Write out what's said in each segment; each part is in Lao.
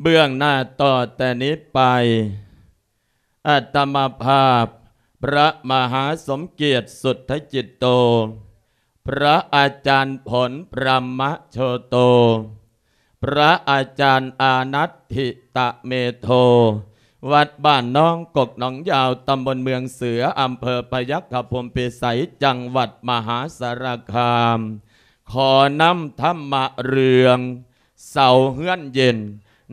ເບື້ອງໜ້າຕໍ່ແຕ່ນີ້ໄປ ອາດຕະມາພາບ ພະມະຫາສົມກຽດ ສຸດທະຈິດໂຕ ພະອາຈານຜົນ ພະມະໂຊໂຕ ພະອາຈານອານັດທິຕະເມໂທ ວັດບ້ານໜອງກົກໜອງຍາວ ຕຳບົນເມືອງເສືອ ອຳເພີພະຍັກຂະພົມພິໄສ ຈັງຫວັດມະຫາສາລະຄາມ ຂໍນຳທຳມະເລື່ອງ ເສົາເຮືອນເຢັນ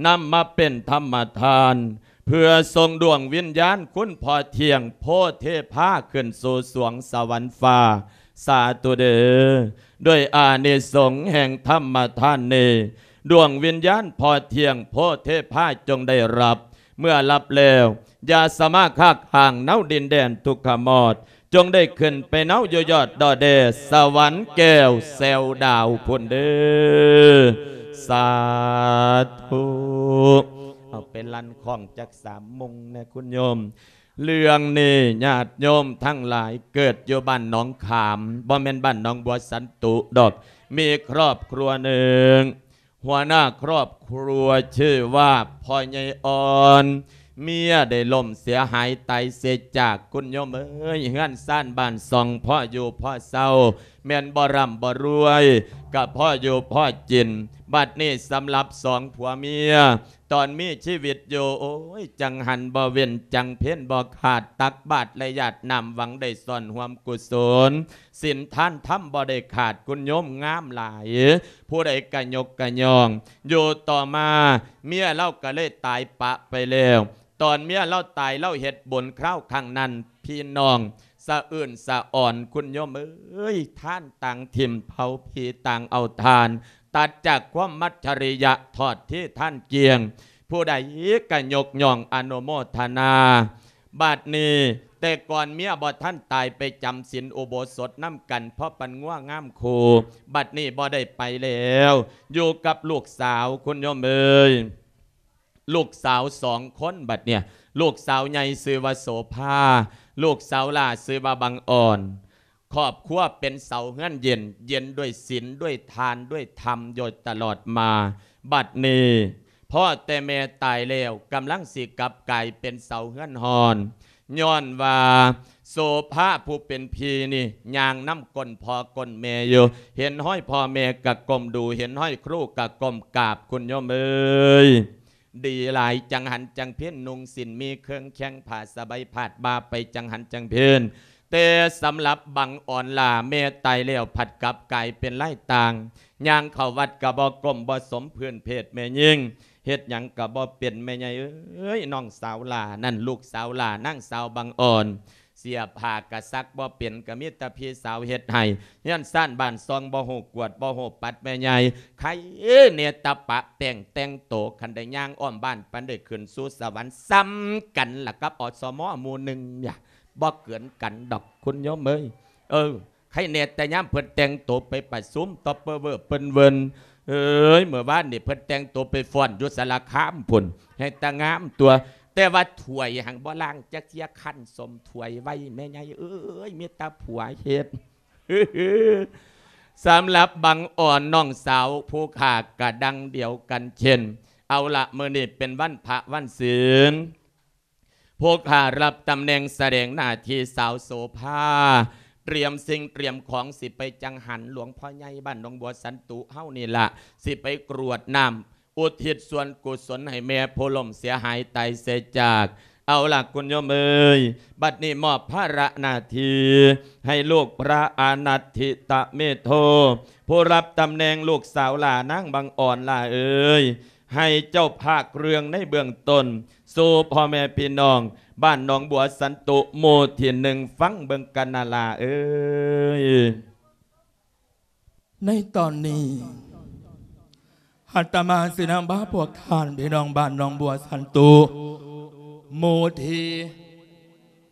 ນຳມາເປັນທຳມະທານ ເພື່ອສົ່ງດວງວິນຍານຄຸນພໍ່ທ່ຽງໂພເທພາ ຂຶ້ນສູ່ສວງສະຫວັນຟ້າ ສາທຸເດີ້. ດ້ວຍອານິສົງແຫ່ງທຳມະທານນີ້ ດວງວິນຍານພໍ່ທ່ຽງໂພເທພາ ຈົ່ງໄດ້ຮັບ ເມື່ອຮັບແລ້ວ ຢ່າສາມາດຄັກຫາງເນົາດິນແດນທຸກຂະມອດ ຈົ່ງໄດ້ຂຶ້ນໄປເນົາຢູ່ຍອດດອຍແດ ສະຫວັນແກ້ວແຊວດາວພຸ້ນເດີ້. ສາທຸ. ເອົາໄປລັ່ນຄ້ອງຈັກສາມມຸງແດ່ຄຸນໂຍມ. ເລື່ອງນີ້ຍາດໂຍມທັງຫຼາຍເກີດຢູ່ບ້ານໜອງຂາມ ບໍ່ແມ່ນບ້ານໜອງບົວສັນຕຸດອກ. ມີຄອບຄົວໜຶ່ງ ຫົວໜ້າຄອບຄົວຊື່ວ່າພໍ່ໃຫຍ່ອ່ອນ ເມຍໄດ້ລົ້ມເສຍຫາຍຕາຍເສຍຈາກ ຄຸນໂຍມເອີຍ. ເຮືອນຊານບ້ານຊ່ອງພໍຢູ່ພໍເຊົາ ແມ່ນບໍ່ຮ່ຳບໍ່ລວຍ ກະພໍຢູ່ພໍກິນ. ບັດນີ້ສຳລັບສອງຜົວເມຍ ຕອນມີຊີວິດຢູ່ ໂອ້ຍ ຈັງຫັນບໍ່ເວັ້ນ ຈັງເພນບໍ່ຂາດ ຕັກບາດແລະຢາດນ້ຳ ຫວັງໄດ້ສ່ວນຮ່ວມກຸສົນ ສິນທານທຳບໍ່ໄດ້ຂາດ ຄຸນໂຍມງາມຫຼາຍ ຜູ້ໃດກະຍົກກະຍ້ອງ. ຢູ່ຕໍ່ມາເມຍລາວກະເລີຍຕາຍປະໄປແລ້ວ. ຕອນເມຍລາວຕາຍ ລາວເຮັດບຸນຄາວຄັ້ງນັ້ນ ພີ່ນ້ອງສະອື່ນສະອອນ ຄຸນໂຍມເອີຍ. ທານຕ່າງຖິ້ມ ເຜົາຜີຕ່າງເອົາຖ່ານ ຕັດຈາກຄວາມມັດຈະລິຍະ ທອດເທທານກ້ຽງ ຜູ້ໃດກະຍົກຍ້ອງອະນຸໂມທະນາ. ບັດນີ້ ແຕ່ກ່ອນເມຍບໍ່ທັນຕາຍ ໄປຈຳສິນອຸໂບສົດນຳກັນ ພໍປັນງົວງາມຄູ່. ບັດນີ້ບໍ່ໄດ້ໄປແລ້ວ ຢູ່ກັບລູກສາວ ຄຸນໂຍມເອີຍ. ລູກສາວສອງຄົນບັດເນີ້ຍ ລູກສາວໃຫຍ່ຊື່ວ່າໂສພາ ລູກສາວຫຼ້າຊື່ວ່າບັງອອນ. ຄອບຄົວເປັນເສົາເຮືອນເຢັນ ເຢັນດ້ວຍສິນ ດ້ວຍທານ ດ້ວຍທຳ ໂດຍຕະຫຼອດມາ. ບັດນີ້ພໍ່ແຕ່ແມ່ຕາຍແລ້ວ ກຳລັງຊິກັບກາຍເປັນເສົາເຮືອນຮ້ອນ ຍ້ອນວ່າໂສພາຜູ້ເປັນພີ່ນີ້ຍ່າງນຳກົ້ນພໍ່ກົ້ນແມ່ຢູ່ ເຫັນຮອຍພໍ່ແມ່ກະກົ້ມດູ ເຫັນຮອຍຄູກະກົ້ມກາບ ຄຸນໂຍມເອີຍ. ດີຫຼາຍ ຈັງຫັນຈັງເພນ ນຸ່ງສິ້ນມີເຄື່ອງແຂ້ງ ຜ້າສະໄບພາດບ່າໄປ ຈັງຫັນຈັງເພນ. ແຕ່ສຳລັບບັງອອນຫຼ້າ ແມ່ຕາຍແລ້ວ ພັດກັບກາຍເປັນລາຍຕ່າງ ຍ່າງເຂົ້າວັດກະບໍ່ກົ້ມບໍ່ສົມພື້ນເພດແມ່ຍິງ ເຮັດຫຍັງກະບໍ່ເປັນ ແມ່ໃຫຍ່ເອີຍ. ນ້ອງສາວຫຼ້ານັ້ນ ລູກສາວຫຼ້າ ນາງສາວບັງອອນ ເສຍຜ້າກະຊັກບໍ່ເປັນ ກະມີແຕ່ພີ່ສາວເຮັດໃຫ້. ເຮືອນຊານບ້ານຊ່ອງບໍ່ຮູ້ກວດ ບໍ່ຮູ້ປັດ ແມ່ໃຫຍ່ ໃຄເນຕະປະແປ້ງແຕ່ງໂຕ. ຄັນໄດ້ຍ່າງອ້ອມບ້ານປານໄດ້ຂຶ້ນສູ່ສະຫວັນ ສ່ຳກັນລະກັບ ອສມ ໝູ່ໜຶ່ງ ບໍ່ເກີນກັນດອກ ຄຸນໂຍມເອີຍ. ເອີ ໃຄແນ່ແຕ່ຍາມເພິ່ນແຕ່ງໂຕໄປປະຊຸມ ຕອບເປີເວີ້ເປິ້ນເວີ້ນ. ເອີຍ ເມື່ອວານນີ້ເພິ່ນແຕ່ງໂຕໄປຟ້ອນຢູ່ສາລະຄາມພຸ້ນ ແຮ່ງຕາງາມຕົວະ ແຕ່ວ່າຖ້ວຍຫັ້ນບໍ່ລ້າງຈັກເທື່ອ ຄັນສົ້ມຖ້ວຍໄວ້ ແມ່ໃຫຍ່ເອີຍ ມີແຕ່ຜົວເຮັດ. ສຳລັບບັງອອນນ້ອງສາວຜູ້ຂ້າກະດັ່ງດຽວກັນເຊັ່ນ. ເອົາລະ ມື້ນີ້ເປັນວັນພະວັນສິນ ຜູ້ຂ້າຮັບຕຳແໜ່ງສະແດງໜ້າທີ່ສາວໂສພາ ຕຽມສິ່ງຕຽມຂອງ ຊິໄປຈັງຫັນຫຼວງພໍ່ໃຫຍ່ບ້ານໜອງບົວສັນຕຸເຮົານີ້ລະ ຊິໄປກຣວດນ້ຳ ອຸທິດສ່ວນກຸສົນໃຫ້ແມ່ຜູ້ລົ້ມເສຍຫາຍຕາຍເສຍຈາກ. ເອົາລະ ຄຸນໂຍມເອີຍ ບັດນີ້ມອບພາລະໜ້າທີ່ໃຫ້ລູກພະອານັດທິຕະເມໂທ ຜູ້ຮັບຕຳແໜ່ງລູກສາວຫຼ້ານາງບັງອອນຫຼ້າເອີຍ ໃຫ້ເຈົ້າພາກເລື່ອງໃນເບື້ອງຕົ້ນ ສູ່ພໍ່ແມ່ພີ່ນ້ອງບ້ານໜອງບົວສັນຕຸ ໝູ່ທີໜຶ່ງ ຟັງເບິ່ງກັນນະຫຼ້າເອີຍ. ໃນຕອນນີ້ ອາດຕະມາຊິນຳພາພວກທ່ານພີ່ນ້ອງບ້ານໜອງບົວສັນຕຸ ໝູ່ທີ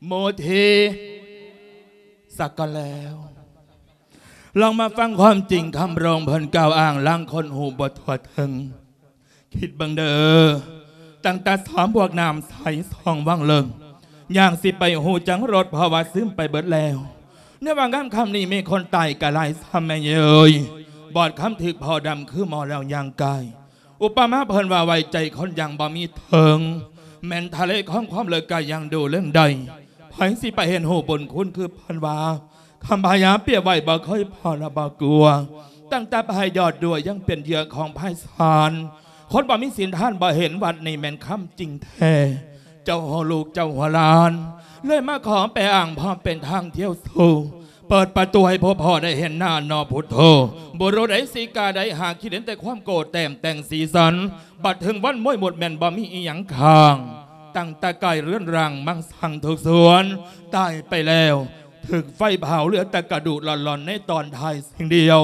ໝູ່ທີ ສາກກັນແລ້ວ ລອງມາຟັງຄວາມຈິງຄຳຮ້ອງເພິ່ນກ່າວອ້າງ ລາງຄົນຮູ້ບໍ່ທົ່ວເຖິງ. ຄິດເບິ່ງເດີ້ ຕັ້ງແຕ່ສາມພວກນ້ຳໃສຊ່ອງວັງເລິງ ຍ່າງຊິໄປຮູ້ຈັກລົດ ເພາະວ່າຊຶມໄປເບິດແລ້ວ. ໃນວ່າງາມຄ່ຳນີ້ມີຄົນຕາຍກະຫຼາຍຊ້ຳແມ່ເອີຍ ບອດຄຳຖືກພໍ່ດຳຄືໝໍແລ້ວຍ່າງກາຍ ອຸປະມາເພິ່ນວ່າ ໄວ້ໃຈຄົນຢ່າງບໍ່ມີເຖິງ ແມ່ນທະເລຂອງຄວາມເລີກກະຍັງດູເລື່ອງໃດ ໃຜຊິໄປເຫັນຮູ້ບຸນຄຸນຄືເພິ່ນວ່າ ຄຳພະຍາປຽບໄວ້ບໍ່ເຄີຍພໍລະບໍ່ກົວ ຕັ້ງແຕ່ພາຍຍອດດ້ວຍຍັງເປັນເຫຍື່ອຂອງພາຍສານ ຄົນບໍ່ມີສິນທານບໍ່ເຫັນວັດນີ້ແມ່ນຄຳຈິງແທ້ ເຈົ້າຫົວລູກເຈົ້າຫົວຫຼານ ເລີຍມາຂໍແປອ້າງພໍເປັນທາງທ່ຽວສູ່ ເປີດປະຕູໃຫ້ພວກພໍ່ໄດ້ເຫັນໜ້າໜໍ່ພຸດໂທ ບຸລຸດໃດສີກາໃດຫາຄິດເຫັນແຕ່ຄວາມໂກ້ແຕ້ມແຕ່ງສີສັນ ບັດເຖິງວັນມວຍໝົດແມ່ນບໍ່ມີອີ່ຫຍັງຄ້າງ ຕັ້ງແຕ່ກາຍເຮືອນຮ່າງມັງສັງທຸກສ່ວນ ຕາຍໄປແລ້ວ ຖືກໄຟເຜົາເຫຼືອແຕ່ກະດູກລ່ອນໆໃນຕອນທ້າຍສິ່ງດຽວ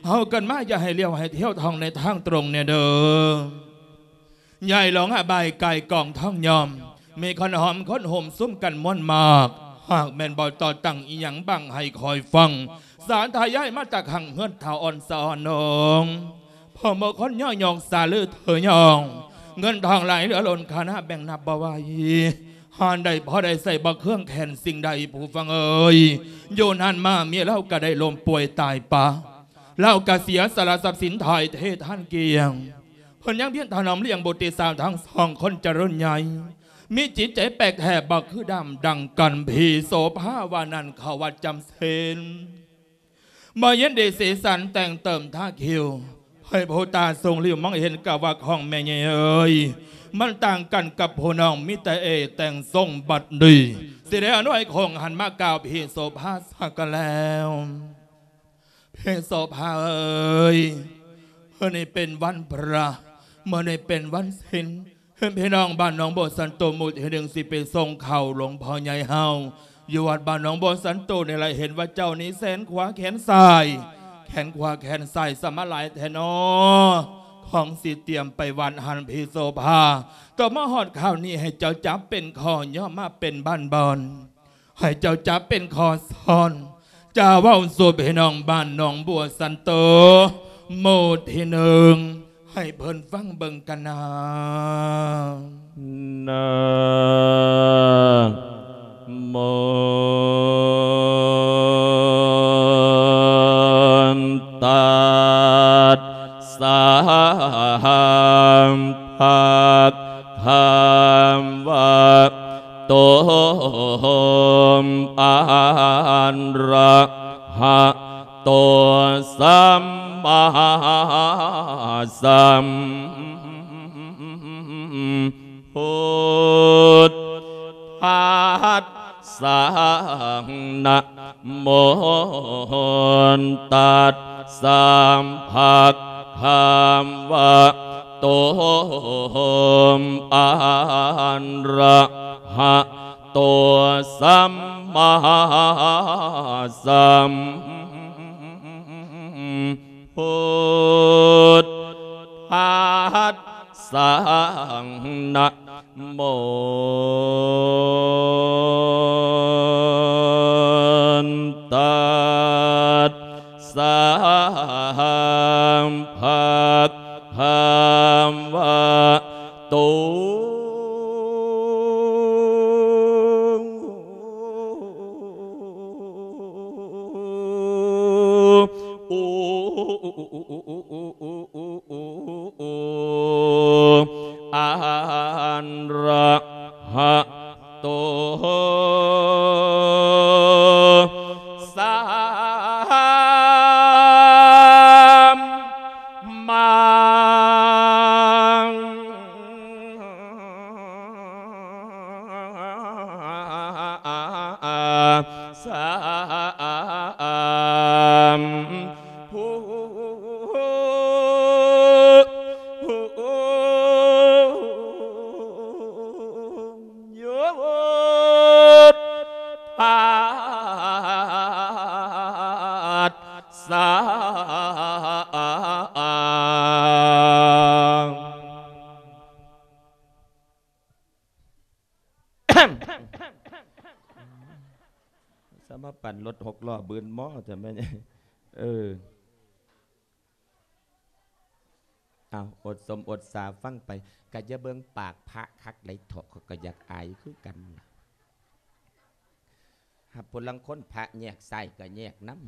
ເຮົາເກີດມາຢ່າໃຫ້ລ້ຽວໃຫ້ທ່ຽວທ່ອງໃນທາງຕົງແນ່ເດີ. ຍາຍຫຼວງອະບາຍກາຍກອງທອງຍອມ ມີຄົນຫອມຄົນໂຮມຊຸມກັນມ່ວນມາກ ຫາກແມ່ນບໍ່ຕໍ່ຕັ້ງອີ່ຫຍັງບັງໃຫ້ຄອຍຟັງ ສາທາຍາຍມາຈາກຂ້າງເຮືອນທ້າວອ່ອນສະອອນໜອງ ພໍ່ໝູ່ຄົນຍໍຍົກສາລືເທີຍອງ ເງິນທອງຫຼາຍເຫຼືອລົ້ນຄານາແບ່ງນັບບໍ່ໄຫວ ຫາໄດ້ພໍໄດ້ໃຊ້ບໍ່ເຄືອງແຄ້ນສິ່ງໃດຜູ້ຟັງເອີຍ ຢູ່ນານມາເມຍລາວກະໄດ້ລົ້ມປ່ວຍຕາຍປະ ລາວກະເສຍສະຫຼະຊັບສິນຖ່າຍເທທານກ້ຽງ ເພິ່ນຍັງພຽນຖະໜອມລ້ຽງບຸດຕິສາວທັງສອງຄົນຈະລຸນໃຫຍ່ ມີຈິດໃຈແປກແທ້ບໍ່ຄືດຳດັ່ງກັນ ພີ່ໂສພາວ່ານັ້ນເຂົ້າວັດຈຳສິນ ບໍ່ເຢັນດີສີສັນແຕ່ງເຕີມທາຄິວ ໃຫ້ຜູ້ຕາສູງລິ້ວມອງເຫັນກະວ່າຂອງແມ່ໃຫຍ່ເອີຍ ມັນຕ່າງກັນກັບຜູ້ນ້ອງມີແຕ່ເອແຕ່ງຊົງບັດນີ້ ຊິໄດ້ອະນຸໃຫ້ຄົງຫັນມາກ່າວພີ່ໂສພາຊະກະແລ້ວ. ພີ່ໂສພາເອີຍ ມື້ນີ້ເປັນວັນພະ ມື້ນີ້ເປັນວັນສິນ ເຫັນພີ່ນ້ອງບ້ານໜອງບົວສັນໂຕໝູ່ທີໜຶ່ງຊິໄປສົ່ງເຂົ້າຫຼວງພໍ່ໃຫຍ່ເຮົາ ຢູ່ວັດບ້ານໜອງບົວສັນໂຕນີ້ລະ ເຫັນວ່າເຈົ້ານີ້ແຂນຂວາແຂນຊ້າຍ ແຂນຂວາແຂນຊ້າຍສະມາຫຼາຍແທ້ນໍ ຂອງຊິຕຽມໄປວັດຫັ້ນ ພີ່ໂສພາ ຕໍ່ມາຮອດຄາວນີ້ໃຫ້ເຈົ້າຈັບເປັນຂໍ້ ຍອມມາເປັນບ້ານບ່ອນ ໃຫ້ເຈົ້າຈັບເປັນຂໍ້ສອນ ຈາເວົ້າສູ່ພີ່ນ້ອງບ້ານໜອງບົວສັນໂຕ ໝູ່ທີໜຶ່ງ ໃຫ້ເພິ່ນຟັງເບິ່ງກັນນາ. ນະໂມ ຕັດສະ ພະຄະວະ ໂຕ ອະຣະຫະໂຕ ສຳມາສຳພຸດທັດສະ ນະໂມ ຕັດສະ ພະຄະວະໂຕ ອະຣະຫະ ໂຕ ສຳມາສຳພຸດທັດສະ ນະໂມ ຕັດສະ ພະຄະວະໂຕ ອະຣະຫະໂຕ ສຳມາ ສຳພຸ ໂຍ ທັດສະ ສະມາປັ່ນລົດຫົກລໍ້ບືນມໍແທ້ແມ່ນ. ເອີ ເອົາ ອົດສົມອົດສາຟັງໄປ ກະຢ່າເບິ່ງປາກພະຄັກໄດ໋ເຖາະ ຂ້ອຍກະຢາກອາຍຄືກັນລະ. ຫາຜູ້ລາງຄົນພະແຍກຊ້າຍກະແຍກນຳ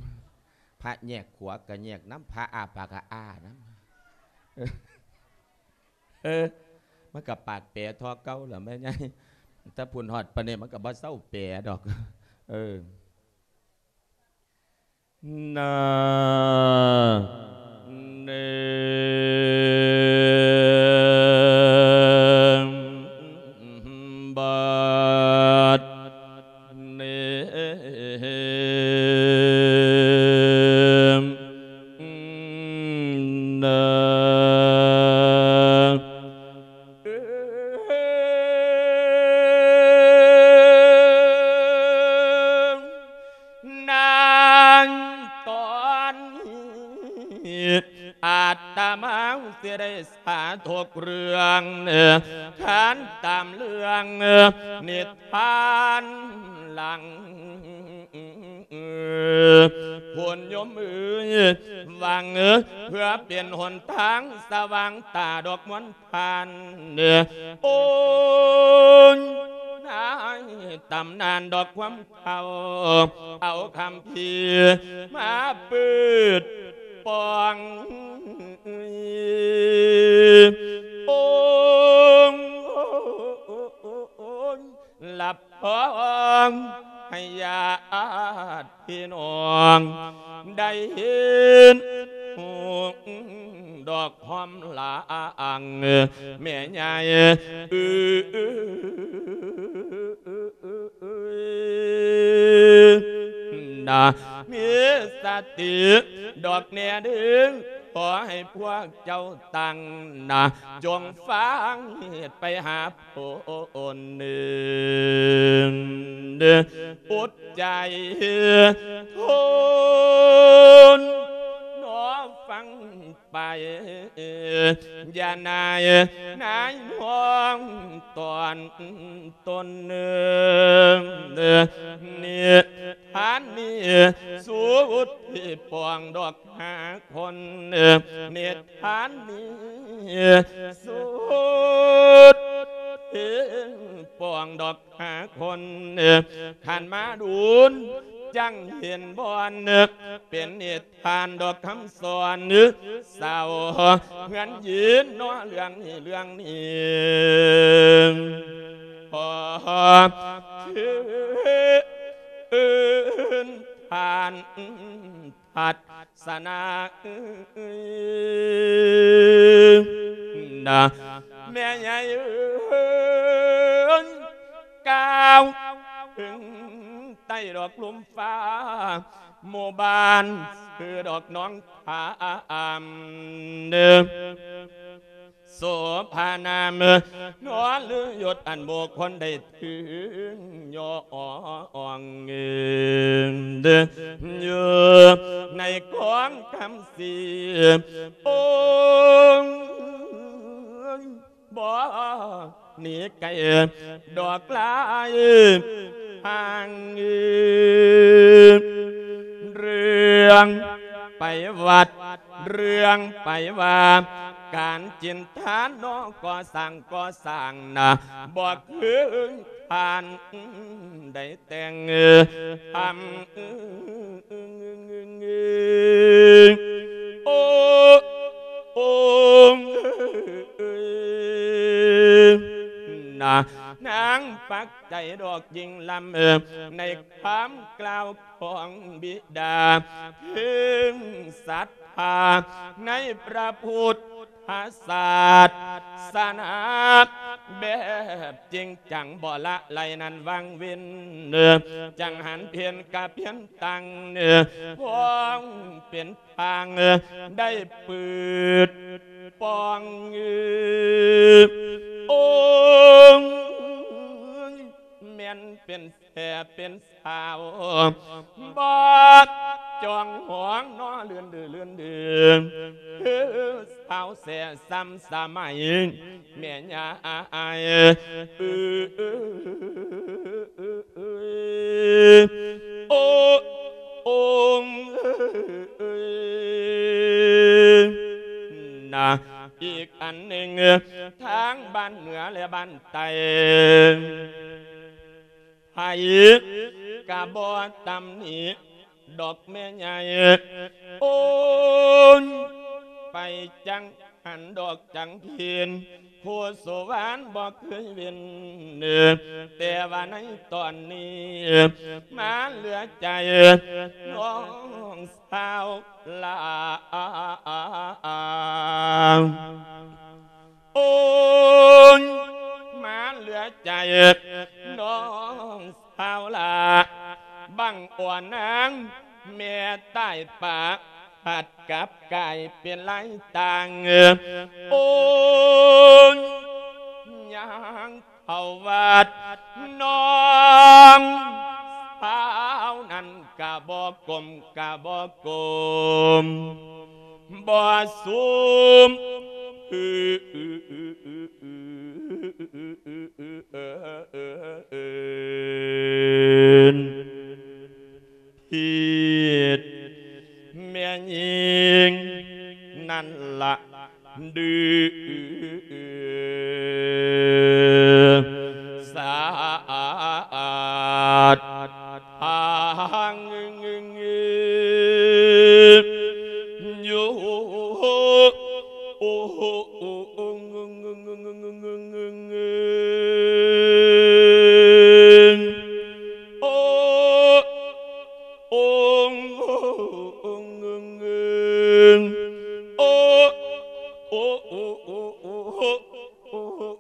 ພະແຍກຂວາກະແຍກນຳ ພະອ້າປາກກະອ້ານຳ ເອີ. ເອີ ມັນກໍປາກແປທໍ່ເກົ່າລະແມ່ໃຫຍ່ ຖ້າພຸ້ນຮອດປານນີ້ມັນກໍບໍ່ເຊົາແປດອກ ເອີ. ນະ ເນ ບາດ ເນ ນະ ນາງຕອນນີ້ ອາດຕະມາຊິໄດ້ສາທຸກເລື່ອງ ຄານຕາມເລື່ອງນິທານຫຼັງ ໂຍມເອີຍ ຫວັງເພື່ອເປັນຫົນທາງສະຫວ່າງຕາດອກມວນ ທ່ານ ໂອ້ຍ ນາຍຕຳນານດອກຄວາມເຖົ້າ ເອົາຄຳພີມາເປີດປ່ອງ ໂອ້ຍ ລັບຮອງໃຫ້ຍາດ ພີ່ນ້ອງໄດ້ເຫັນ ດອກຫອມລາງ ແມ່ໃຫຍ່ເອີຍ ນະ ມີສະຕິດອກແນ່ເດີ ຂໍໃຫ້ພວກເຈົ້າຕັ້ງໜ້າ ຈົ່ງຟັງເຫດໄປຫາ ຄົນໜຶ່ງອົດໃຈທົນ ໜໍຟັງໄປ ຢ່ານາຍນາຍນ້ອງຕອນຕົນໜຶ່ງ ນິທານນີ້ ສຸດທີ່ປອງດອກ ຫາຄົນ ເອີ ນິທານນີ້ ສຸດເພງປອງດອກຫາຄົນ ເອີ ຄັນມາດຸນ ຈັ່ງເຫັນບ່ອນ ເອີ ເປັນນິທານດອກຄຳສອນ ເອີ ສາວເຮືອນຍິນເນາະ ເລື່ອງນີ້ ເລື່ອງນີ້ ຂໍເຊີນທ່ານ ພັດສະນາເອີຍ ນະ ແມ່ໃຫຍ່ເອີຍ ກ້າວເຖິງໃຕ້ດອກລົມຟ້າ ໝູ່ບ້ານຊື່ດອກໜອງຂາມ ເດີ ໂສພານາມ ນອນລືຍົດອັນບຸກຄົນໄດ້ ຖືຍອງເງິນ ຢູ່ໃນຂອງຄຳສີ ໂອ້ຍ ບໍ່ໜີໄກດອກລາຍທາງ ເລື່ອງໄປວັດ ເລື່ອງໄປວ່າ ການຈິນທານເນາະ ກໍ່ສ້າງ ກໍ່ສ້າງນະ ບໍ່ຄືທ່ານໄດ້ແຕ່ງທຳ ໂອ້ ໂອ້ ນະ ນາງປັກໃຈດອກຍິງລຳ ໃນຄຳກ່າວ ຂອງບິດາ ເຖິງສັດທາໃນພະພຸດທະສາສະໜາ ແບບຈິງຈັງບໍ່ລະໄລນັ້ນວັງເວັນ ຈັ່ງຫັນເພັນກະເພັນຕັ້ງ ພອງເປັນທາງ ໄດ້ເປີດປ່ອງ ໂອ້ຍ ແມ່ນເປັນແທ້ເປັນ ສາວ ບໍ່ຈອງຫອງເນາະ ເລື່ອນເດີ ເລື່ອນເດີ ສາວແທ້ຊ້ຳສະໄໝ ແມ່ຍາຍ ໂອ້ ໂອ້ ນະ ອີກອັນໜຶ່ງ ທາງບ້ານເໜືອ ແລະ ບ້ານໃຕ້ ໃຜກະບໍ່ຕຳໜິດອກແມ່ໃຫຍ່ ໂອ້ຍ ໄປຈັ່ງ ຫັນດອກຈັນເພັນ ຄູສຸວານບໍ່ເຄີຍເວັ້ນ ແຕ່ວ່າໃນຕອນນີ້ ມາເຫຼືອໃຈນ້ອງສາວຫຼ້າ. ໂອ້ຍ ມາເຫຼືອໃຈນ້ອງສາວຫຼ້າ ບັງອອນນາງແມ່ຕາຍປະ ພັດກັບກາຍເປັນລາຍຕ່າງ. ໂອ້ຍ ຍ່າງເຂົ້າວັດ ນ້ອງສາວນັ້ນກະບໍ່ກົ້ມກະບໍ່ກົ້ມ ບໍ່ຊູມ ຜິດແມ່ຍິງນັ້ນລະດື້ສາດທາງ ຢູ່ ໂອ້ ໂອ້ ໂອ້ ໂອ້ ໂ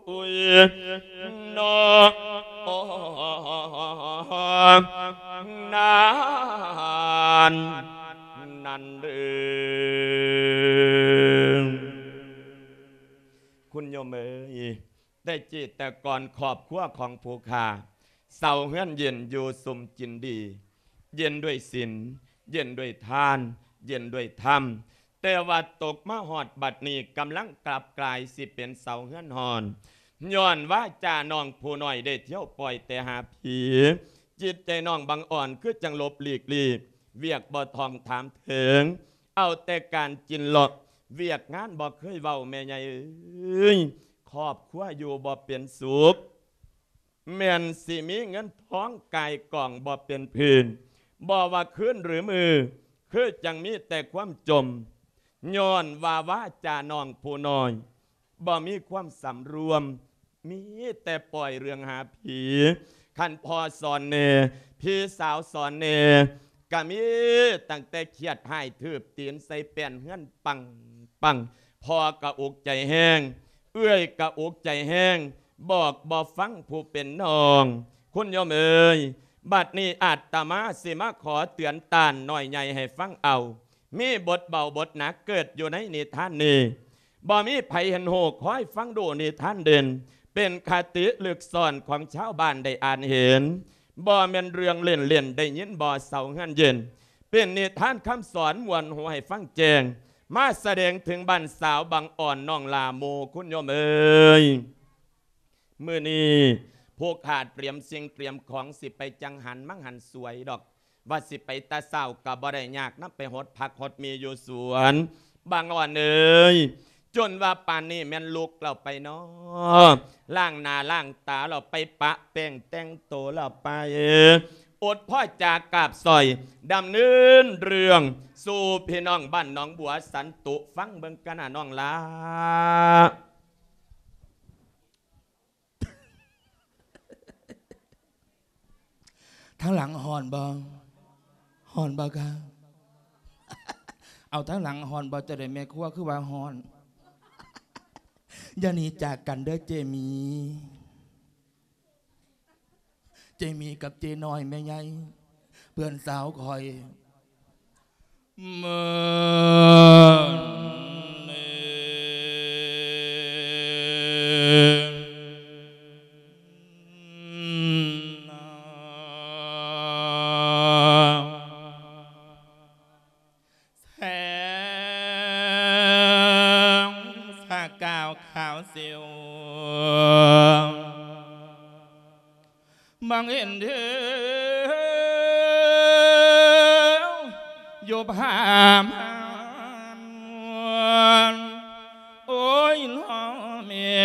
ອ້ຍ ເນາະ ນັ້ນ ນັ້ນເດີ ຄຸນໂຍມເອີຍ. ແຕ່ກີ້ແຕ່ກ່ອນຄອບຄົວຂອງຜູ້ຂ້າ ເຊົາເຮືອນເຢັນຢູ່ສຸມກິນດີ ເຢັນດ້ວຍສິນ ເຢັນດ້ວຍທານ ເຢັນດ້ວຍທຳ ແຕ່ວ່າຕົກມາຮອດບັດນີ້ກຳລັງກັບກາຍຊິເປັນເຊົາເຮືອນຮ້ອນ ຍ້ອນວາຈານ້ອງຜູ້ນ້ອຍໄດ້ທ່ຽວປ່ອຍແຕ່ຫາຜີ ຈິດໃຈນ້ອງບັງອ່ອນຄືຈັ່ງຫຼົບຫຼີກລີກ ວຽກບໍ່ທ່ອງຖາມເຖິງ ເອົາແຕ່ການກິນເລາະ ວຽກງານບໍ່ເຄີຍເວົ້າ ແມ່ໃຫຍ່ເອີຍ ຄອບຄົວຢູ່ບໍ່ເປັນສຸກ ແມ່ນຊິມີເງິນທອງກາຍກອງບໍ່ເປັນພື້ນ ບໍ່ວ່າຄືນຫຼືມື້ ຄືຈັ່ງມີແຕ່ຄວາມຈົ່ມ ຍ້ອນວ່າວາຈານ້ອງຜູ້ນ້ອຍ ບໍ່ມີຄວາມສຳລວມ ມີແຕ່ປ່ອຍເລື່ອງຫາຜີ ຄັນພໍ່ສອນແດ່ ພີ່ສາວສອນແດ່ ກະມີຕັ້ງແຕ່ຂຽດຮ້າຍ ຖືບຕີນໃສ່ແປ້ນເຮືອນປັງໆ ພໍ່ກະອຸກໃຈແຮງ ເອື້ອຍກະອຸກໃຈແຮງ ບອກບໍ່ຟັງຜູ້ເປັນນ້ອງ ຄຸນໂຍມເອີຍ ບັດນີ້ອາດຕະມາຊິມາຂໍເຕືອນຕ້ານນ້ອຍໃຫຍ່ໃຫ້ຟັງເອົາ ມີບົດເບົາບົດໜັກເກີດຢູ່ໃນນິທານນີ້ ບໍ່ມີໃຜເຫັນຮູ້ ຄອຍຟັງດູນິທານເດັ່ນ ເປັນຄະຕິລຶກຊ້ອນຂອງຊາວບ້ານໄດ້ອ່ານເຫັນ ບໍ່ແມ່ນເລື່ອງເລ່ນໆ ໄດ້ຍິນບໍ່ເຊົາເຮືອນເຢັນ ເປັນນິທານຄຳສອນມ່ວນຫູໃຫ້ຟັງແຈ້ງ ມາສະແດງເຖິງບ້ານສາວບັງອ່ອນນ້ອງຫຼ້າໝູ່ ຄຸນໂຍມເອີຍ. ມື້ນີ້ພວກຂ້າຕຽມສິ່ງຕຽມຂອງ ຊິໄປຈັງຫັນມັງຫັນສວຍດອກ ວ່າຊິໄປແຕ່ເຊົ້າກະບໍ່ໄດ້ ຍາກນຳໄປຫົດຜັກຫົດໝີ່ຢູ່ສວນ. ບັງອ່ອນເອີຍ ຈົນວ່າປານນີ້ແມ່ນລຸກແລ້ວໄປນໍ ລ້າງໜ້າລ້າງຕາແລ້ວໄປ ປະແປ້ງແຕ່ງໂຕແລ້ວໄປ ອົດພໍຈາກາບສອຍ ດຳເນີນເລື່ອງສູ່ພີ່ນ້ອງບ້ານໜອງບົວສັນຕຸ ຟັງເບິ່ງກັນນະນ້ອງຫຼ້າ. ທາງຫຼັງຮ້ອນບໍ່? ຮ້ອນບໍ່ຄະ? ເອົາ ທາງຫຼັງຮ້ອນບໍ່? ເຈົ້າໄດ້ແມ່ຄົວຄືວ່າຮ້ອນ. ຢ່າໜີຈາກກັນເດີເຈໝີ. ເຈໝີກັບເຈນ້ອຍແມ່ໃຫຍ່ ເພື່ອນສາວຂ້ອຍ ເມີນເອ ແສງສະກາວຂາວສິວ ມອງເຫັນເທວຢູ່ພາມ ໂອ້ຍ ນ້ອງແມ່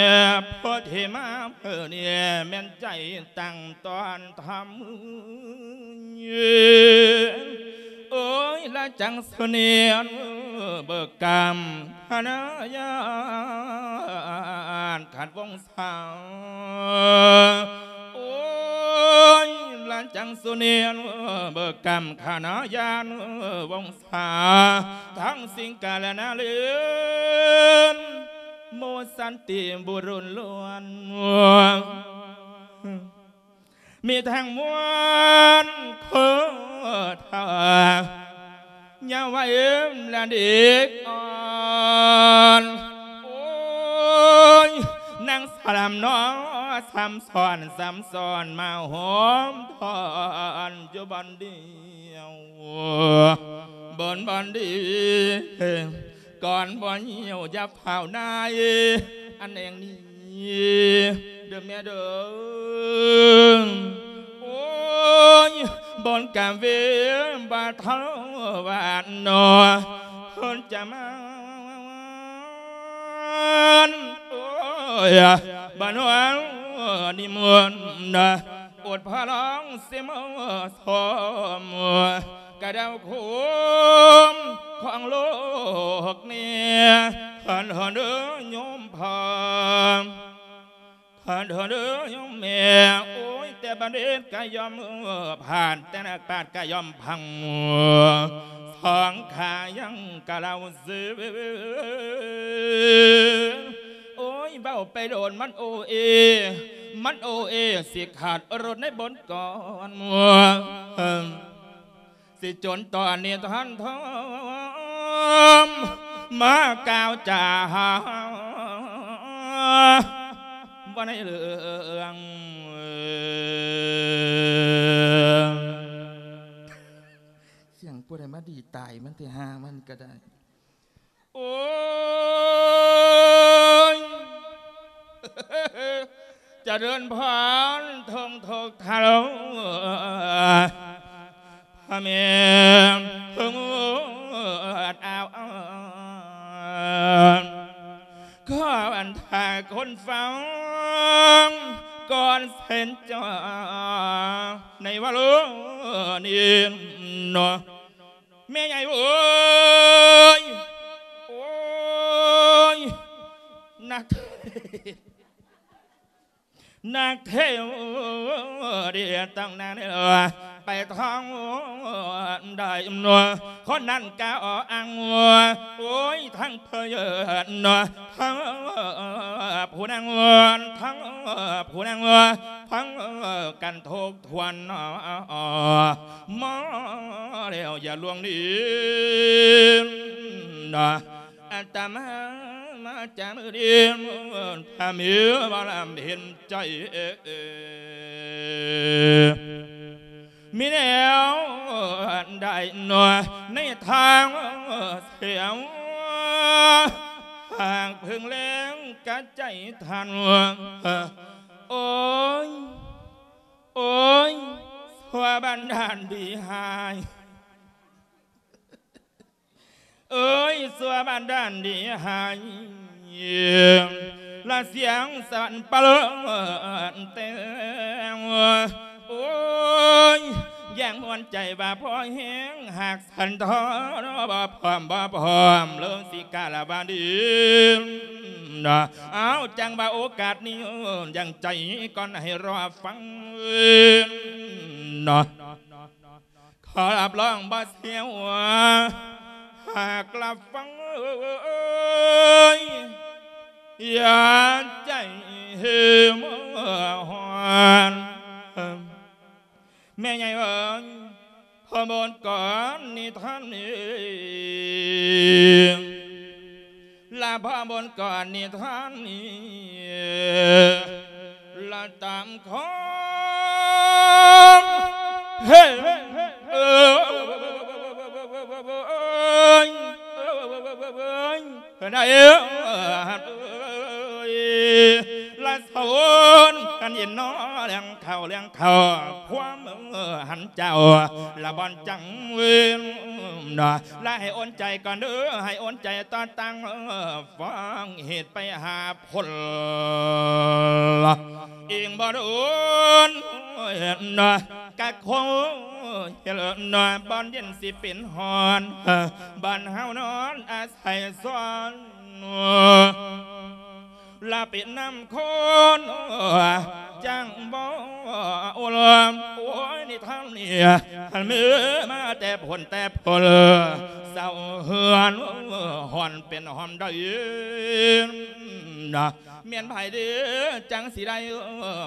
ໂພດເທມາເພິ່ນນີ້ ແມ່ນໃຈຕັ້ງຕ້ອນທຳ ໂອ້ຍ ລະຈັງສຸເນນເບີກກຳ ຄະນະຍາດຂັດວົງສາ ໂອ້ຍ ລະຈັງສຸເນນເບີກກຳ ຄະນະຍາດວົງສາ ທັງສິງກາລະນາເລນ ໂມສັນຕິບຸລຸນລ້ວນ ມີທັງມວນໂຄທາ ຍາວໄວລະເດັກອ່ອນ ໂອ້ຍ ນາງສະລຳນໍ ຊ້ຳຊ້ອນ ຊ້ຳຊ້ອນ ມາໂຮມທອນ ຢູ່ບ່ອນດຽວ ບ່ອນ ບ່ອນດຽວ ກ່ອນບໍ່ຫິວຢ່າຟ້າວນາຍ ອັນແອງນີ້ ເດີແມ່ເດີ ໂອ້ຍ ບ່ອນກະເວບາທະວານນໍ ເພິ່ນຈະມາ ໂອ້ຍ ບານວານິມົນ ອົດພະລອງຊິມາຊອມ ກະດາວໂຄມຂອງໂລກນີ້ ທ່ານເດີໂຍມພໍ່ ທ່ານເດີໂຍມແມ່ ໂອ້ຍ ແຕ່ບັນເດດກະຍອມຜ່ານ ແຕ່ນັກປາດກະຍອມພັງ ສອງຂາຍັງກະເລົ່າຊື່ ໂອ້ຍ ເວົ້າໄປໂດນມັນໂອເອ ມັນໂອເອ ຊິຂາດລົດໃນບົນກ່ອນ ຊິຈົນຕອນນີ້ທ່ານທອມ ມາກ່າວຈາວ່າໃນເລື່ອງ ສຽງຜູ້ໃດມາດີຕາຍມັນແທ້ ຫາມັນກະໄດ້. ໂອ້ຍ ຈະເລີນພອນ ທົ່ງທຸກທາໂລ ພະແມ່ເພິ່ງອາວ ຂໍບັນດາຄົນຟັງກ່ອນເຊັ່ນຈາ ໃນວາໂລນີ້ເນາະ ແມ່ໃຫຍ່ເອີຍ ໂອ້ຍ ນັກເທ ນັກເທວດຽວຕ້ອງນາງນີ້ລະ ໄປທ້ອງໄດ້ນວ ຄົນນັ້ນກະອໍອັງ ໂອ້ຍ ທັງເພີນນວ ທັງຜູ້ນາງ ທັງຜູ້ນາງ ທັງກັນທຸກ ທວນ ມາແລ້ວຢ່າລວງນີ້ ອາດຕະມາມາຈາກມື້ນີ້ ຖ້າມີວາລະເຫັນໃຈ ມີແນວໃດໃນທາງສຽວ ຫາກເພິ່ງແລງກະໃຈທ່ານ ໂອ້ຍ ໂອ້ຍ ຊົ່ວບັນດານດີຮ້າຍ ເອີຍ ຊົ່ວບັນດານດີຮ້າຍ ລະສຽງສັນປະເລີນແຕ່ ໂອ້ຍ ຢ່າງມ່ວນໃຈວ່າພໍແຮງ ຫາກສັນທອນບໍ່ພ້ອມ ບໍ່ພ້ອມ ເລີຍຊິກາລະວາດີ ເອົາ ຈັ່ງວ່າໂອກາດນີ້ ຢ່າງໃຈກ່ອນໃຫ້ລໍຟັງ ເນາະ ຂໍຮັບຮອງບໍ່ເສຍຫົວ ຫາກລັບຟັງ ເອີຍ ຢ່າໃຈເຫີມຮ້ອນ ແມ່ໃຫຍ່ເອີຍ ພໍ່ບົນກ່ອນນິທານນີ້ ລະພໍ່ບົນກ່ອນນິທານນີ້ ລະຕາມຄວາມເຫັນ ເອີ ເອີຍ ເອີຍ ລະສະວົນກັນຍິນນອນ ເລື່ອງເຂົ້າເລື່ອງ ເຂົ້າຄວາມຫັນເຈົ້າ ລະບ່ອນຈັງເວນ ລະໃຫ້ອົນໃຈກ່ອນເດີ ໃຫ້ອົນໃຈຕໍ່ຕັ້ງ ຟັງເຫດໄປຫາຜົນ ອີງບໍ່ດົນ ກະຄົງ ເຮັດນອນບ່ອນເຢັນຊິເປັນຮ້ອນ ບ້ານເຮົານອນອາໄສຊ້ອນ ລະເປັນນ້ຳໂຄນ ຈັ່ງບໍ່ອຸ່ນ ໂອ້ຍ ນີ້ທາງນີ້ ຄັນມີມາແຕ່ພົ້ນແຕ່ພົ້ນ ເຊົາເຮືອນຮ້ອນເປັນຫ້ອມໄດ້ນະ ແມ່ນໃຜເດ ຈັ່ງຊິໄດ້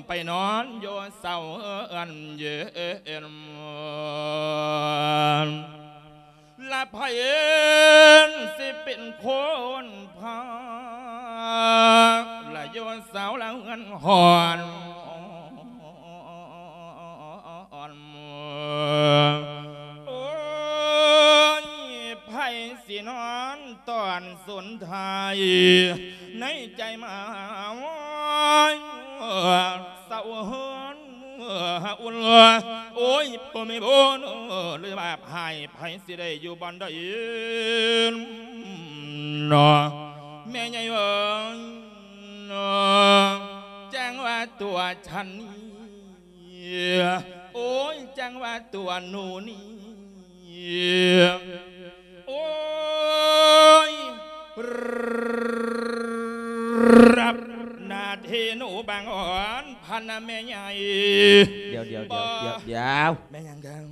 ໄປນອນຢູ່ເຊົາເຮືອນເຢັນ ລະໃຜຊິເປັນຄົນພາ ລະຢູ່ເຊົາລະເຮືອນຮ້ອນ ໂອ້ຍ ໃຜຊິນອນຕອນສຸນທາຍ ໃນໃຈມາວອຍ ເຊົາເຮືອນ ເອີ ອຸ່ນ ໂອ້ຍ ບໍ່ມີບຸນ ຫຼືບາບຫາຍ ໃຜຊິໄດ້ຢູ່ບ່ອນໃດເນາະ ແມ່ໃຫຍ່ເອີຍ ຈັ່ງວ່າຕົວສັນນີ້ ໂອ້ຍ ຈັ່ງວ່າຕົວໜູນີ້ ໂອ້ຍ ຮັບໜ້າທີ່ໜູບາງອ່ອນ ພັນນະແມ່ໃຫຍ່ ດຽວ ດຽວ ດຽວ ບໍ່ ດຽວ ດຽວ ແມ່ນຫຍັງກັນ?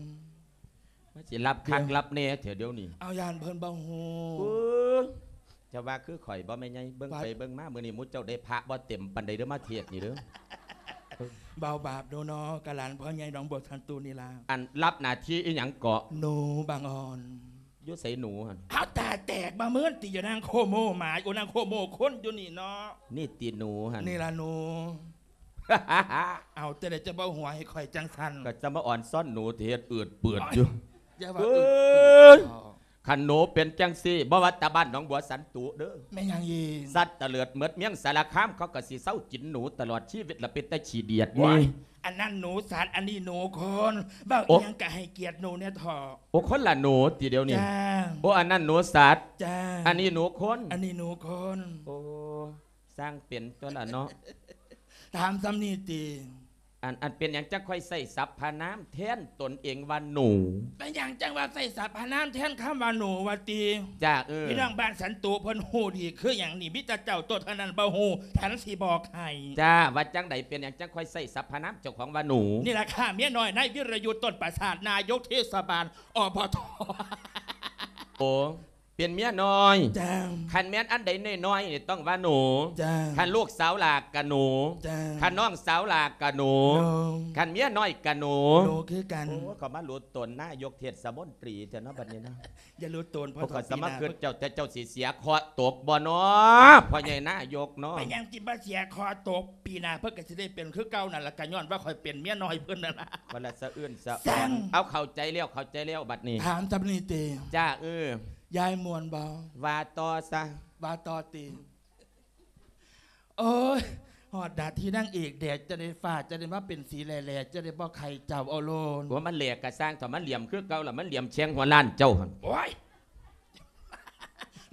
ມາຊິຮັບຄັກ ເອີ ຮັບແນ່ແທ້ດຽວນີ້ ເອົາ ຢ້ານເພິ່ນບໍ່ຮູ້ ເອີ ເຈົ້າວ່າຄືຂ້ອຍບໍ່ແມ່ໃຫຍ່? ເບິ່ງ ວ່າ ໄປເບິ່ງມາ ມື້ນີ້ໝູ່ເຈົ້າໄດ້ພະບໍ່ເຕັມປານໃດເດີ້ ມາເທດນີ້ເດີ້ ເວົ້າບາບໂດເນາະ ກະຫຼານພໍ່ໃຫຍ່ໜອງບົວສັນຕູນີ້ລະ ອັນ ຮັບໜ້າທີ່ອີ່ຫຍັງເກາະ? ໜູບາງອ່ອນ ຢູ່ໃສໜູຫັ້ນ? ເອົາ ຕາແຕກມາເມີນຕິ ຢູ່ນາງໂຄໂມໝາ ໂອ ນາງໂຄໂມຄົນຢູ່ນີ້ເນາະ ນີ້ຕິໜູຫັ້ນ? ນີ້ລະໜູ ເອົາ ຈັ່ງໃດຈະເວົ້າຫົວໃຫ້ຂ້ອຍຈັ່ງຊັ້ນ? ກໍຈະມາອ່ອນຊ້ອນໜູ ຊິເຮັດອືດປືດຢູ່ ໂອ້ຍ ຢ່າວ່າອືດ ເອີຍ ປືດ ຄັນໜູເປັນຈັ່ງຊີ້ ບໍ່ວ່າແຕ່ບ້ານໜອງບົວສັນຕູເດີ້ ແມ່ນຫຍັງອີກ? ສັດຕະເຫຼີດໝົດເມືອງສາລະຄາມ ເຂົາກໍຊິເຊົາກິນໜູຕະຫຼອດຊີວິດລະ ເປັນຕາຂີ້ດຽດ ໂອ້ຍ ນີ້ ອັນນັ້ນໜູສັດ ອັນນີ້ໜູຄົນ ເວົ້າ ໂອ້ ອີ່ຫຍັງກໍໃຫ້ກຽດໜູແດ່ເຖາະ ໂອ້ ຄົນລະໜູຕິດຽວນີ້ ຈ້າ ໂອ້ ອັນນັ້ນໜູສັດ ຈ້າ ອັນນີ້ໜູຄົນ ອັນນີ້ໜູຄົນ ໂອ້ ຊ່າງເປັນຕົວລະເນາະ ຖາມສ່ຳນີ້ຕິ ອັນ ອັນເປັນຫຍັງຈັ່ງຄ່ອຍໃຊ້ສັບພະນາມແທນຕົນເອງວ່າໜູ? ເປັນຫຍັງຈັ່ງວ່າໃຊ້ສັບພະນາມແທນຄຳວ່າໜູວ່າຕິ? ຈ້າ ເອີ ພີ່ນ້ອງບ້ານສັນຕູເພິ່ນຮູ້ດີຄືຫຍັງນີ້? ມີແຕ່ເຈົ້າໂຕເທົ່ານັ້ນບໍ່ຮູ້ ທັນຊິບອກໃຫ້ ຈ້າ ວ່າຈັ່ງໃດ? ເປັນຫຍັງຈັ່ງຄ່ອຍໃຊ້ສັບພະນາມເຈົ້າຂອງວ່າໜູ? ນີ້ລະຄ່າເມຍນ້ອຍນາຍວິລະຍຸດ ຕົ້ນປາສາດ ນາຍົກເທດສະບານ ອບຕ ໂອ້ ເປັນເມຍນ້ອຍ ຈ້າ ຄັນແມ່ນອັນໃດນ້ອຍໆນີ້ຕ້ອງວ່າໜູ ຈ້າ ຄັນລູກສາວຫຼ້າກະໜູ ຈ້າ ຄັນນ້ອງສາວຫຼ້າກະໜູ ໜູ ຄັນເມຍນ້ອຍກະໜູ ໜູຄືກັນ ໂອ້ ເຂົາມາຫຼຸດຕົນນາຍົກເທດສະມົນຕີແທ້ເນາະ ບັດນີ້ເນາະ ຢ່າຫຼຸດຕົນ ເພາະ ໂອ້ ຂ້ອຍສະມາຄຶດເຈົ້າ ແຕ່ເຈົ້າຊິເສຍເຄາະຕົກບໍ່ເນາະ ພໍ່ໃຫຍ່ນາຍົກເນາະ ເປັນຫຍັງຈິບໍ່ເສຍເຄາະຕົກ? ປີໜ້າເພິ່ນກໍຊິໄດ້ເປັນຄືເກົ່ານັ້ນລະ ກໍຍ້ອນວ່າຂ້ອຍເປັນເມຍນ້ອຍເພິ່ນນັ້ນລະ ບໍ່ລະສະອື່ນສະອອນ ເອົາ ເຂົ້າໃຈແລ້ວ ເຂົ້າໃຈແລ້ວ ບັດນີ້ ຖາມສ່ຳນີ້ຕິ ຈ້າ ເອີ ຍາຍມ່ວນບໍ່? ວ່າຕໍ່ຊະ ວ່າຕໍ່ຕິ ໂອ້ຍ ຮອດໜ້າທີ່ນາງເອກແດ່ ຈະໄດ້ຟ້າ ຈະໄດ້ມາເປັນສີແຫຼ້ໆ ຈະໄດ້ບໍ່ໄຂ້ເຈົ້າເອົາໂລດ ໂອ້ ມັນແຫຼ້ກະຊ່າງເຖາະ ມັນຫຼຽມຄືເກົ່າລະ ມັນຫຼຽມແຊງຫົວລ້ານເຈົ້າຫັ້ນ ໂອ້ຍ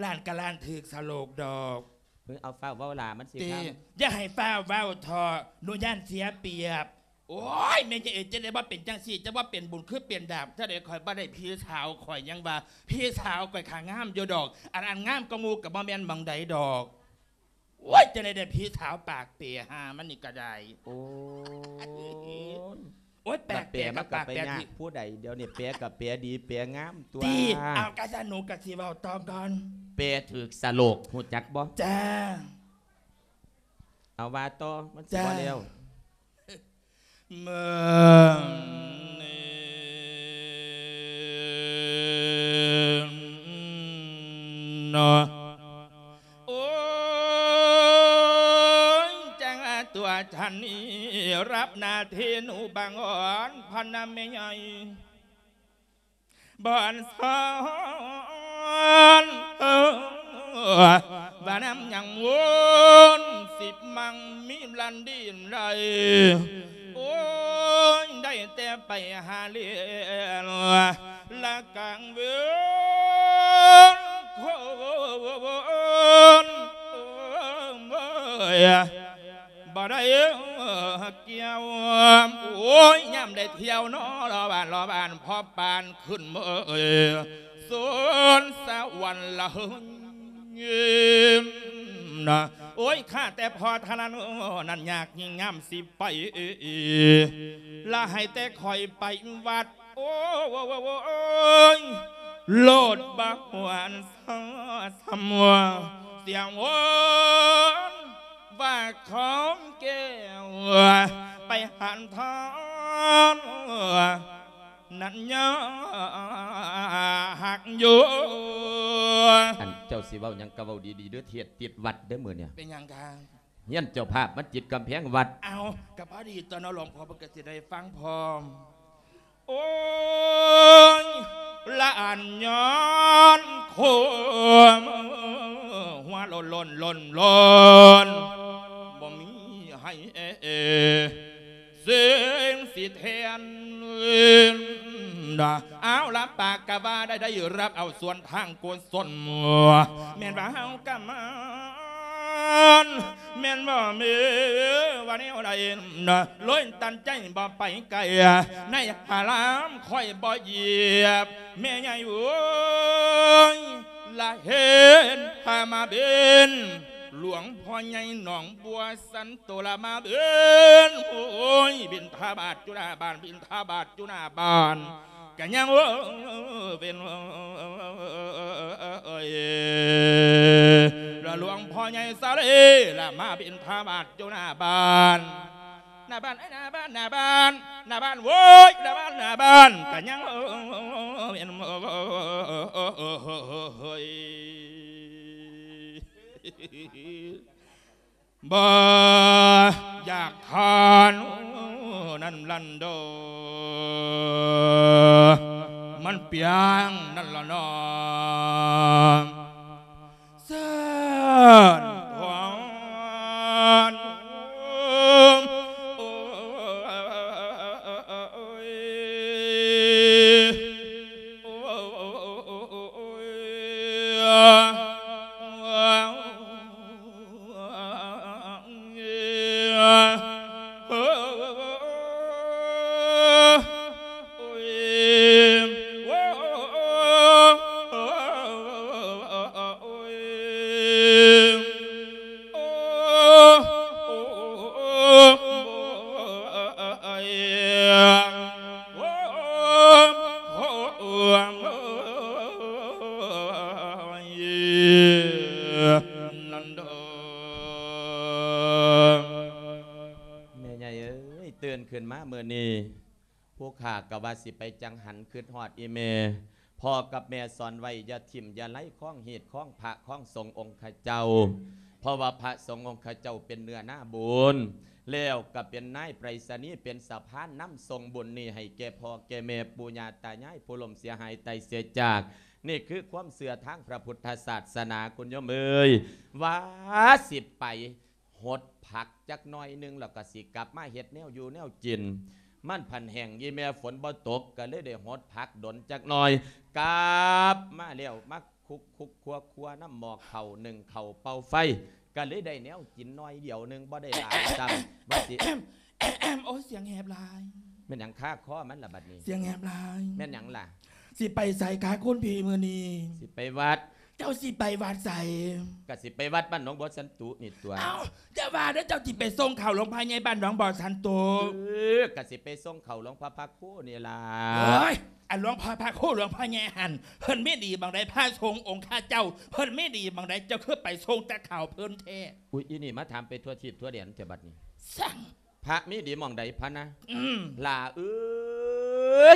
ລ້ານກະລ້ານຖືກສະໂລກດອກ ເອີ ເອົາ ຟ້າວເວົ້າຫຼ້າ ມັນຊິ ຕິ ຄ່ຳ ຢ່າໃຫ້ຟ້າວເວົ້າເຖາະ ໜູຢ້ານເສຍປຽບ ໂອ້ຍ ແມ່ໃຫຍ່ເອີຍ ຈັ່ງໃດບໍ່ເປັນຈັ່ງຊີ້ ຈະວ່າເປັນບຸນຄືເປັນບາບ ຈັ່ງໃດຂ້ອຍບໍ່ໄດ້ພີ່ສາວ ຂ້ອຍຍັງວ່າພີ່ສາວຂ້ອຍຂ້າງາມຢູ່ດອກ ອັນ ອັນງາມກວ່າໝູ່ກໍບໍ່ແມ່ນໝ່ອງໃດດອກ ໂອ້ຍ ຈັ່ງໃດໄດ້ພີ່ສາວປາກເປ ຫາມັນນີ້ກໍໄດ້ ໂອ້ຍ ໂອ້ຍ ປາກເປ ລະແປມັນກໍໄປຍາກຜູ້ໃດ ດຽວນີ້ແປກໍແປດີແປງາມຕົວະ ຕິ ເອົາ ກະຊັ້ນໜູກໍຊິເວົ້າຕໍ່ກ່ອນ ແປຖືກສະໂລກ ຮູ້ຈັກບໍ່? ຈ້າ ເອົາ ວ່າຕໍ່ ມັນຊິ ຈ້າ ບໍ່ແລ້ວ ເມືອງນີ້ເນາະ ໂອ້ຍ ຈັ່ງວ່າຕົວສັນນີ້ ຮັບໜ້າທີ່ໜູບາງອ່ອນ ພັນນະແມ່ໃຫຍ່ ບ່ອນສອນ ເອີ ວ່ານຳຍັງວົນ ສິບມັງມີລັນດີນໄດ້ ໂອ້ຍ ໄດ້ແຕ່ໄປຫາລ້ຽງ ລະກາງເວນ ໂຄນ ໂອ້ຍ ບໍ່ໄດ້ ກ່ຽວ ໂອ້ຍ ຍາມໄດ້ທ່ຽວນໍ ລອບບ້ານ ລອບບ້ານ ພໍປານຂຶ້ນເມີຍ ສວນສະຫວັນລະເຮີຍນະ ໂອ້ຍ ຂ້າແຕ່ພໍເທົ່ານັ້ນ ນັ້ນຍາກຍິ່ງຍາມຊິໄປ ລະໃຫ້ແຕ່ຂ້ອຍໄປວັດ ໂອ້ຍ ໂລດບໍ່ຫວນ ສຳ ສຳ ສຽງໂຫນວ່າຂອງແກ້ວ ໄປຫັນທອນ ນັ້ນຍາກຢູ່. ອັນເຈົ້າຊິເວົ້າຫຍັງກໍເວົ້າດີໆເດີ້ ເທດຕິດວັດເດີ້ມື້ນີ້. ເປັນຫຍັງຄະ? ເຮືອນເຈົ້າພາບມັນຕິດກຳແພງວັດ. ເອົ້າ ກໍພໍດີຕົວເນາະ ຫຼວງພໍ່ເພິ່ນກໍຊິໄດ້ຟັງພ້ອມ. ໂອ້ຍ ລະອັນຍ້ອນຄວາມຫົວໂລ້ນໆໆໆ ບໍ່ມີໃຫ້ເສງຊິແທນນະ. ເອົາລະ ປາກກະວ່າໄດ້ ໄດ້ຮັບເອົາສ່ວນທາງກຸສົນ ແມ່ນວ່າເຮົາກະມາ ແມ່ນບໍ່ແມ່ນວ່າແນວໃດ ເລີຍຕັດໃຈບໍ່ໄປໄກ ໃນອາລາມຂ້ອຍບໍ່ຢຽບ ແມ່ໃຫຍ່ເອີຍ ລະເຫັນພະມາເບັນ ຫຼວງພໍ່ໃຫຍ່ໜອງບົວສັນໂຕລະມາເບັນ ໂອ້ຍ ບິນທະບາດຢູ່ໜ້າບ້ານ ບິນທະບາດຢູ່ໜ້າບ້ານ ກະຍັງເວົ້າເປັນ ເອີຍ ລະຫຼວງພໍ່ໃຫຍ່ສາລີລະມາບິນທະບາດຢູ່ໜ້າບ້ານ ໜ້າບ້ານ ເອີຍ ໜ້າບ້ານ ໜ້າບ້ານ ໜ້າບ້ານ ໂວ້ຍ ໜ້າບ້ານ ໜ້າບ້ານ ກະຍັງເປັນ ເອີຍ ບໍ່ຢາກທານນັ້ນລັນໂດ ມັນປຽງນັ້ນລະເນາະ ເຊີນພອນ ໂອ້ຍ ໂອ້ຍ ແມ່ໃຫຍ່ເອີຍ ຕື່ນຂຶ້ນມາມື້ນີ້ ຜູ້ຂ້າກໍວ່າຊິໄປຈັງຫັນ ຄິດຮອດອີ່ແມ່ ພໍ່ກັບແມ່ສອນໄວ້ ຢ່າຖິ້ມຢ່າໄລຄອງຮີດຄອງພະຄອງສົງອົງຄະເຈົ້າ ເພາະວ່າພະສົງອົງຄະເຈົ້າເປັນເນື້ອນາບຸນ ແລ້ວກໍເປັນນາຍໄປສະນີ ເປັນສະພານນຳສົ່ງບຸນນີ້ໃຫ້ແກ່ພໍ່ແກ່ແມ່ ປູ່ຍ່າຕາຍາຍ ຜູ້ລົ້ມເສຍຫາຍຕາຍເສຍຈາກ. ນີ້ຄືຄວາມເຊື່ອທາງພະພຸດທະສາສະໜາ ຄຸນໂຍມເອີຍ ວ່າຊິໄປ ຫົດຜັກຈັກໜ້ອຍໜຶ່ງ ແລ້ວກໍຊິກັບມາເຮັດແນວຢູ່ແນວກິນ ມັນພັນແຫ້ງ ອີ່ແມ່ຝົນບໍ່ຕົກ ກໍເລີຍໄດ້ຫົດຜັກດົນຈັກໜ້ອຍ ກັບມາແລ້ວ ມາຄຸກໆຄົວໆນຳໝໍ້ເຂົ້າ ໜຶ້ງເຂົ້າເປົ່າໄຟ ກໍເລີຍໄດ້ແນວກິນໜ້ອຍດຽວໜຶ່ງ ບໍ່ໄດ້ຫຼາຍຊ້ຳ ວ່າຊິ ໂອ້ຍ ສຽງແຫບຫຼາຍ ແມ່ນຫຍັງຄາຄໍມັນລະບັດນີ້? ສຽງແຫບຫຼາຍ ແມ່ນຫຍັງລະ? ຊິໄປໃສຄະຄຸນພີ່ມື້ນີ້? ຊິໄປວັດ. ເຈົ້າຊິໄປວັດໃສ? ກະຊິໄປວັດບ້ານໜອງບົວສັນຕຸນີ້ຕົວະ. ເອົ້າ ຢ່າວ່າເດີ້ ເຈົ້າຊິໄປສົ່ງເຂົ້າຫຼວງພໍ່ໃຫຍ່ບ້ານໜອງບົວສັນຕຸ. ເອີ ກະຊິໄປສົ່ງເຂົ້າຫຼວງພໍ່ພະຄູນີ້ລະ. ໂອ້ຍ ອັນຫຼວງພໍ່ພະຄູ ຫຼວງພໍ່ໃຫຍ່ຫັ້ນ ເພິ່ນມີດີໝ່ອງໃດ? ພະສົງອົງຄະເຈົ້າ ເພິ່ນມີດີໝ່ອງໃດ? ເຈົ້າຄືໄປສົ່ງແຕ່ເຂົ້າເພິ່ນແທ້? ອຸ້ຍ ອີ່ນີ້ມາຖາມໄປທົ່ວທີບທົ່ວແດນແທ້ບັດນີ້. ສັງ ພະມີດີໝ່ອງໃດພະນະ? ອືມ ຫຼ້າເອີ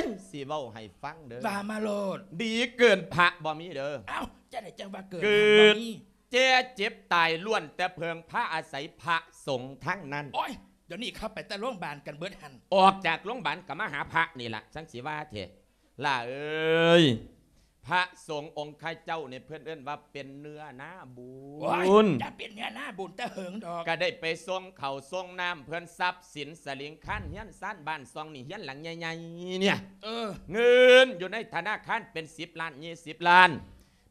ຍ ຊິເວົ້າໃຫ້ຟັງເດີ້ ວ່າມາໂລດ. ດີເກີນພະບໍ່ມີເດີ້. ເອົ້າ ຈັ່ງໃດຈັ່ງວ່າເກີນ ເກີດ ພະບໍ່ມີ ແກ່ເຈັບຕາຍ ລ້ວນແຕ່ເພິ່ງພາອາໄສພະສົງທັງນັ້ນ. ໂອ້ຍ ດຽວນີ້ເຂົາໄປແຕ່ໂລງບານກັນເບິດຫັ້ນ. ອອກຈາກໂລງບານກໍມາຫາພະນີ້ລະ ຈັ່ງຊິວ່າແທ້. ຫຼ້າເອີຍ ພະສົງອົງຄະເຈົ້ານີ້ ເພິ່ນເອີ້ນວ່າເປັນເນື້ອນາບຸນ. ໂອ້ຍ ຢ່າເປັນເນື້ອນາບຸນແຕ່ເຫິງດອກ. ກະໄດ້ໄປສົ່ງເຂົ້າສົ່ງນ້ຳເພິ່ນ ຊັບສິນສະລິງຄານເຮືອນຊານບ້ານຊ່ອງນີ້ ເຮືອນຫຼັງໃຫຍ່ໆນີ້ ເອີ ເງິນຢູ່ໃນທະນາຄານເປັນສິບລ້ານ ຊາວລ້ານ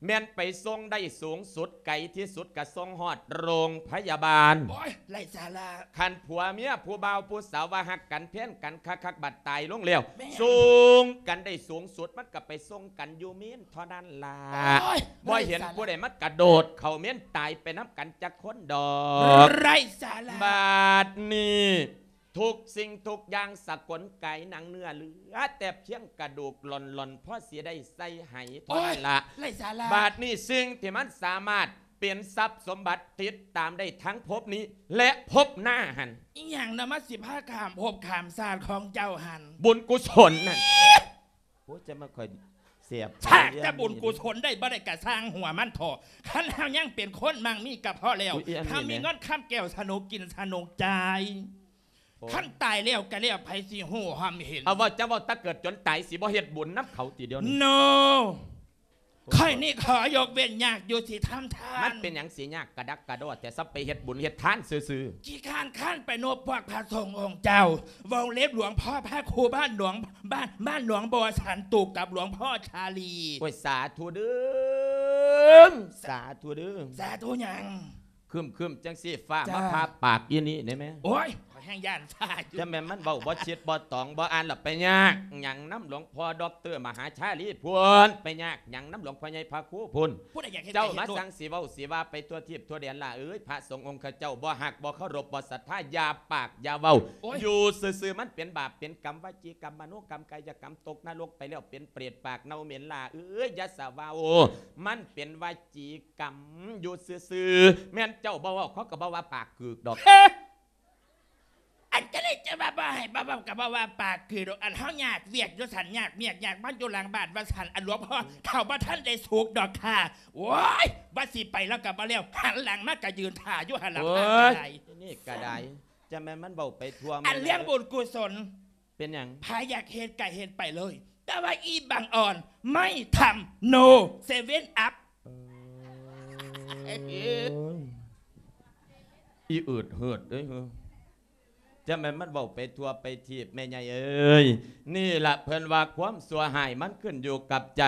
ແມ່ນໄປສົ່ງໄດ້ສູງສຸດ ໄກທີ່ສຸດກະສົ່ງຮອດໂຮງພະຍາບານ. ໂອ້ຍ ໄຮ້ສາລະ. ຄັນຜົວເມຍຜູ້ບ່າວຜູ້ສາວວ່າຮັກກັນແພງກັນຄັກໆ ບັດຕາຍລົງແລ້ວ ແມ່ນ ສົ່ງກັນໄດ້ສູງສຸດ ມັນກະໄປສົ່ງກັນຢູ່ເມນເທົ່ານັ້ນລະ. ໂອ້ຍ ບໍ່ເຫັນຜູ້ໃດມາກະໂດດເຂົ້າເມນຕາຍໄປນຳກັນຈັກຄົນດອກ. ໄຮ້ສາລະ. ບາດນີ້ ທຸກສິ່ງທຸກຢ່າງສະກົນກາຍໜັງເນື້ອ ເຫຼືອແຕ່ພຽງກະດູກລ່ອນໆ ພໍຊິໄດ້ໃສ່ໄຫເທົ່ານັ້ນລະ. ໂອ້ຍ ໄຮ້ສາລະ. ບາດນີ້ສິ່ງທີ່ມັນສາມາດເປັນຊັບສົມບັດຕິດຕາມໄດ້ທັງພົບນີ້ ແລະ ພົບໜ້າຫັ້ນ ອີຫຍັງນະ ມັນຊິພາຂ້າມພົບຂ້າມຊາດຂອງເຈົ້າຫັ້ນ? ບຸນກຸສົນນັ້ນ. ໂອ້ຍ ຈະມາຂ້ອຍແສບ ຖ້າແຕ່ບຸນກຸສົນໄດ້ບໍ່ໄດ້ກະຊ່າງຫົວມັນເຖາະ ຄັນເຮົາຍັງເປັນຄົນມັ່ງມີກະພໍແລ້ວ. ເຮົາມີເງິນຄຳແກ້ວສະໜຸກກິນສະໜຸກຈ່າຍ. ໂອ້ຍ ຄັນຕາຍແລ້ວກະແລ້ວ ໃຜຊິຮູ້ຮ່ອມເຫັນ? ເອົາ ເວົ້າ ເຈົ້າເວົ້າແຕ່ເກີດຈົນຕາຍ ຊິບໍ່ເຮັດບຸນນຳເຂົາຕິດຽວນີ້? ໂນ ໂອ້ຍ ຂ້ອຍນີ້ຂໍຍົກເວັ້ນຍາກຢູ່ ຊິທຳທານ. ມັນເປັນຫຍັງຊິຍາກກະດັກກະດໍແທ້ ຊະໄປເຮັດບຸນເຮັດທານຊື່ໆ? ຂີ້ຄ້ານຄ້ານໄປນົບພວກພະສົງອົງເຈົ້າ ວົງເລັບຫຼວງພໍ່ພະຄູ ບ້ານຫຼວງ ບ້ານ ບ້ານຫຼວງບໍ່ສັນຕູບກັບຫຼວງພໍ່ຊາລີ. ໂອ້ຍ ສາທຸເດີ້ ສາທຸເດີ້. ສາທຸຫຍັງ? ຄຶມໆ ຈັ່ງຊີ້ ຟ້າ ຈ້າ ມາຜ່າປາກອີ່ນີ້ໄດ້ແມ? ໂອ້ຍ ຂ້ອຍແຮ່ງຢ້ານຟ້າຢູ່. ຈະແມ່ນມັນເວົ້າບໍ່ຊິດບໍ່ຕອງ ບໍ່ອ່ານລະໄປຍາກຫຍັງນຳຫຼວງພໍ່ດັອກເຕີມະຫາຊາລີພຸ້ນ ໄປຍາກຫຍັງນຳຫຼວງພໍ່ໃຫຍ່ພະຄູພຸ້ນ. ຜູ້ໃດຢາກເຮັດ ເຈົ້າມາ ກະເຮັດໂລດ ສັ່ງຊິເວົ້າຊິວ່າໄປທົ່ວທີບທົ່ວແດນລະເອີຍ. ພະສົງອົງເຂົາເຈົ້າບໍ່ຮັກບໍ່ເຄົາລົບບໍ່ສັດທາ ຢ່າປາກຢ່າເວົ້າ. ໂອ້ຍ ຢູ່ຊື່ໆ ມັນເປັນບາບເປັນກຳ ວະຈີກຳ ມະໂນກຳ ກາຍະກຳ ຕົກນະລົກໄປແລ້ວເປັນເປດປາກເນົ່າເໝັນລະເອີຍ. ຢ່າສະເວົ້າ ມັນເປັນວະຈີ ກຳຢູ່ຊື່ໆ. ແມ່ນເຈົ້າບໍ່ເວົ້າ ເຂົາກໍບໍ່ວ່າປາກກືກດອກ. ເອີ ອັນຈັ່ງໃດ ຈະວ່າບໍ່ໃຫ້ ບໍ່ເວົ້າກໍບໍ່ວ່າປາກກືກດອກ. ອັນເຮົາຍາກວຽກຢູ່ຊັ້ນ ຍາກວຽກຍາກງານຢູ່ຫຼັງບ້ານວ່າຊັ້ນ. ອັນຫຼວງພໍ່ເຖົ້າບໍ່ທັນໄດ້ສຸກດອກຄ່າ. ໂອ້ຍ ວ່າຊິໄປແລ້ວກໍບໍ່ແລ້ວ ຫັນຫຼັງມາກໍຢືນຖ້າຢູ່ຫັ້ນລະ. ໂອ້ຍ ພະກໍໄດ້ ນີ້ກໍໄດ້ ຈະແມ່ນມັນເວົ້າໄປທົ່ວ. ອັນເລື່ອງບຸນກຸສົນ ເປັນຫຍັງ? ໃຜຢາກເຮັດກະເຮັດໄປເລີຍ ແຕ່ວ່າອີບັງອ່ອນ ໄມ່ທຳ ໂນ ເຊເວັນອັບ. ເອີຍ ອີອືດເຫີດເອີຍ ຈະແມ່ນມັນເວົ້າໄປທົ່ວໄປທີບ ແມ່ໃຫຍ່ເອີຍ. ນີ້ລະເພິ່ນວ່າຄວາມຊົ່ວຮ້າຍມັນຂຶ້ນຢູ່ກັບໃຈ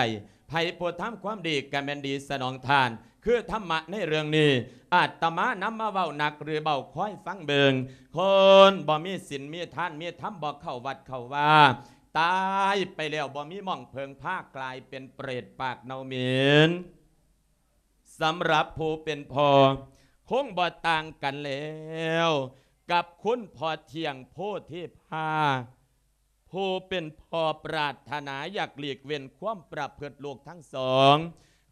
ໃຜຜູ້ທຳຄວາມດີກະແມ່ນດີສະໜອງທານ. ຄືທຳມະໃນເລື່ອງນີ້ ອາດຕະມານຳມາເວົ້າໜັກຫຼືເບົາ ຄອຍຟັງເບິ່ງ. ຄົນບໍ່ມີສິນມີທານມີທຳ ບໍ່ເຂົ້າວັດເຂົ້າວາ ຕາຍໄປແລ້ວບໍ່ມີໝ່ອງເພິ່ງພາ ກາຍເປັນເປດປາກເນົ່າເໝັນ. ສຳລັບຜູ້ເປັນພໍ່ ຄົງບໍ່ຕ່າງກັນແລ້ວກັບຄຸນພໍ່ທ່ຽງໂພທິພາ ຜູ້ເປັນພໍ່ປາດຖະໜາຢາກຫຼີກເວັ້ນຄວາມປະພຶດລູກທັງສອງ.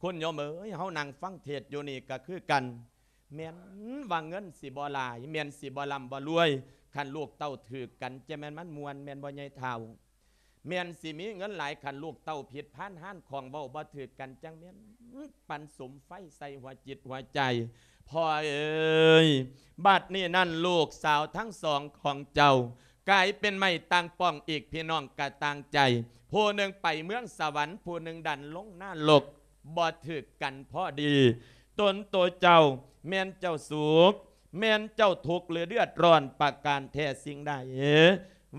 ຄຸນໂຍມເອີຍ ເຮົານັ່ງຟັງເທດຢູ່ນີ້ກໍຄືກັນ ແມ່ນວ່າເງິນຊິບໍ່ຫຼາຍ ແມ່ນຊິບໍ່ລ່ຳບໍ່ລວຍ ຄັນລູກເຕົ້າຖືກກັນ ຈະແມ່ນມັນມ່ວນແມ່ນບໍ່ໃຫຍ່ເຖົ້າ? ແມ່ນຊິມີເງິນຫຼາຍ ຄັນລູກເຕົ້າຜິດພານຮ້ານຂອງເວົ້າບໍ່ຖືກກັນ ຈັ່ງແມ່ນປັນສຸມໄຟໃສ່ຫົວຈິດຫົວໃຈ. ພໍ່ເອີຍ ບັດນີ້ນັ້ນລູກສາວທັງສອງຂອງເຈົ້າ ກາຍເປັນໄມ້ຕ່າງປ່ອງອີກ ພີ່ນ້ອງກະຕ່າງໃຈ ຜູ້ໜຶ່ງໄປເມືອງສະຫວັນ ຜູ້ໜຶ່ງດັນລົງນະລົກ ບໍ່ຖືກກັນພໍດີ. ຕົນໂຕເຈົ້າ ແມ່ນເຈົ້າສຸກ ແມ່ນເຈົ້າທຸກ ຫຼື ເດືອດຮ້ອນປະການແທ້ສິ່ງໃດ?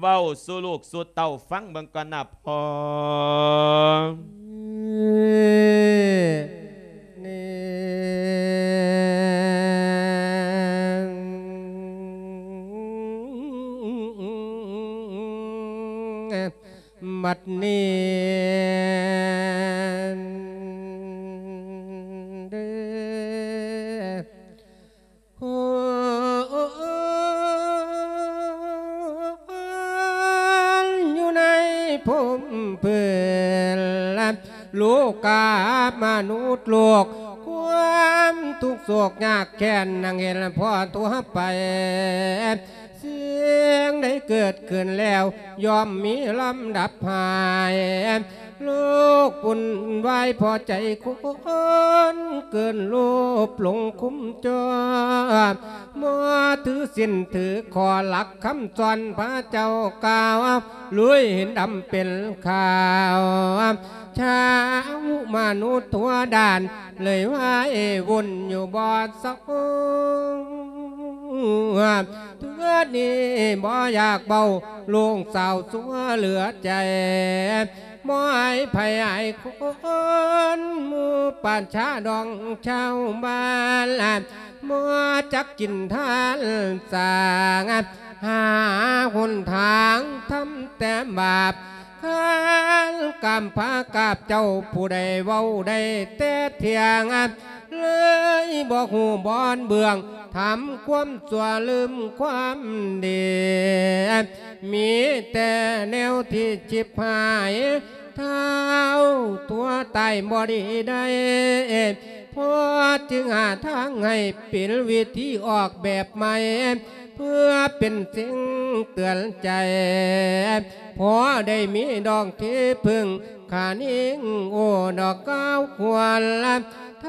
ເວົ້າສູ່ລູກສູ່ເຕົ້າຟັງເບິ່ງກ່ອນນະພໍ່. ບັດນີ້ເດີ ຢູ່ໃນພົມເພິ່ນ ໂລກາມະນຸດໂລກ ຄວາມທຸກໂສກຍາກແຄ້ນ ນັ່ງເຫັນພໍທົ່ວໄປ ສິ່ງໃດເກີດຂຶ້ນແລ້ວ ຍ່ອມມີລຳດັບຫາຍ ໂລກວຸ້ນວາຍພໍໃຈຄົນ ເກີນໂລບຫຼົງຄຸມຈ່ອ ບໍ່ຖືສິນຖືຂໍ້ຫຼັກຄຳສອນພະເຈົ້າກ່າວ ລຸຍເຫັນດຳເປັນຂາວ ຊາວມະນຸດທົ່ວດ້ານ ເລີຍວາຍວຸ້ນຢູ່ບໍ່ເຊົາ ເທື່ອນີ້ບໍ່ຢາກເວົ້າ ໂລງເສົ້າຊົ່ວເຫຼືອໃຈ ບໍ່ອາຍໃຜອາຍຄົນ ໝູ່ປະຊາດອງຊາວບ້ານ ບໍ່ຈັກກິນທານສ້າງ ຫາຫົນທາງທຳແຕ່ບາບ ຄັນກຳພາກາບເຈົ້າ ຜູ້ໃດເວົ້າໄດ້ແຕ່ທ່ຽງ ເລີຍບໍ່ຮູ້ບ່ອນເບື້ອງ ທຳຄວາມຊົ່ວລືມຄວາມດີ ມີແຕ່ແນວທີ່ຈິບຫາຍ ທ້າວຕົວຕາຍບໍ່ດີໄດ້ ພໍ່ຈຶ່ງຫາທາງໃຫ້ເປັນວິທີອອກແບບໃໝ່ ເພື່ອເປັນສິ່ງເຕືອນໃຈ ພໍໄດ້ມີດອກທີ່ເພິ່ງ ຂານິງໂອດອກກ້າວຄວນ ທ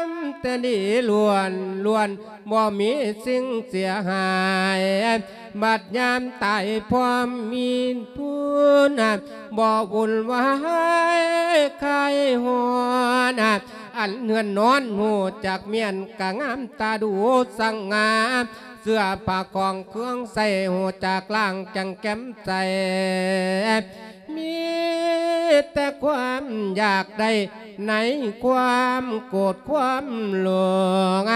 ຳແຕ່ດີລ້ວນໆ ບໍ່ມີສິ່ງເສຍຫາຍ ບັດຍາມຕາຍພ້ອມມີທຶນ ບໍ່ວຸ່ນວາຍຄາຍຮ້ອນ ອັນເຮືອນນອນຮູ້ຈັກມ້ຽນ ກະງາມຕາດູສັງງາມ ເສື້ອຜ້າຂອງເຄື່ອງໃຊ້ ຮູ້ຈັກລ້າງຈັ່ງແຈ່ມໃສ ມີແຕ່ຄວາມຢາກໄດ້ ໃນຄວາມໂກດຄວາມຫຼົງ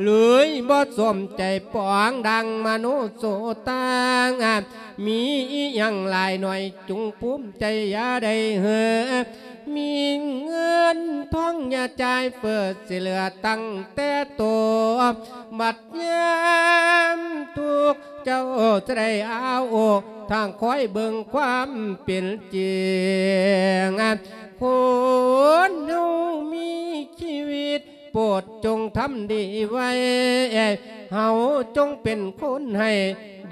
ເລີຍບໍ່ສົມໃຈປອງດັງມະໂນໂສຕັງ ມີອີ່ຫຍັງຫຼາຍໜ້ອຍ ຈົ່ງພູມໃຈຢ່າໄດ້ເຫີ ມີເງິນທອງຢ່າຈ່າຍເຟີ້ ຊິເຫຼືອຕັ້ງແຕ່ໂຕ ບັດຍາມທຸກ ເຈົ້າຈະໄດ້ອາໂອ ທາງຄອຍເບິ່ງຄວາມເປັນຈິງ ຄົນເຮົາມີຊີວິດ ໂປດຈົ່ງທຳດີໄວ້ ເຮົາຈົ່ງເປັນຄົນໃຫ້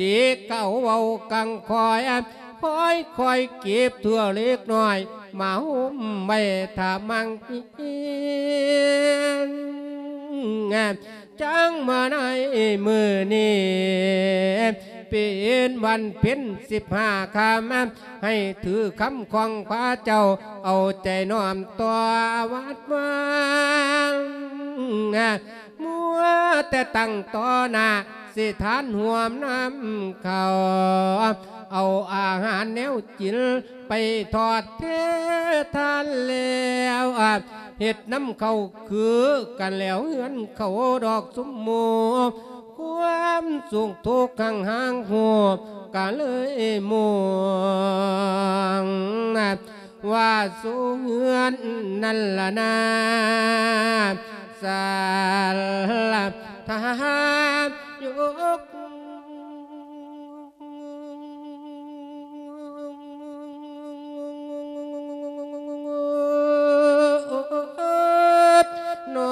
ດີເກົ່າເວົ້າກັງຄອຍ ຄອຍ ຄອຍເກັບເທື່ອເລັກນ້ອຍ ມາໂຮມໄວ້ຖ້າມັງ ຈັ່ງມາໃນມື້ນີ້ ເປັນວັນເພັນສິບຫ້າຄ່ຳ ໃຫ້ຖືຄຳຂອງພະເຈົ້າ ເອົາໃຈນ້ອມຕໍ່ວັດວາ ມົວແຕ່ຕັ້ງຕໍ່ໜ້າ ຊິທານຮ່ວມນຳເຂົ້າ ເອົາອາຫານແນວກິນ ໄປທອດແທນທານແລ້ວ ເຮັດນຳເຂົ້າຄືກັນແລ້ວ ເຮືອນເຂົາດອກຊຸມໝູ່ ຄວາມສຸກທຸກຮັ່ງຫ່າງໂຫບ ກະເລີຍໝູ່ ວ່າສູ່ເຮືອນນັ້ນລະນາ ສາລະທານຍົກນອ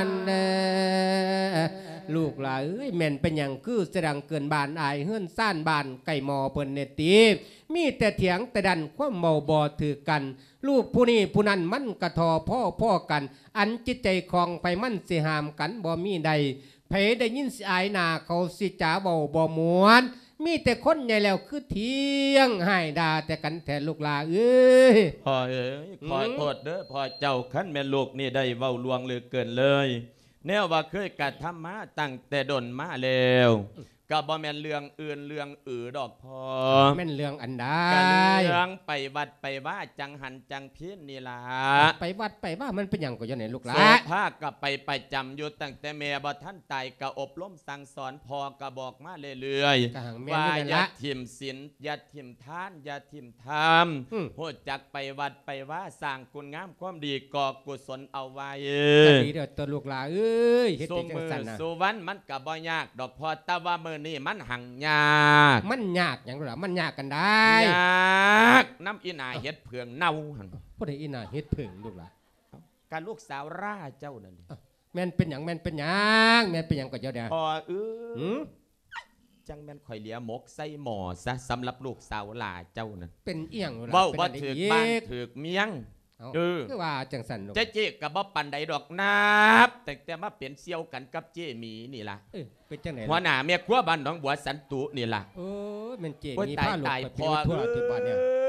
ນເດີ ລູກຫຼາເອີຍ ແມ່ນເປັນຫຍັງຄືສະດັງເກີນບ້ານ ອາຍເຮືອນຊານບ້ານໃກ້ໝໍ້ເພິ່ນແດ່ຕິ? ມີແຕ່ຖຽງແຕ່ດັນ ຄວາມເວົ້າບໍ່ຖືກກັນ ລູກຜູ້ນີ້ຜູ້ນັ້ນມັນກະທໍ່ພໍໆກັນ ອັນຈິດໃຈຂອງໃຜມັນຊິຫ້າມກັນບໍ່ມີໄດ້ ໃຜໄດ້ຍິນຊິອາຍໜ້າເຂົາ ຊິຈາເວົ້າບໍ່ມ່ວນ ມີແຕ່ຄົນໃຫຍ່ແລ້ວຄືຖຽງຮ້າຍດ່າແຕ່ກັນແທ້ລູກຫຼາເອີຍ. ພໍ່ເອີຍ ຂໍໂທດເດີພໍ່ເຈົ້າ ຄັນແມ່ນລູກນີ້ໄດ້ເວົ້າລ່ວງເລີກເກີນເລີຍ ແນວວ່າເຄີຍກະທຳມາຕັ້ງແຕ່ດົນມາແລ້ວ ກະບໍ່ແມ່ນເລື່ອງອື່ນເລື່ອງອື່ນດອກພໍ່ ແມ່ນເລື່ອງອັນໃດ? ກະເລື່ອງໄປວັດໄປວາ ຈັງຫັນຈັງພີນນີ້ລະ. ໄປວັດໄປວາມັນເປັນຫຍັງກໍຢ່າແນ່ລູກຫຼາ ໂສພາກະໄປປະຈຳຢູ່ ຕັ້ງແຕ່ແມ່ບໍ່ທັນຕາຍ ກະອົບຮົມສັ່ງສອນ ພໍ່ກະບອກມາເລື້ອຍໆ ກະຫັ່ງແມ່ນ ວ່າຢ່າຖິ້ມສິນ ຢ່າຖິ້ມທານ ຢ່າຖິ້ມທຳ ອືມ ຮູ້ຈັກໄປວັດໄປວາ ສ້າງຄຸນງາມຄວາມດີ ກໍ່ກຸສົນເອົາໄວ້ ກະດີແລ້ວຕົວະລູກຫຼາເອີຍ ເຮັດໄປຈັ່ງຊັ້ນນະ ຊຸມື້ຊຸວັນມັນກະບໍ່ຍາກດອກພໍ່ ແຕ່ວ່າມື້ນີ້ມັນຮັ່ງຍາກ. ມັນຍາກຫຍັງລະ ມັນຍາກອັນໃດ? ຍາກນຳອີ່ໜ້າເຫັດເຜິ້ງເນົ່າຫັ້ນ. ຜູ້ໃດອີ່ໜ້າເຫັດເຜິ້ງລູກຫຼາ? ກະລູກສາວຫຼ້າເຈົ້ານັ້ນ. ອ້າວ ແມ່ນເປັນຫຍັງ ແມ່ນເປັນຫຍັງ ແມ່ນເປັນຫຍັງກໍເຈົ້າເດ? ພໍ່ເອີຍ ຫື? ຈັ່ງແມ່ນຂ້ອຍເຫຼືອໝົກໃສ່ໝໍ້ຊະ ສຳລັບລູກສາວຫຼ້າເຈົ້ານັ້ນ. ເປັນອີ່ຫຍັງລະ ເວົ້າບໍ່ຖືກບ້ານຖືກເມືອງ. ເອົ້າ ເອີ ຄືວ່າຈັ່ງຊັ້ນລູກ ເຈ້ເຈ້ກະບໍ່ປານໃດດອກ ນັບຕັ້ງແຕ່ມາເປັນສ່ຽວກັນກັບເຈ້ໝີນີ້ລະ. ເອີ ເປັນຈັ່ງໃດລະ? ຫົວໜ້າແມ່ຄົວບ້ານໜອງບົວສັນຕຸນີ້ລະ. ໂອ້ຍ ແມ່ນເຈ້ໝີພາລູກໄປເປັນທົ່ວຕິບາດນີ້.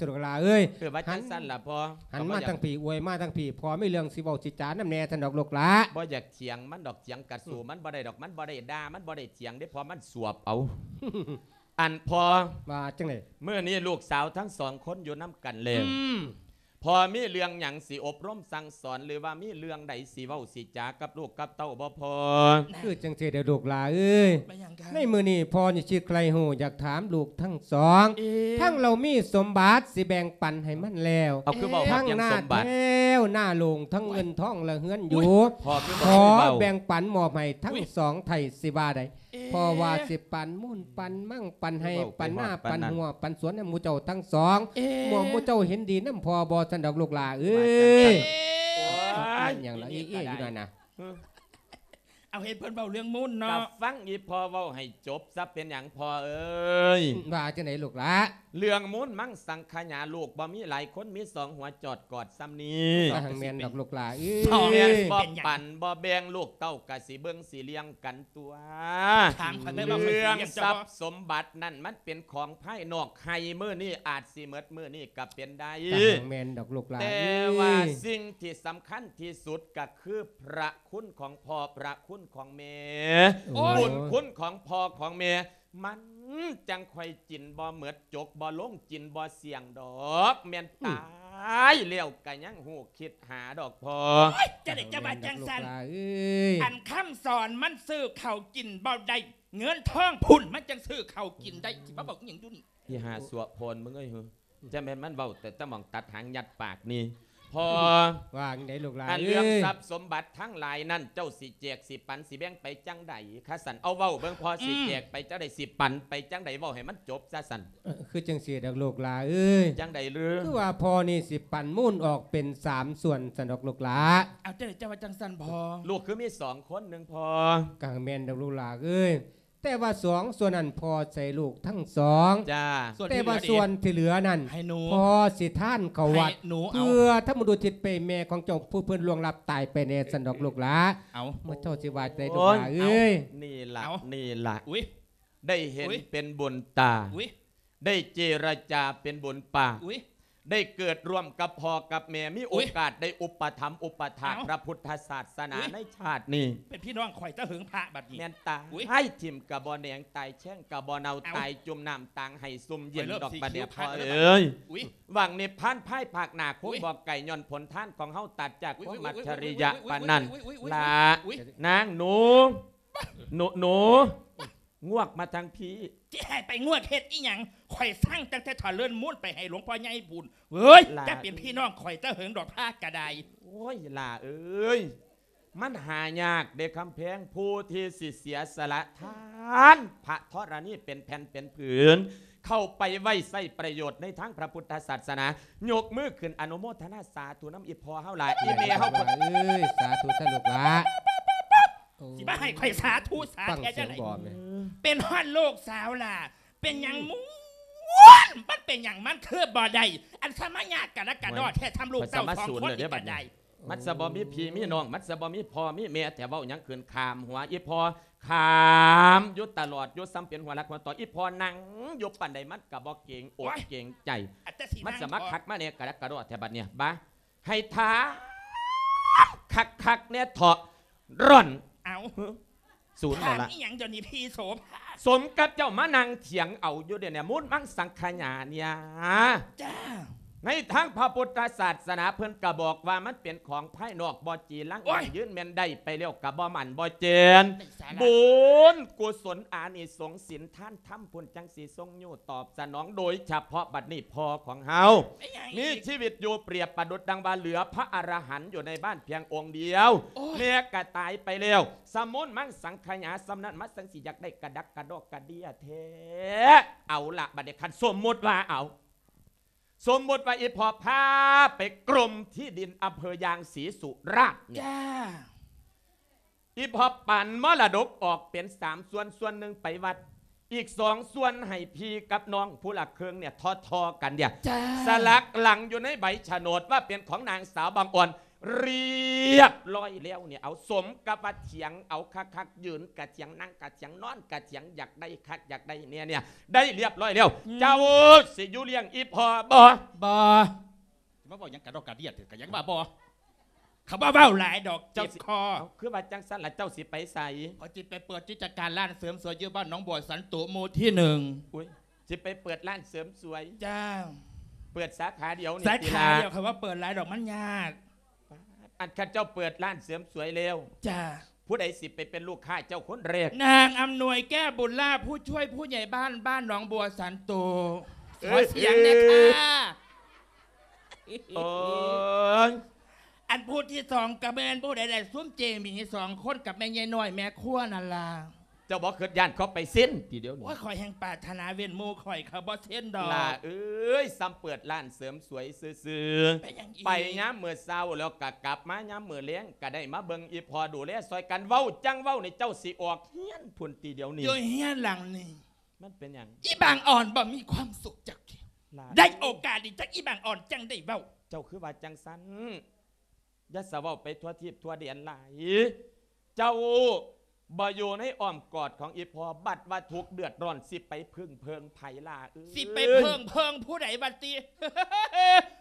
ຊັ້ນລູກຫຼ້າເອີຍ. ເອີ ວ່າຈັ່ງຊັ້ນລະພໍ່. ຫັນມາທາງພີ້ ອວຍມາທາງພີ້ ພໍ່ມີເລື່ອງຊິເວົ້າຊິຈານຳແດ່ຊັ້ນດອກລູກຫຼ້າ. ບໍ່ຢາກຖຽງມັນດອກ ຖຽງກະສູ້ມັນບໍ່ໄດ້ດອກ ມັນບໍ່ໄດ້ດ່າ ມັນບໍ່ໄດ້ຖຽງເດ້ ເພາະມັນສວບເອົາ. ອັນພໍ່ ວ່າຈັ່ງໃດ? ມື້ນີ້ລູກສາວທັງສອງຄົນຢູ່ນຳກັນແລ້ວ ອືມ ພໍ່ມີເລື່ອງຫຍັງຊິອົບຮົມສັ່ງສອນ ຫຼືວ່າມີເລື່ອງໃດຊິເວົ້າຊິຈາກັບລູກກັບເຕົ້າບໍ່ພໍ່? ຄືຈັ່ງຊີ້ເດີ້ລູກຫຼ້າເອີຍ ແມ່ນຫຍັງ? ໃນມື້ນີ້ພໍ່ນີ້ຊິໃຄ່ຮູ້ ຢາກຖາມລູກທັງສອງ ເອີ ທັງເຮົາມີສົມບັດຊິແບ່ງປັນໃຫ້ມັນແລ້ວ ເອົາ ຄືເວົ້າຮອດເລື່ອງສົມບັດ ທັງນາແຂ້ວນາໂລງ ທັງເງິນທອງ ແລະເຮືອນຢູ່ ພໍ່ຄືບໍ່ຄ່ອຍເວົ້າ ຂໍແບ່ງປັນມອບໃຫ້ທັງສອງໄທຊິວ່າໃດ? ເອີ ພໍ່ວ່າຊິປັນມູນປັນມັງ ປັນໄຮ່ ຄືເວົ້າໄປຮອດປານນັ້ນ ປັນນາ ປັນຮົ້ວ ປັນສວນໃຫ້ໝູ່ເຈົ້າທັງສອງ ເອີ ໝູ່ເຈົ້າເຫັນດີນຳພໍ່ບໍ່ຊັ້ນດອກລູກຫຼ້າເອີຍ. ວ່າຈັ່ງຊັ້ນ ໂອ້ຍ ແມ່ນຫຍັງລະ ອີ່ກະໄດ້ ເອເອຢູ່ນັ້ນນະ. ເອີ ເອົາ ໃຫ້ເພິ່ນເວົ້າເລື່ອງມູນເນາະ ກະຟັງອີ່ພໍ່ເວົ້າໃຫ້ຈົບຊະ ເປັນຫຍັງພໍ່ເອີຍ? ວ່າຈັ່ງໃດລູກຫຼ້າ? ເລື່ອງມູນມັງສັງຂະຫຍາ ລູກບໍ່ມີຫຼາຍຄົນ ມີສອງຫົວຈອດກອດສ່ຳນີ້ ກໍແມ່ນດອກລູກຫຼ້າເອີຍ ແມ່ນບໍ່ປັນບໍ່ແບ່ງ ລູກເຕົ້າກະຊິເບິ່ງຊິລ້ຽງກັນຕົວະ. ຖາມຂ້ອຍແດ່ວ່າຂ້ອຍຊິລ້ຽງເຈົ້າບໍ່? ເລື່ອງຊັບສົມບັດນັ້ນມັນເປັນຂອງພາຍນອກ ໃຫ້ມື້ນີ້ອາດຊິໝົດມື້ນີ້ກະເປັນໄດ້ ກະແມ່ນດອກລູກຫຼ້າເອີຍ ແຕ່ວ່າສິ່ງທີ່ສຳຄັນທີ່ສຸດກະຄືພະຄຸນຂອງພໍ່ ພະຄຸນຂອງແມ່ ໂອ້ຍ ບຸນຄຸນຂອງພໍ່ຂອງແມ່ ມັນຈັ່ງຄ່ອຍກິນບໍ່ໝົດ ຈົກບໍ່ລົງ ກິນບໍ່ສ່ຽງດອກ ແມ່ນ ອືມ ຕາຍແລ້ວກະຍັງຮູ້ຄິດຫາດອກພໍ່. ໂອ້ຍ ຈັ່ງໃດຈະວ່າຈັ່ງຊັ້ນ ອັນຄຳສອນມັນຊື້ເຂົ້າກິນບໍ່ໄດ້ ເງິນທອງພຸ້ນມັນຈັ່ງຊື້ເຂົ້າກິນໄດ້ ຊິມາເວົ້າອີ່ຫຍັງຢູ່ນີ້? ອີ່ຫ່າຊົ່ວໂພນມຶງເອີຍ ຈັ່ງແມ່ນມັນເວົ້າແຕ່ຕະໝ່ອງຕັດຫາງຍັດປາກນີ້ ພໍ່ ວ່າຈັ່ງໃດລູກຫຼານ ອັນເລື່ອງ ເອີຍ ຊັບສົມບັດທັງຫຼາຍນັ້ນ ເຈົ້າຊິແຈກ ຊິປັນ ຊິແບ່ງໄປຈັ່ງໃດຄະ? ຊັ້ນເອົາເວົ້າເບິ່ງ ພໍ່ ອືມ ຊິແຈກໄປຈັ່ງໃດ ຊິປັນໄປຈັ່ງໃດ ເວົ້າໃຫ້ມັນຈົບຊະຊັ້ນ. ເອີ ຄືຈັ່ງຊີ້ດອກລູກຫຼາເອີຍ. ຈັ່ງໃດຫຼື? ຄືວ່າພໍ່ນີ້ຊິປັນມູນອອກເປັນສາມສ່ວນຊັ້ນດອກລູກຫຼາ. ເອົາ ຈັ່ງໃດເຈົ້າວ່າຈັ່ງຊັ້ນພໍ່? ລູກຄືມີສອງຄົນໜຶ່ງພໍ່? ກໍແມ່ນດອກລູກຫຼາເອີຍ. ແຕ່ວ່າສອງສ່ວນນັ້ນພໍ່ໃຫ້ລູກທັງສອງ. ຈ້າ. ສ່ວນທີ່ເຫຼືອ ແຕ່ວ່າສ່ວນທີ່ເຫຼືອນັ້ນ ໃຫ້ໜູ ພໍ່ຊິທານເຂົ້າວັດ ໃຫ້ໜູເອົາ ເພື່ອທຳບຸນອຸທິດໄປແມ່ຂອງເຈົ້າ ຜູ້ເພິ່ນລ່ວງລັບຕາຍໄປແດ່ຊັ້ນດອກລູກຫຼາ. ເອົາ ເມື່ອເຈົ້າຊິວ່າຈັ່ງໃດລູກຫຼາເອີຍ. ເອົາ ນີ້ລະ ເອົາ ນີ້ລະ ອຸ້ຍ ໄດ້ເຫັນ ອຸ້ຍ ເປັນບຸນຕາ ອຸ້ຍ ໄດ້ເຈລະຈາເປັນບຸນປາກ ອຸ້ຍ ໄດ້ເກີດຮ່ວມກັບພໍ່ກັບແມ່ ມີ ອຸ້ຍ ໂອກາດໄດ້ອຸປະຖຳອຸປະຖາກ ເອົ້າ ພະພຸດທະສາສະໜາ ອຸ້ຍ ໃນຊາດນີ້ ເປັນພີ່ນ້ອງຂ້ອຍແຕ່ເຫິງພະບັດນີ້ ແມ່ນຕາຍ ອຸ້ຍ ຖິ້ມກະບໍ່ແໜງ ຕາຍແຊ່ງກະບໍ່ເນົ່າ ເອົ້າ ຕາຍຈຸ່ມນ້ຳຕາງໄຫ້ຊຸ່ມເຢັນ ຂ້ອຍເລີ່ມ ດອກບັດນີ້ ຊິຄິວ ພະເລີຍ ອຸ້ຍ ຫວັງນິບພານພາຍພາກໜ້າ ຄົງ ເອີຍ ບອກໄກ່ຍ້ອນຜົນທານຂອງເຮົາ ຕັດຈາກ ອຸ້ຍ ຄວາມ ອຸ້ຍ ອັດສະລິຍະ ອຸ້ຍ ປານນັ້ນ ອຸ້ຍ ລະ ນາງໜູ ໜູ ໜູ ງວກມາທາງພີ້. ຊິໃຫ້ໄປງວກເຮັດອີ່ຫຍັງ? ຂ້ອຍສັ່ງຕັ້ງແຕ່ຖະເລີນມູນໄປໃຫ້ຫຼວງພໍ່ໃຫຍ່ພຸ້ນ. ເອີຍ ຫຼ້າ ຈະເປັນພີ່ນ້ອງຂ້ອຍແຕ່ເຫິງດອກພະກະໄດ້. ໂອ້ຍ ຫຼ້າເອີຍ ມັນຫາຍາກເດ້ຄຳແພງ ຜູ້ທີ່ຊິເສຍສະຫຼະທານພະທໍລະນີເປັນແຜ່ນເປັນຜືນ ເຂົ້າໄປໄວ້ໃຊ້ປະໂຫຍດໃນທາງພະພຸດທະສາສະໜາ. ຍົກມືຂຶ້ນອະນຸໂມທະນາສາທຸນຳອີ່ພໍ່ເຮົາຫຼ້າ ອີ່ແມ່ເຮົາພຸ້ນ. ເອີຍ ສາທຸຊະລູກຫຼ້າ. ໂອ້ ຊິມາໃຫ້ຂ້ອຍສາທຸສາແທ້ຈັ່ງໃດ? ຟັງສຽງບໍ່ແມ່? ເປັນຮອດລູກສາວຫຼ້າ ເປັນຫຍັງມ່ວນ ມັນເປັນຫຍັງມັນຄືບໍ່ໄດ້? ອັນສະມາຍາດກະລະກະດໍແທ້ ໂອ້ຍ ທຳລູກເຕົ້າສອງຄົນນີ້ກະໄດ້. ມັນສະບໍ່ມີພີ່ມີນ້ອງ ມັນສະບໍ່ມີພໍ່ມີແມ່ແທ້ ເວົ້າຫຍັງຂຶ້ນຂ້າມຫົວອີ່ພໍ່ ຂ້າມຢູ່ຕະຫຼອດຢູ່ ສ່ຳເປັນຫົວຫຼັກຫົວຕໍ່. ອີ່ພໍ່ນັ່ງຢູ່ປານໃດ ມັນກະບໍ່ເກງອົກ ໂອ້ຍ ເກງໃຈ ອັນແຕ່ຊິ ມັນສະມາຄັກມາແນ່ກະລະກະດໍແທ້ບັດນີ້. ບາ ໃຫ້ຖາມຄັກໆແນ່ເຖາະ ຮ່ອນ. ເອົ້າ ສູນແລ້ວລະ ຖາມອີ່ຫຍັງດຽວນີ້ພີ່ໂສພາ? ສົມກັບເຈົ້າມານັ່ງຖຽງເອົາຢູ່ດຽວນີ້ ມູນມັງສັງຂະຍາເນຍ. ຈ້າ. ໃນທາງພະພຸດທະສາສະໜາເພິ່ນກະບອກວ່າມັນເປັນຂອງພາຍນອກ ບໍ່ຈີລັງ ໂອ້ຍ ຢັ້ງຢືນແມ່ນໄດ້ໄປແລ້ວກະບໍ່ໝັ້ນບໍ່ແກ່ນ ເປັນສາລະ ບຸນກຸສົນອານິສົງສິນທານທຳພຸ້ນ ຈັ່ງຊິຊົງຍູ້ຕອບສະໜອງ. ໂດຍສະເພາະບັດນີ້ພໍ່ຂອງເຮົາ ເປັນຫຍັງອີກ? ມີຊີວິດຢູ່ ປຽບປະດຸດດັ່ງວ່າເຫຼືອພະອະລະຫັນຢູ່ໃນບ້ານພຽງອົງດຽວ. ໂອ້ຍ ແມ່ກະຕາຍໄປແລ້ວ ສະມູນມັງສັງຂະຍາສ່ຳນັ້ນ ມາສັງຊິຢາກໄດ້ກະດັກກະດໍກະເດຍແທ້. ເອົາລະ ບັດນີ້ຄັນສົມມຸດວ່າ ເອົາ ສົມມຸດວ່າອີ່ພໍ່ພາໄປກົມທີ່ດິນອຳເພີຢາງສີສຸລາດນີ້ ຈ້າ. ອີ່ພໍ່ປັນມໍລະດົກອອກເປັນສາມສ່ວນ ສ່ວນໜຶ່ງໄປວັດ ອີກສອງສ່ວນໃຫ້ພີ່ກັບນ້ອງຜູ້ລະເຄິ່ງເນຍ ທໍ່ໆກັນເດຍ. ຈ້າ. ສະຫຼັກຫຼັງຢູ່ໃນໃບສະໂໜດວ່າເປັນຂອງນາງສາວບາງອ່ອນ ລຽບລ້ອຍແລ້ວເນຍ. ເອົາ ສົມກັບວ່າຖຽງເອົາຄັກໆ ຢືນກະຖຽງ ນັ່ງກະຖຽງ ນອນກະຖຽງ ຢາກໄດ້ຄັກຢາກໄດ້ແນ່ເນຍ ໄດ້ລຽບລ້ອຍແລ້ວ. ອືມ. ເຈົ້າຊິຢູ່ລ້ຽງອີ່ພໍ່ບໍ່? ບໍ່. ຊິມາເວົ້າຫຍັງກະດອກກະເດຍ ກະຫຍັງວ່າບໍ່. ເຂົາບໍ່ເວົ້າຫຼາຍດອກ ເຈັບຄໍ. ເຈົ້າຊິ ເອົ້າ ຄືວ່າຈັ່ງຊັ້ນລະ ເຈົ້າຊິໄປໃສ? ຂ້ອຍຊິໄປເປີດກິດຈະການຮ້ານເສີມສວຍຢູ່ບ້ານໜອງບົວສັນໂຕ ໝູ່ທີໜຶ່ງ. ອຸ້ຍ ຊິໄປເປີດຮ້ານເສີມສວຍ? ຈ້າ. ເປີດສາຂາດຽວນີ້ ສາຂາດຽວ ຕິລະ? ຂ້ອຍວ່າເປີດຫຼາຍດອກ ມັນຍາກ. ອັນ ຄັນເຈົ້າເປີດຮ້ານເສີມສວຍແລ້ວ ຈ້າ. ຜູ້ໃດຊິໄປເປັນລູກຄ້າເຈົ້າຄົນແລກ? ນາງອຳນວຍ ແກ້ວບຸນລາ ຜູ້ຊ່ວຍຜູ້ໃຫຍ່ບ້ານ ບ້ານໜອງບົວສັນໂຕ. ຂໍສຽງແດ່ຄ່ະ. ໂອ້ຍ ອັນຜູ້ທີສອງກະແມ່ນຜູ້ໃດລະ? ຊຸມເຈໝີສອງຄົນກັບແມ່ໃຫຍ່ນ້ອຍແມ່ຄົວນັ້ນລະ. ເຈົ້າບໍ່ຄິດຢ້ານເຂົາໄປເຊັນຕິດຽວນີ້? ໂອ້ຍ ຂ້ອຍແຮ່ງປາດຖະໜາເວັ້ນໝູ່ຂ້ອຍ ເຂົາບໍ່ເຊັນດອກ. ຫຼ້າເອີຍ ສ່ຳເປີດຮ້ານເສີມສວຍຊື່ໆ. ເປັນຫຍັງອີກ? ໄປຍາມມື້ເຊົ້າແລ້ວກະກັບມາຍາມມື້ແລງ ກະໄດ້ມາເບິ່ງອີ່ພໍ່ ດູແລຊ່ອຍກັນ. ເວົ້າຈັ່ງເວົ້ານີ້ ເຈົ້າຊິອອກເຮືອນພຸ້ນຕິດຽວນີ້? ຢູ່ເຮືອນຫຼັງນີ້. ມັນເປັນຫຍັງ? ອີ່ບາງອ່ອນບໍ່ມີຄວາມສຸກຈັກເທື່ອ. ຫຼ້າ ໄດ້ໂອກາດນີ້ຈັກ ອີ່ບາງອ່ອນຈັ່ງໄດ້ເວົ້າ. ເຈົ້າຄືວ່າຈັ່ງຊັ້ນ? ຢ່າສະເວົ້າໄປທົ່ວທີບທົ່ວແດນຫຼາຍ. ເຈົ້າບໍ່ຢູ່ໃນອ້ອມກອດຂອງອີ່ພໍ່ ບັດວ່າທຸກເດືອດຮ້ອນ ຊິໄປເພິ່ງເພິ່ງໃຜຫຼ້າເອີຍ? ຊິໄປເພິ່ງເພິ່ງຜູ້ໃດບັດນີ້?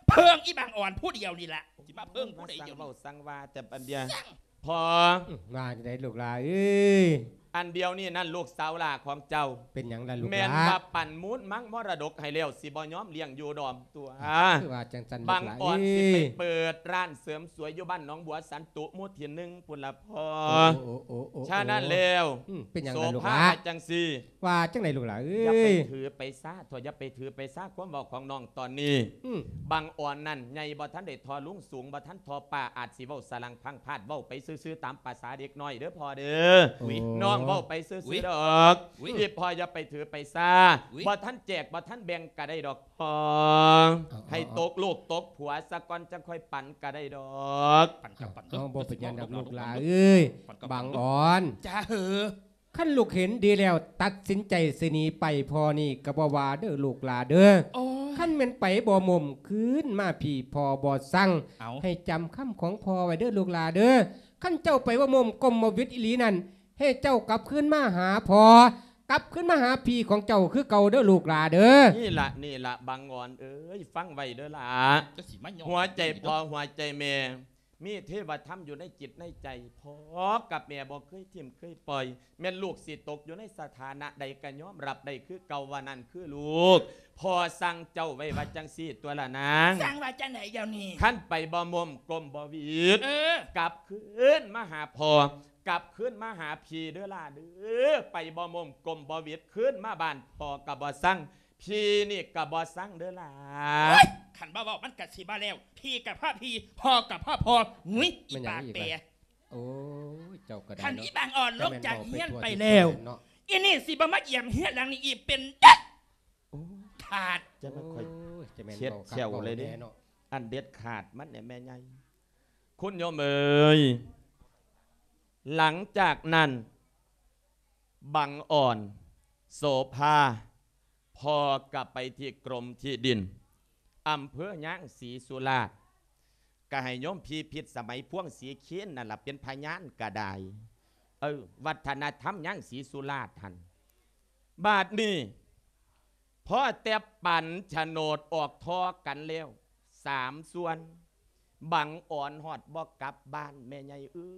ເພິ່ງອີ່ບາງອ່ອນຜູ້ດຽວນີ້ລະ. ຊິມາເພິ່ງຜູ້ໃດດຽວນີ້? ມາສັ່ງເວົ້າສັ່ງວ່າແຕ່ບັດດຽວ. ພໍ່ ອືມ ວ່າຈັ່ງໃດລູກຫຼ້າເອີຍ? ອັນດຽວນີ້ນັ້ນລູກສາວຫຼ້າຂອງເຈົ້າ ເປັນຫຍັງລະລູກຫຼ້າ? ແມ່ນວ່າປັນມູນມັງມໍລະດົກໃຫ້ແລ້ວ ຊິບໍ່ຍອມລ້ຽງຢູ່ດອມຕົວະ. ຄືວ່າຈັ່ງຊັ້ນລູກຫຼ້າເອີຍ. ບັງອອນຊິໄປເປີດຮ້ານເສີມສວຍຢູ່ບ້ານໜອງບົວສັນຕຸ ໝູ່ທີໜຶ່ງພຸ້ນລະພໍ່. ໂອ້ ໂອ້ ໂອ້ ໂອ້ ໂອ້ ສະນັ້ນແລ້ວ ອືມ ເປັນຫຍັງລະລູກຫຼ້າ? ໂສພາວ່າຈັ່ງຊີ້ ວ່າຈັ່ງໃດລູກຫຼ້າເອີຍ? ຢ່າໄປຖືໄປສາເຖາະ ຢ່າໄປຖືໄປສາຄວາມເວົ້າຂອງນ້ອງຕອນນີ້. ອືມ ບັງອອນນັ້ນໃຫຍ່ບໍ່ທັນໄດ້ທໍ່ລຸງ ສູງບໍ່ທັນທໍ່ປ້າ ອາດຊິເວົ້າສະຫຼັງພັງພາດ ເວົ້າໄປຊື່ໆຕາມພາສາເດັກນ້ອຍເດີພໍ່ເດີ. ໂອ້ຍ ນ້ອງເວົ້າໄປຊື່ໆດອກ. ອຸ້ຍ ອີ່ພໍ່ຢ່າໄປຖືໄປສາ. ອຸ້ຍ ບໍ່ທັນແຈກບໍ່ທັນແບ່ງກະໄດ້ດອກພໍ່. ເອົາ ໃຫ້ຕົກລູກຕົກຜົວສາກ່ອນ ຈັ່ງຄ່ອຍປັນກະໄດ້ດອກ. ປັນກະປັນເດີ. ເອົາ ບໍ່ເປັນຫຍັງດອກລູກຫຼ້າເອີຍ. ບັງອອນ ຈ້າເຫີ ຄັນລູກເຫັນດີແລ້ວຕັດສິນໃຈຊິໜີໄປພໍ່ນີ້ກະບໍ່ວ່າເດີລູກຫຼ້າເດີ. ໂອ້ຍ ຄັນແມ່ນໄປບໍ່ໝົມຄືນມາພີ້ພໍ່ບໍ່ສັ່ງ. ເອົາ ໃຫ້ຈຳຄຳຂອງພໍ່ໄວ້ເດີລູກຫຼ້າເດີ. ຄັນເຈົ້າໄປບໍ່ໝົມກົມບໍ່ຫວິດອີ່ຫຼີນັ້ນ ໃຫ້ເຈົ້າກັບຄືນມາຫາພໍ່ ກັບຄືນມາຫາພີ່ຂອງເຈົ້າຄືເກົ່າເດີລູກຫຼ້າເດີ. ນີ້ລະ ນີ້ລະ ບັງອອນເອີຍ ຟັງໄວ້ເດີຫຼ້າ. ເຈົ້າຊິມາຍ້ອງ ຫົວໃຈພໍ່ຫົວໃຈແມ່ ມີເທວະທຳຢູ່ໃນຈິດໃນໃຈ. ພໍ່ກັບແມ່ບໍ່ເຄີຍຖິ້ມເຄີຍປ່ອຍ. ແມ່ນລູກຊິຕົກຢູ່ໃນສະຖານະໃດກະຍອມຮັບໄດ້ຄືເກົ່າວ່ານັ້ນຄືລູກ. ພໍ່ສັ່ງເຈົ້າໄວ້ວ່າຈັ່ງຊີ້ຕົວະລະນາງ. ສັ່ງວ່າຈັ່ງໃດດຽວນີ້? ຄັນໄປບໍ່ໝົມກົມບໍ່ຫວິດ ເອີ ກັບຄືນມາຫາພໍ່ ກັບຄືນມາຫາພີ່ເດີຫຼ້າເດີ. ໄປບໍ່ໝົມກົມບໍ່ຫວິດ ຄືນມາບ້ານພໍ່ກະບໍ່ສັ່ງ ພີ່ນີ້ກະບໍ່ສັ່ງເດີຫຼ້າ. ໂອ້ຍ ຄັນບໍ່ເວົ້າມັນກະຊິບໍ່ແລ້ວ. ພີ່ກະພໍ່ພີ່ ພໍ່ກະພໍ່ພໍ່. ຫຸຍ ອີ່ປາກແປ. ໂອ້ຍ ເຈົ້າກະໄດ້ເນາະ. ຄັນອີ່ບັງອອນລົງຈາກເຮືອນໄປແລ້ວ ອີ່ນີ້ຊິບໍ່ມາຢ້ຽມເຮືອນຫຼັງນີ້ອີກເປັນເດັດຂາດ. ຈະມາຄ່ອຍ ໂອ້ຍ ຈະແມ່ນເຊັດແຂ້ວເລີຍເດ້ເນາະ. ອັນເດັດຂາດມັນແນ່ແມ່ໃຫຍ່ ຄຸນໂຍມເອີຍ. ຫຼັງຈາກນັ້ນ ບັງອອນ ໂສພາ ພໍ່ກະໄປທີ່ກົມທີ່ດິນ ອຳເພີຍາງສີສຸລາດ ກະໃຫ້ໂຍມພີພິດສະໄໝພວງສີເຄນນັ້ນລະເປັນພະຍານກະໄດ້. ເອີ ວັດທະນະທຳຍາງສີສຸລາດຫັ້ນ. ບາດນີ້ພໍແຕ່ປັນໂສນດອອກທໍ່ກັນແລ້ວສາມສ່ວນ ບັງອອນຮອດບໍ່ກັບບ້ານແມ່ໃຫຍ່ເອີ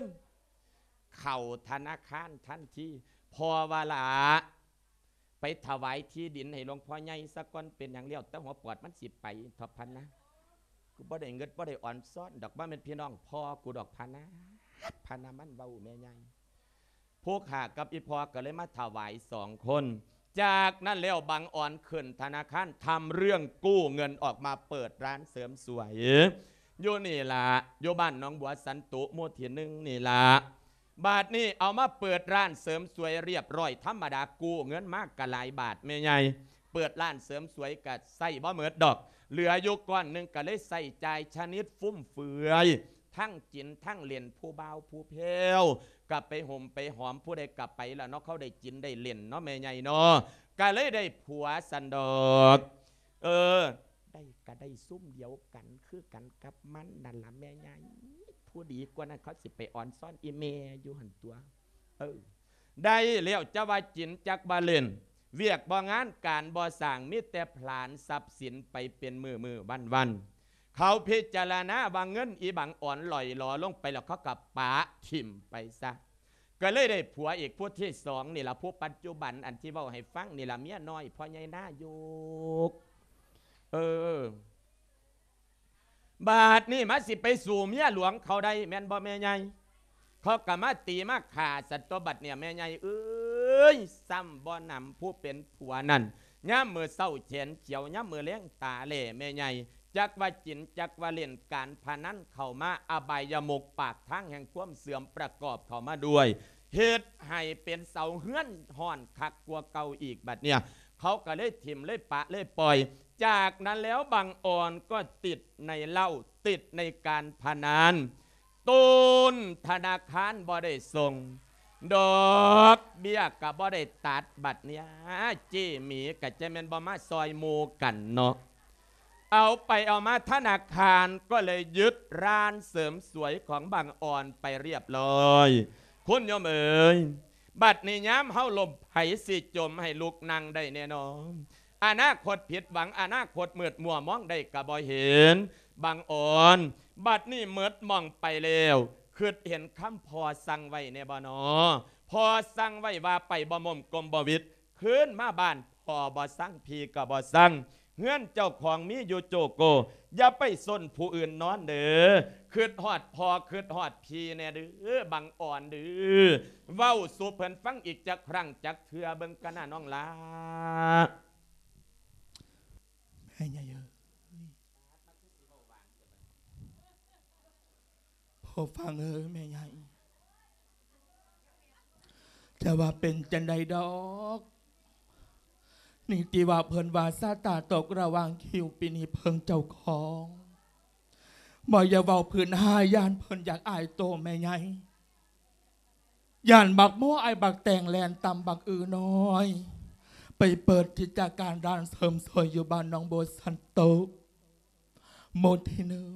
ຍ. ເຂົ້າທະນາຄານທັນທີ ພໍ່ວ່າ ຫຼ້າ ໄປຖວາຍທີ່ດິນໃຫ້ຫຼວງພໍ່ໃຫຍ່ສາກ່ອນ. ເປັນຫຍັງ? ແລ້ວແຕ່ຫົວປອດມັນຊິໄປເທາະພະນາ. ກູບໍ່ໄດ້ເງິດບໍ່ໄດ້ອອນຊ້ອນດອກ ບໍ່ແມ່ນພີ່ນ້ອງພໍ່ກູດອກພະນາ. ພະນາມັນເວົ້າແມ່ໃຫຍ່. ຜູ້ຂ້າກັບອີ່ພໍ່ກະເລີຍມາຖວາຍສອງຄົນ. ຈາກນັ້ນແລ້ວບັງອອນຂຶ້ນທະນາຄານ ທຳເລື່ອງກູ້ເງິນອອກມາເປີດຮ້ານເສີມສວຍ ຢູ່ນີ້ລະ ຢູ່ບ້ານໜອງບົວສັນຕຸ ໝູ່ທີໜຶ່ງນີ້ລະ. ບາດນີ້ເອົາມາເປີດຮ້ານເສີມສວຍລຽບລ້ອຍ ທຳມະດາກູ້ເງິນມາກະຫຼາຍບາດແມ່ໃຫຍ່. ເປີດຮ້ານເສີມສວຍກະໃຊ້ບໍ່ໝົດດອກ ເຫຼືອຢູ່ກ້ອນໜຶ່ງ ກະເລີຍໃຊ້ຈ່າຍຊະນິດຟຸມເຟືອຍ ທັງກິນທັງຫຼິ້ນ ຜູ້ບ່າວຜູ້ແພ້ວກະໄປໂຮມໄປຫອມ ຜູ້ໃດກະໄປລະເນາະ. ເຂົາໄດ້ກິນໄດ້ຫຼິ້ນເນາະແມ່ໃຫຍ່ເນາະ ກະເລີຍໄດ້ຜົວຊັ້ນດອກ. ເອີ ໄດ້ກະໄດ້ຊຸມດຽວກັນຄືກັນກັບມັນນັ້ນລະແມ່ໃຫຍ່. ຜູ້ດີກວ່ານັ້ນເຂົາຊິໄປອອນຊ້ອນອີ່ແມ່ຢູ່ຫັ້ນຕົວະ. ເອີ ໄດ້ແລ້ວ ຈະວ່າກິນຈັກວ່າຫຼິ້ນ ວຽກບໍ່ງານການບໍ່ສ້າງ ມີແຕ່ຜລານຊັບສິນໄປເປັນມື້ໆວັນໆ. ເຂົາພິຈາລະນາວ່າເງິນອີ່ບັງອອນຫຼອຍຫຼໍລົງໄປແລ້ວ ເຂົາກະປະຖິ້ມໄປຊະ. ກະເລີຍໄດ້ຜົວອີກຜູ້ທີສອງນີ້ລະ ຜູ້ປັດຈຸບັນອັນທີ່ເວົ້າໃຫ້ຟັງນີ້ລະ ເມຍນ້ອຍພໍ່ໃຫຍ່ນາຍົກ. ເອີ ບາດນີ້ມາຊິໄປສູ້ເມຍຫຼວງເຂົາໄດ້ແມ່ນບໍ່ແມ່ໃຫຍ່? ເຂົາກະມາຕີມາຂ້າຊັ້ນຕົວະ ບັດນີ້ແມ່ໃຫຍ່ເອີຍ. ຊ້ຳບໍ່ໜຳຜູ້ເປັນຜົວນັ້ນ ຍາມມື້ເຊົ້າແຂນຂຽວ ຍາມມື້ແລງຕາແຫຼ້ແມ່ໃຫຍ່. ຈັກວ່າກິນຈັກວ່າຫຼິ້ນ ການພະນັນເຂົ້າມາ ອະບາຍຍະມຸກປາກທາງແຫ່ງຄວາມເສື່ອມປະກອບເຂົ້າມາດ້ວຍ ເຮັດໃຫ້ເປັນເສົາເຮືອນຮ້ອນຄັກກວ່າເກົ່າອີກ. ບັດເນີ້ຍເຂົາກະເລີຍຖິ້ມເລີຍປະເລີຍປ່ອຍ. ຈາກນັ້ນແລ້ວບັງອອນກໍຕິດໃນເຫຼົ້າ ຕິດໃນການພະນັນ ຕົ້ນທະນາຄານບໍ່ໄດ້ສົ່ງ ດອກເບ້ຍກະບໍ່ໄດ້ຕັດ. ບັດເນີ້ຍເຈ້ໝີກະຈະແມ່ນບໍ່ມາຊ່ອຍໝູ່ກັນເນາະ. ເອົາໄປເອົາມາທະນາຄານກໍເລີຍຍຶດຮ້ານເສີມສວຍຂອງບັງອອນໄປລຽບລ້ອຍ ຄຸນໂຍມເອີຍ. ບັດນີ້ຍາມເຮົາລົ້ມໃຜຊິຈົ່ມໃຫ້ລຸກນັ່ງໄດ້ແນ່ນອນ. ອະນາຄົດຜິດຫວັງ ອະນາຄົດມືດມົວ ມອງໄດ້ກະບໍ່ເຫັນ. ບັງອອນ ບັດນີ້ໝົດໝ້ອງໄປແລ້ວ ຄິດເຫັນຄຳພໍ່ສັ່ງໄວ້ແນ່ບໍ່ນໍ? ພໍ່ສັ່ງໄວ້ວ່າໄປບໍ່ໝົມກົມບໍ່ຫວິດ ຄືນມາບ້ານພໍ່ບໍ່ສັ່ງ ພີ່ກໍບໍ່ສັ່ງ ເຮືອນເຈົ້າຂອງມີຢູ່ໂຈໂກ ຢ່າໄປສົນຜູ້ອື່ນນອນເດີ້ ຄຶດຮອດພໍ່ຄຶດຮອດພີ່ແດ່ເດີ້ ບັງອ່ອນເດີ້ ເວົ້າສູ່ເພິ່ນຟັງອີກຈັກຄັ້ງຈັກເທື່ອເບິ່ງກະນະນ້ອງຫຼ້າ. ແມ່ໃຫຍ່ເອີຍ ພໍ່ຟັງເອີຍ ແມ່ໃຫຍ່ ຈະວ່າເປັນຈັ່ງໃດດອກ ນີ້ທີ່ວ່າເພິ່ນວ່າຊາຕາຕົກລະຫວ່າງຄິວ ປີນີ້ເພິ່ງເຈົ້າຂອງ ບໍ່ຢ່າເວົ້າພື້ນຫາ ຢ້ານເພິ່ນຢາກອາຍໂຕແມ່ໃຫຍ່ ຢ້ານບັກໂມອ້າຍບັກແຕງແລ່ນຕຳບັກອືນ້ອຍ ໄປເປີດກິດຈະການຮ້ານເສີມສວຍຢູ່ບ້ານໜອງບົວສັນໂຕກ ໝູ່ທີໜຶ່ງ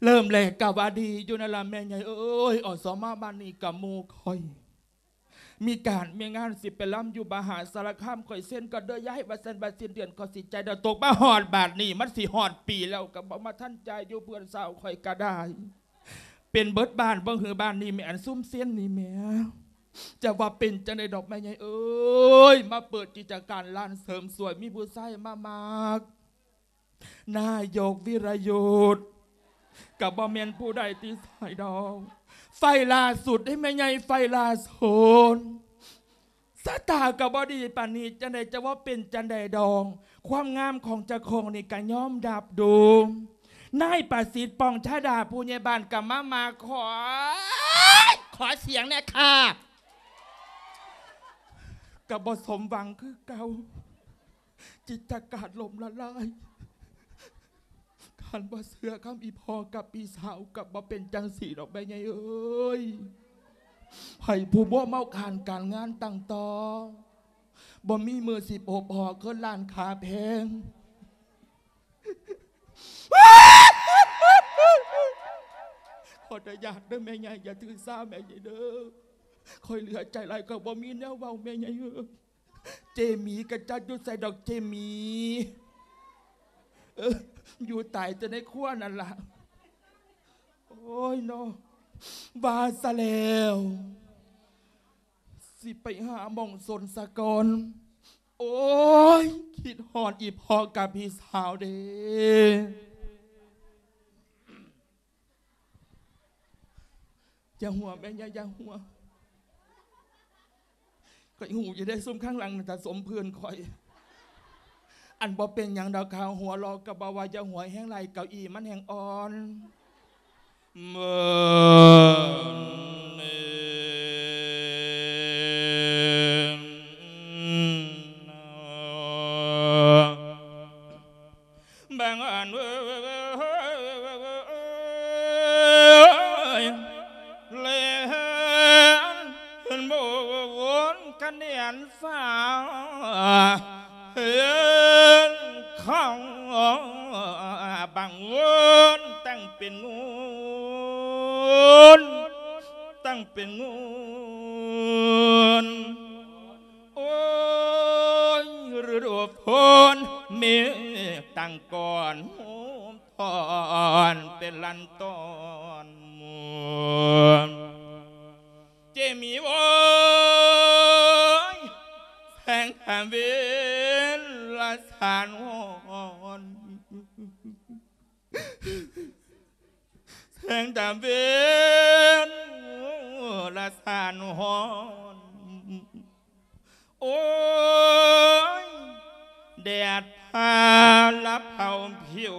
ເລີ່ມແລກກະວ່າດີຢູ່ນັ້ນລະແມ່ໃຫຍ່ເອີຍ ອສມ ບ້ານນີ້ກະໝູ່ຂ້ອຍ ມີການມີງານຊິໄປລຳຢູ່ມະຫາສາລະຄາມ ຂ້ອຍເຊັນກໍເດີຍາຍວ່າຊັ້ນ ວ່າສິ້ນເດືອນກໍຊິຈ່າຍດອກ ຕົກມາຮອດບາດນີ້ ມັນຊິຮອດປີແລ້ວ ກໍບໍ່ມາທັນຈ່າຍຢູ່ ເພື່ອນສາວຂ້ອຍກໍໄດ້ ເປັນເບິດບ້ານບໍ່ ຄືບ້ານນີ້ແມ່ນຊຸມເຊັນນີ້ແໝ່ ຈະວ່າເປັນຈັ່ງໃດດອກແມ່ໃຫຍ່ເອີຍ ມາເປີດກິດຈະການຮ້ານເສີມສວຍ ມີຜູ້ຊາຍມາມັກ ນາຍົກວິລະຍຸດ ກໍບໍ່ແມ່ນຜູ້ໃດທີ່ໃສດອກ ໄຟລ່າສຸດເດ້ແມ່ໃຫຍ່ ໄຟລ່າສຸດ ຊະຕາກໍບໍ່ດີປານນີ້ ຈັ່ງໃດຈະວ່າເປັນຈັ່ງໃດດອກ ຄວາມງາມຂອງເຈົ້າຂອງນີ້ກໍຍອມຮັບຢູ່ ນາຍປະສິດ ປ່ອງຊາດາ ຜູ້ໃຫຍ່ບ້ານກໍມາ ມາຂໍ ຂໍສຽງແດ່ຄ່າ ກໍບໍ່ສົມຫວັງຄືເກົ່າ ກິດຈະການລົ້ມລະລາຍ ຄັນບໍ່ເຊື່ອຄຳອີ່ພໍ່ກັບພີ່ສາວ ກໍບໍ່ເປັນຈັ່ງຊີ້ດອກແມ່ໃຫຍ່ເອີຍ ໃຫ້ຜູ້ບົວເມົາການການງານຕັ້ງຕໍ່ ບໍ່ມີມື້ສິບຫົກພໍ້ຄືລ້ານຂາແພງ ຂໍອະນຸຍາດເດີແມ່ໃຫຍ່ ຢ່າຖືສາແມ່ໃຫຍ່ເດີ ຂ້ອຍເຫຼືອໃຈຫຼາຍ ຂ້ອຍບໍ່ມີແນວເວົ້າແມ່ໃຫຍ່ເອີຍ. ເຈໝີກະຈັກຢູ່ໃສດອກເຈໝີ ເອີ ຢູ່ຕາຍແຕ່ໃນຄົວນັ້ນລະ. ໂອ້ຍເນາະ ວ່າຊະແລ້ວ ຊິໄປຫາໝ່ອງຊົນສາກ່ອນ. ໂອ້ຍ ຄິດຮອດອີ່ພໍ່ກັບພີ່ສາວເດ້. ຢ່າຫົວແມ່ ຢ່າ ຢ່າຫົວ. ຂ້ອຍຮູ້ຢູ່ເດ້ ຊຸມຂ້າງຫຼັງນັ້ນຕາສົມເພື່ອນຂ້ອຍ. ອັນບໍ່ເປັນຫຍັງດອກ ຂ້າຫົວເລາະກໍບໍ່ວ່າ ຢ່າຫົວແຮງຫຼາຍ ເກົ້າอี้ມັນແຮງອ່ອນ. ເມີນເອງ ບາງອັນເອີຍ ແລ່ນບົນຄະແນນຟ້າ ເຫັນເຂົາບາງວົນຕັ້ງເປັນງູນ ຕັ້ງເປັນງູນ. ໂອ້ຍ ລະດູຝົນເມກຕັ້ງກ້ອນ ອ່ອນເປັນລັນຕອນ. ເຈມີໂອ້ຍ ແສງທາເວນລະສານຮ້ອນ ແສງຕາເວັນລະສານຮ້ອນ. ໂອ້ຍ ແດດພາລະເຜົາຜິວ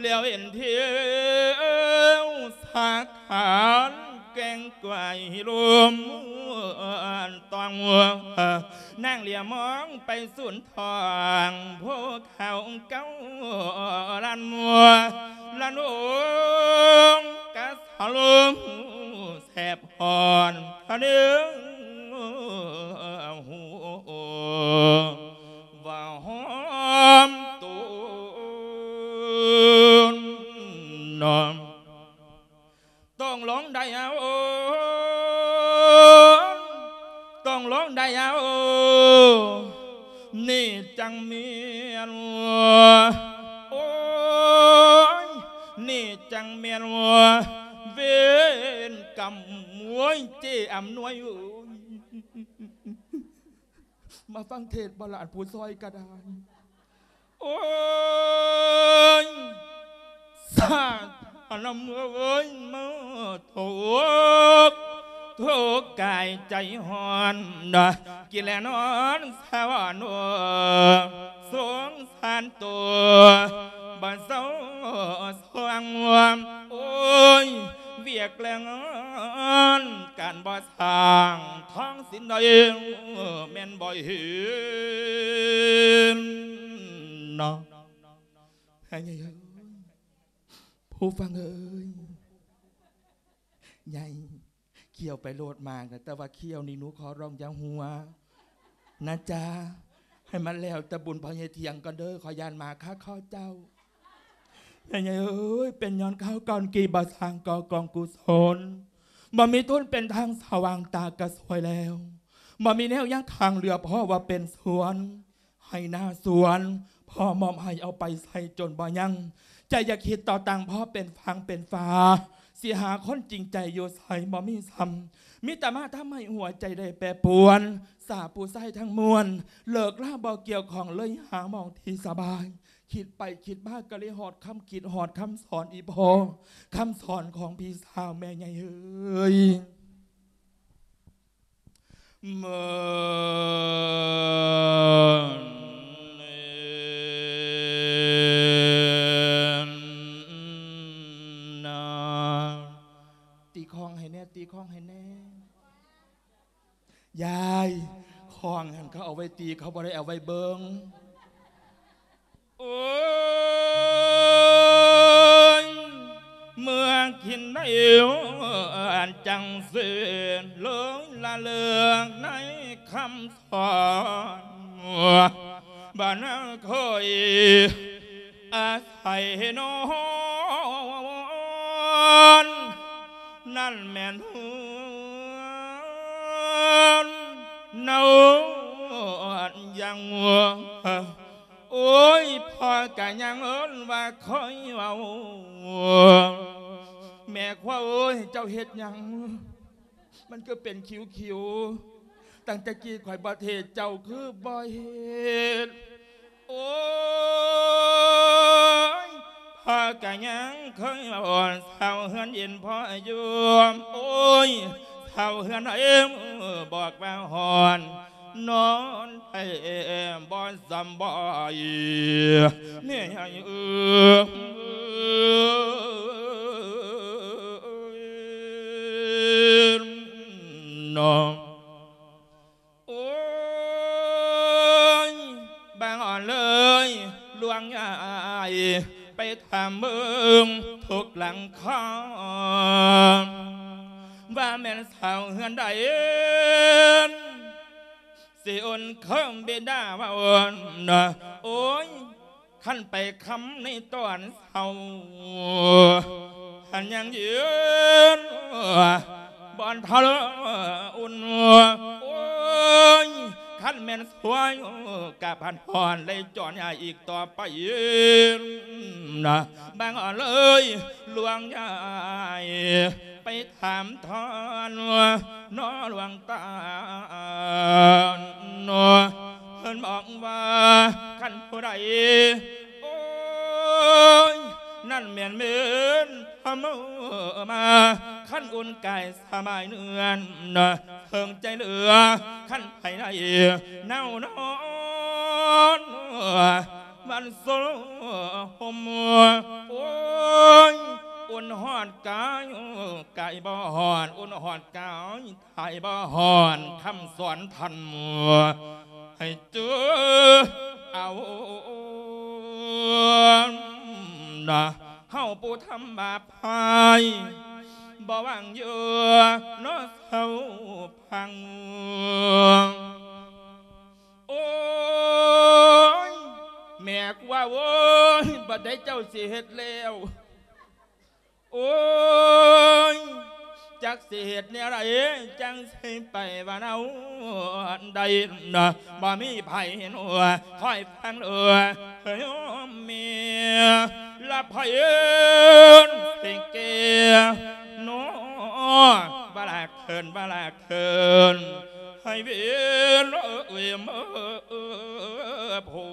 ແລ້ວເຫັນທິວສາຂານແກ່ງໄກລົມຕອງ. ນາງຫຼຽມມອງໄປສູນທອງ ພູເຂົາເກົ້າລານມົວ ລະນົງກະສະລົງແສບຮ້ອນ ທະເນີງຫູວ່າຫອມໂຕນ. ຕ້ອງລອງໄດ້ເອົາ ຕ້ອງລອງໄດ້ເອົາ ນີ້ຈັ່ງແມ່ນ ໂອ້ຍ ນີ້ຈັ່ງແມ່ນ ເວນກຳ ໂອ້ຍ ເຈ້ອຳນວຍເອີຍ ມາຟັງເທດບໍ່ລະ ອັນຜູ້ຊ່ອຍກໍໄດ້. ໂອ້ຍ ສາທານະເອີຍ ມາທຸກ ທຸກກາຍໃຈຮ້ອນ ກິນແລະນອນສະຫວັນ ສົງສານໂຕ ບໍ່ເຊົາຊ່ວງ ໂອ້ຍ ວຽກແລງງານການບໍ່ ສ້າງທາງສິນໃດແມ່ນບໍ່ເຫັນເນາະ. ໃຫຍ່ເອີຍ ຜູ້ຟັງເອີຍ ໃຫຍ່ ຂ້ຽວໄປໂລດໝາກນະ ແຕ່ວ່າຂ້ຽວນີ້ໜູຂໍຮ້ອງຢ່າຫົວນະຈ໊ະ ໃຫ້ມັນແລ້ວແຕ່ບຸນພໍ່ໃຫຍ່ຖຽງກ່ອນເດີ ຂ້ອຍຢ້ານໝາກຄາຄໍເຈົ້າ. ແມ່ໃຫຍ່ເອີຍ ເປັນຍ້ອນຄາວກ່ອນກີ້ບໍ່ສ້າງກໍ່ກອງກຸສົນ ບໍ່ມີທຶນເປັນທາງສະຫວ່າງຕາກະສວຍແລ້ວ ບໍ່ມີແນວຍັງທາງເຫຼືອ ເພາະວ່າເປັນສວນໄຮ່ນາສວນ ພໍ່ມອບໃຫ້ເອົາໄປໃຊ້ຈົນບໍ່ຍັງ ໃຈຢ່າຄິດຕໍ່ຕ່າງ ເພາະເປັນຟາງເປັນຝາ ຊິຫາຄົນຈິງໃຈຢູ່ໃສບໍ່ມີຊ້ຳ ມີແຕ່ມາທຳໃຫ້ຫົວໃຈໄດ້ແປປວນ ສາຜູ້ຊາຍທັງມວນ ເລີກລາບໍ່ກ່ຽວຂ້ອງ ເລີຍຫາໝ່ອງທີ່ສະບາຍ ຄິດໄປຄິດມາກໍເລີຍຮອດຄຳຄິດ ຮອດຄຳສອນອີ່ພໍ່ ຄຳສອນຂອງພີ່ສາວແມ່ໃຫຍ່ເອີຍ. ຕີຄ້ອງໃຫ້ແດ່ ຕີຄ້ອງໃຫ້ແດ່. ຍາຍ ຄ້ອງຫັ້ນເຂົາເອົາໄວ້ຕີ ເຂົາບໍ່ໄດ້ເອົາໄວ້ເບິ່ງ. ໂອ້ຍ ເມື່ອກິນໄດ້ອັນຈັງເສນ ເລີຍລະເລີກໃນຄຳສອນ ບ້ານນາເຄີຍອາໄສນອນ ນັ້ນແມ່ນເຮືອນນະຍັງ ໂອ້ຍ ພໍ່ກະຍັງເອີ້ນວ່າຄ່ອຍເວົ້າ ແມ່ຂວັນເອີຍ ເຈົ້າເຮັດຫຍັງ? ມັນຄືເປັນຄິວໆ ຕັ້ງແຕ່ກີ້ຂ້ອຍບໍ່ເທດ ເຈົ້າຄືບໍ່ເຮັດ? ໂອ້ຍ ພໍ່ກະຍັງເຄີຍເວົ້າ ຊາວເຮືອນເຢັນພໍຢູ່ ໂອ້ຍ ຊາວເຮືອນເອີຍ ບອກວ່າຮ້ອນ ນອນແທ້ບໍ່ສຳບາຍ ແມ່ໃຫຍ່ເອີຍ ເນາະ. ໂອ້ຍ ບາງອ່ອນເອີຍ ຫຼວງຍາຍ ໄປຖາມເບິ່ງທຸກຫຼັງຄາ ວ່າແມ່ນຊາວເຮືອນໃດ ຊິໂອນເຄີມບິດາວ່າໂອນ ໂອ້ຍ ຄັນໄປຄ່ຳໃນຕອນເຊົ້າ ຄັນຍັງຢືນບ່ອນເທົາອຸ່ນ ໂອ້ຍ ຄັນແມ່ນສວຍກະພັນຮ້ອນໄດ້ຈອນຍາອີກຕໍ່ໄປນະ ບາງອ່ອນເອີຍ ຫຼວງຍາຍ ໄປຖາມທອນ ນອ ຫຼວງຕາ ນອ ເພິ່ນບອກວ່າ ຄັນຜູ້ໃດ ໂອ້ຍ ນັ້ນແມ່ນເວນທຳມາ ຄັນອຸ່ນກາຍສະບາຍເນື້ອ ເທິງໃຈເຫຼືອ ຄັນໃຜໃດໜາວນອນ ມັນໂຊຫົມ ໂອ້ຍ ອຸ່ນຮອດກາຍ ກາຍບໍ່ຮອດ ອຸ່ນຮອດກາຍ ກາຍບໍ່ຮອດ ຄຳສອນທ່ານໃຫ້ຈື່ເອົານະ ເຮົາຜູ້ທຳບາບພາຍ ບໍ່ຫວັງຢູ່ເນາະເຊົາພັງ. ໂອ້ຍ ແມ່ກວ່າ ໂອ້ຍ ບັດໃດເຈົ້າຊິເຮັດແລ້ວ? ໂອ້ຍ ຈັກຊິເຮັດແນວໃດ ຈັ່ງຊິໄປວ່າເອົາໄດ້ນະ ບໍ່ມີໃຜເຫັນຫົວ ຄອຍຟັງເດີ ໂຍມແມ່ ລະໃຜເອີ້ນຊິແກ່ເນາະ ວ່າລະ ເອີ້ນວ່າລາກເທີນໃຫ້ເວນເອີຍເມີພົ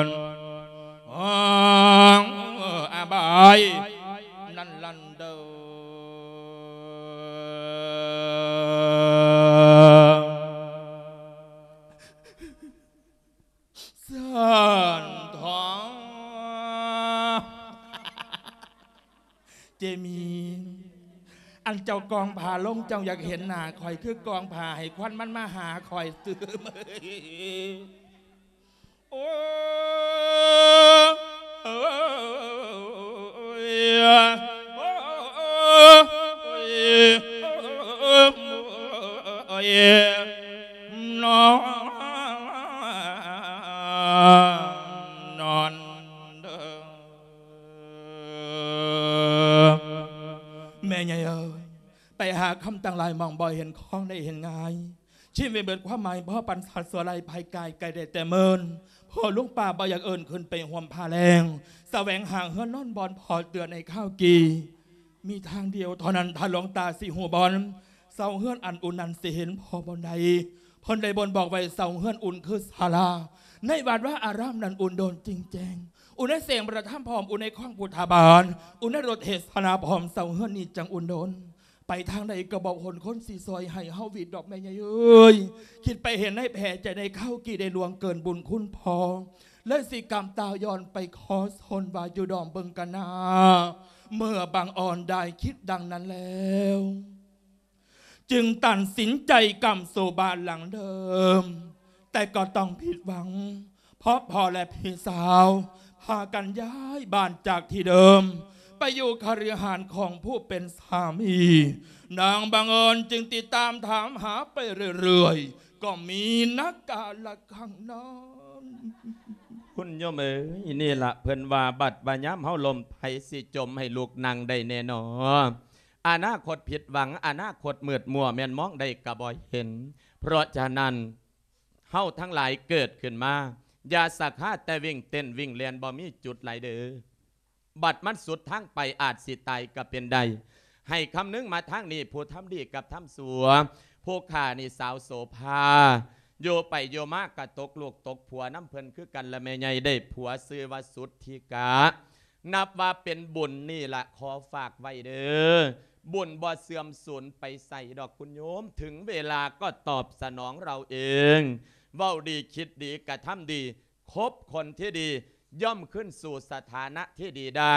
ນ ອາບາຍ ນັ້ນລັນເດີ ສານທອງ ເຈມີນ ອັນເຈົ້າກອງຜ້າລົງ ເຈົ້າຢາກເຫັນໜ້າຂ້ອຍ ຄືກອງຜ້າໃຫ້ຄວັນມັນມາຫາຂ້ອຍຕື່ມ. ໂອ້ຍ ໂອ້ຍ ໂອ້ຍ ໂອ້ຍ ນອນ ນອນເດີ ແມ່ໃຫຍ່ເອີຍ ໄປຫາຄຳຕັ້ງຫຼາຍໝ່ອງ ບໍ່ເຫັນຂອງໄດ້ເຫັນງ່າຍ ຊີວິດເບິດຄວາມໝາຍ ພໍປັນສັດຊົ່ວໄຮ້ ພາຍກາຍໄກໄດ້ແຕ່ເມີນ ພໍ່ລຸງປ້າບໍ່ຢາກເອີ້ນຂຶ້ນໄປຮ່ວມພາແລງ ສະແຫວງຫາເຮືອນນອນບ່ອນພໍ່ເຕືອນໃນຄາວກີ້ ມີທາງດຽວເທົ່ານັ້ນ ຖ້າຫຼວງຕາຊິຮູ້ບ່ອນ ເຊົາເຮືອນອັນອຸ່ນນັ້ນ ຊິເຫັນພໍ່ບ່ອນໃດ ເພິ່ນໄດ້ບົ່ງບອກໄວ້ ເຊົາເຮືອນອຸ່ນຄືສາລາ ໃນວັດວາອາຣາມນັ້ນອຸ່ນໂດນຈິງແຈ້ງ ອຸ່ນໃນແສງພະທຳພ້ອມ ອຸ່ນໃນຄອງພຸດທະບາດ ອຸ່ນໃນລົດເທສະນາພ້ອມ ເຊົາເຮືອນນີ້ຈັ່ງອຸ່ນໂດນ ໄປທາງໃດກໍບໍ່ພົ້ນຄົນຊິຊ່ອຍໃຫ້ເຮົາຫວິດດອກແມ່ໃຫຍ່ເອີຍ ຄິດໄປເຫັນໃນແຜໃຈໃນຄາວກີ້ໄດ້ລ່ວງເກີນບຸນຄຸນພໍ່ ເລີຍຊິກຳຕາຍ້ອນໄປຂໍຊົນວ່າຢູ່ດອມເບິ່ງກັນນາ ເມື່ອບັງອອນໄດ້ຄິດດັ່ງນັ້ນແລ້ວ ຈຶ່ງຕັດສິນໃຈກັບສູ່ບ້ານຫຼັງເດີມ ແຕ່ກໍຕ້ອງຜິດຫວັງ ເພາະພໍ່ແລະພີ່ສາວ ພາກັນຍ້າຍບ້ານຈາກທີ່ເດີມ ໄປຢູ່ຄະລືຫາດຂອງຜູ້ເປັນສາມີ. ນາງບັງເອີນຈຶ່ງຕິດຕາມຖາມຫາໄປເລື້ອຍໆ ກໍມີນະກາລະຄັງນັ້ນ. ຄຸນໂຍມເອີຍ ນີ້ລະເພິ່ນວ່າ ບັດວ່າຍາມເຮົາລົ້ມ ໃຜຊິຈົ່ມໃຫ້ລູກນັ່ງໄດ້ແນ່ນໍ. ອະນາຄົດຜິດຫວັງ ອະນາຄົດມືດມົວ ແມ່ນມອງໄດ້ກໍບໍ່ເຫັນ. ເພາະສະນັ້ນ ເຮົາທັງຫຼາຍເກີດຂຶ້ນມາ ຢ່າສະຄາແຕ່ວິ່ງເຕັ້ນວິ່ງແລ່ນ ບໍ່ມີຈຸດຫຼາຍເດີ້. ບັດມັນສຸດທາງໄປ ອາດຊິຕາຍກໍເປັນໄດ້. ໃຫ້ຄຳນຶງມາທາງນີ້ ຜູ້ທຳດີກັບທຳຊົ່ວ. ຜູ້ຂ້ານີ້ສາວໂສພາ ຢູ່ໄປຢູ່ມາກໍຕົກລູກຕົກຜົວນຳເພິ່ນຄືກັນລະແມ່ໃຫຍ່ ໄດ້ຜົວຊື່ວ່າສຸດທິກະ. ນັບວ່າເປັນບຸນນີ້ລະ ຂໍຝາກໄວ້ເດີ້ ບຸນບໍ່ເສື່ອມສູນໄປໃສດອກຄຸນໂຍມ ເຖິງເວລາກໍຕອບສະໜອງເຮົາເອງ ເວົ້າດີຄິດດີກະທຳດີ ຄົບຄົນທີ່ດີ ຍ່ອມຄືນສູ່ສະຖານະທີ່ດີໄດ້.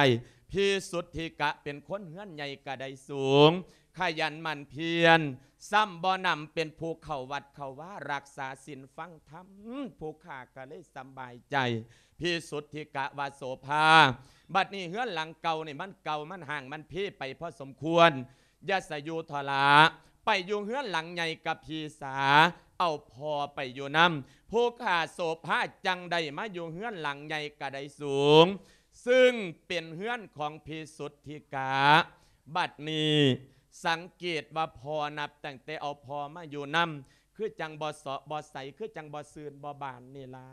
ພິສຸດທິກະເປັນຄົນເຮືອນໃຫຍ່ກະໄດ້ສູງ ຂະຫຍັນໝັ່ນພຽນ ຊ້ຳບໍ່ໜຳເປັນຜູ້ເຂົ້າວັດເຂົ້າວາ ຮັກສາສິນຟັງທຳ ຜູ້ຂ້າກະເລີຍສະບາຍໃຈ. ພິສຸດທິກະວ່າ ໂສພາ ບັດນີ້ເຮືອນຫຼັງເກົ່ານີ້ມັນເກົ່າ ມັນຮ້າງ ມັນເພໄປພໍສົມຄວນ ຢ່າສະຢູ່ທໍລະ ໄປຢູ່ເຮືອນຫຼັງໃຫຍ່ກັບພີ່ສາ ເອົາພໍ່ໄປຢູ່ນຳ. ຜູ້ຂ້າໂສພາຈັ່ງໄດ້ມາຢູ່ເຮືອນຫຼັງໃຫຍ່ກະໄດ້ສູງ ຊຶ່ງເປັນເຮືອນຂອງພິສຸດທິກະ. ບັດນີ້ສັງເກດວ່າພໍ່ ນັບຕັ້ງແຕ່ເອົາພໍ່ມາຢູ່ນຳ ຄືຈັ່ງບໍ່ເຊາະບໍ່ໃສ ຄືຈັ່ງບໍ່ຊື່ນບໍ່ບານນີ້ລະ.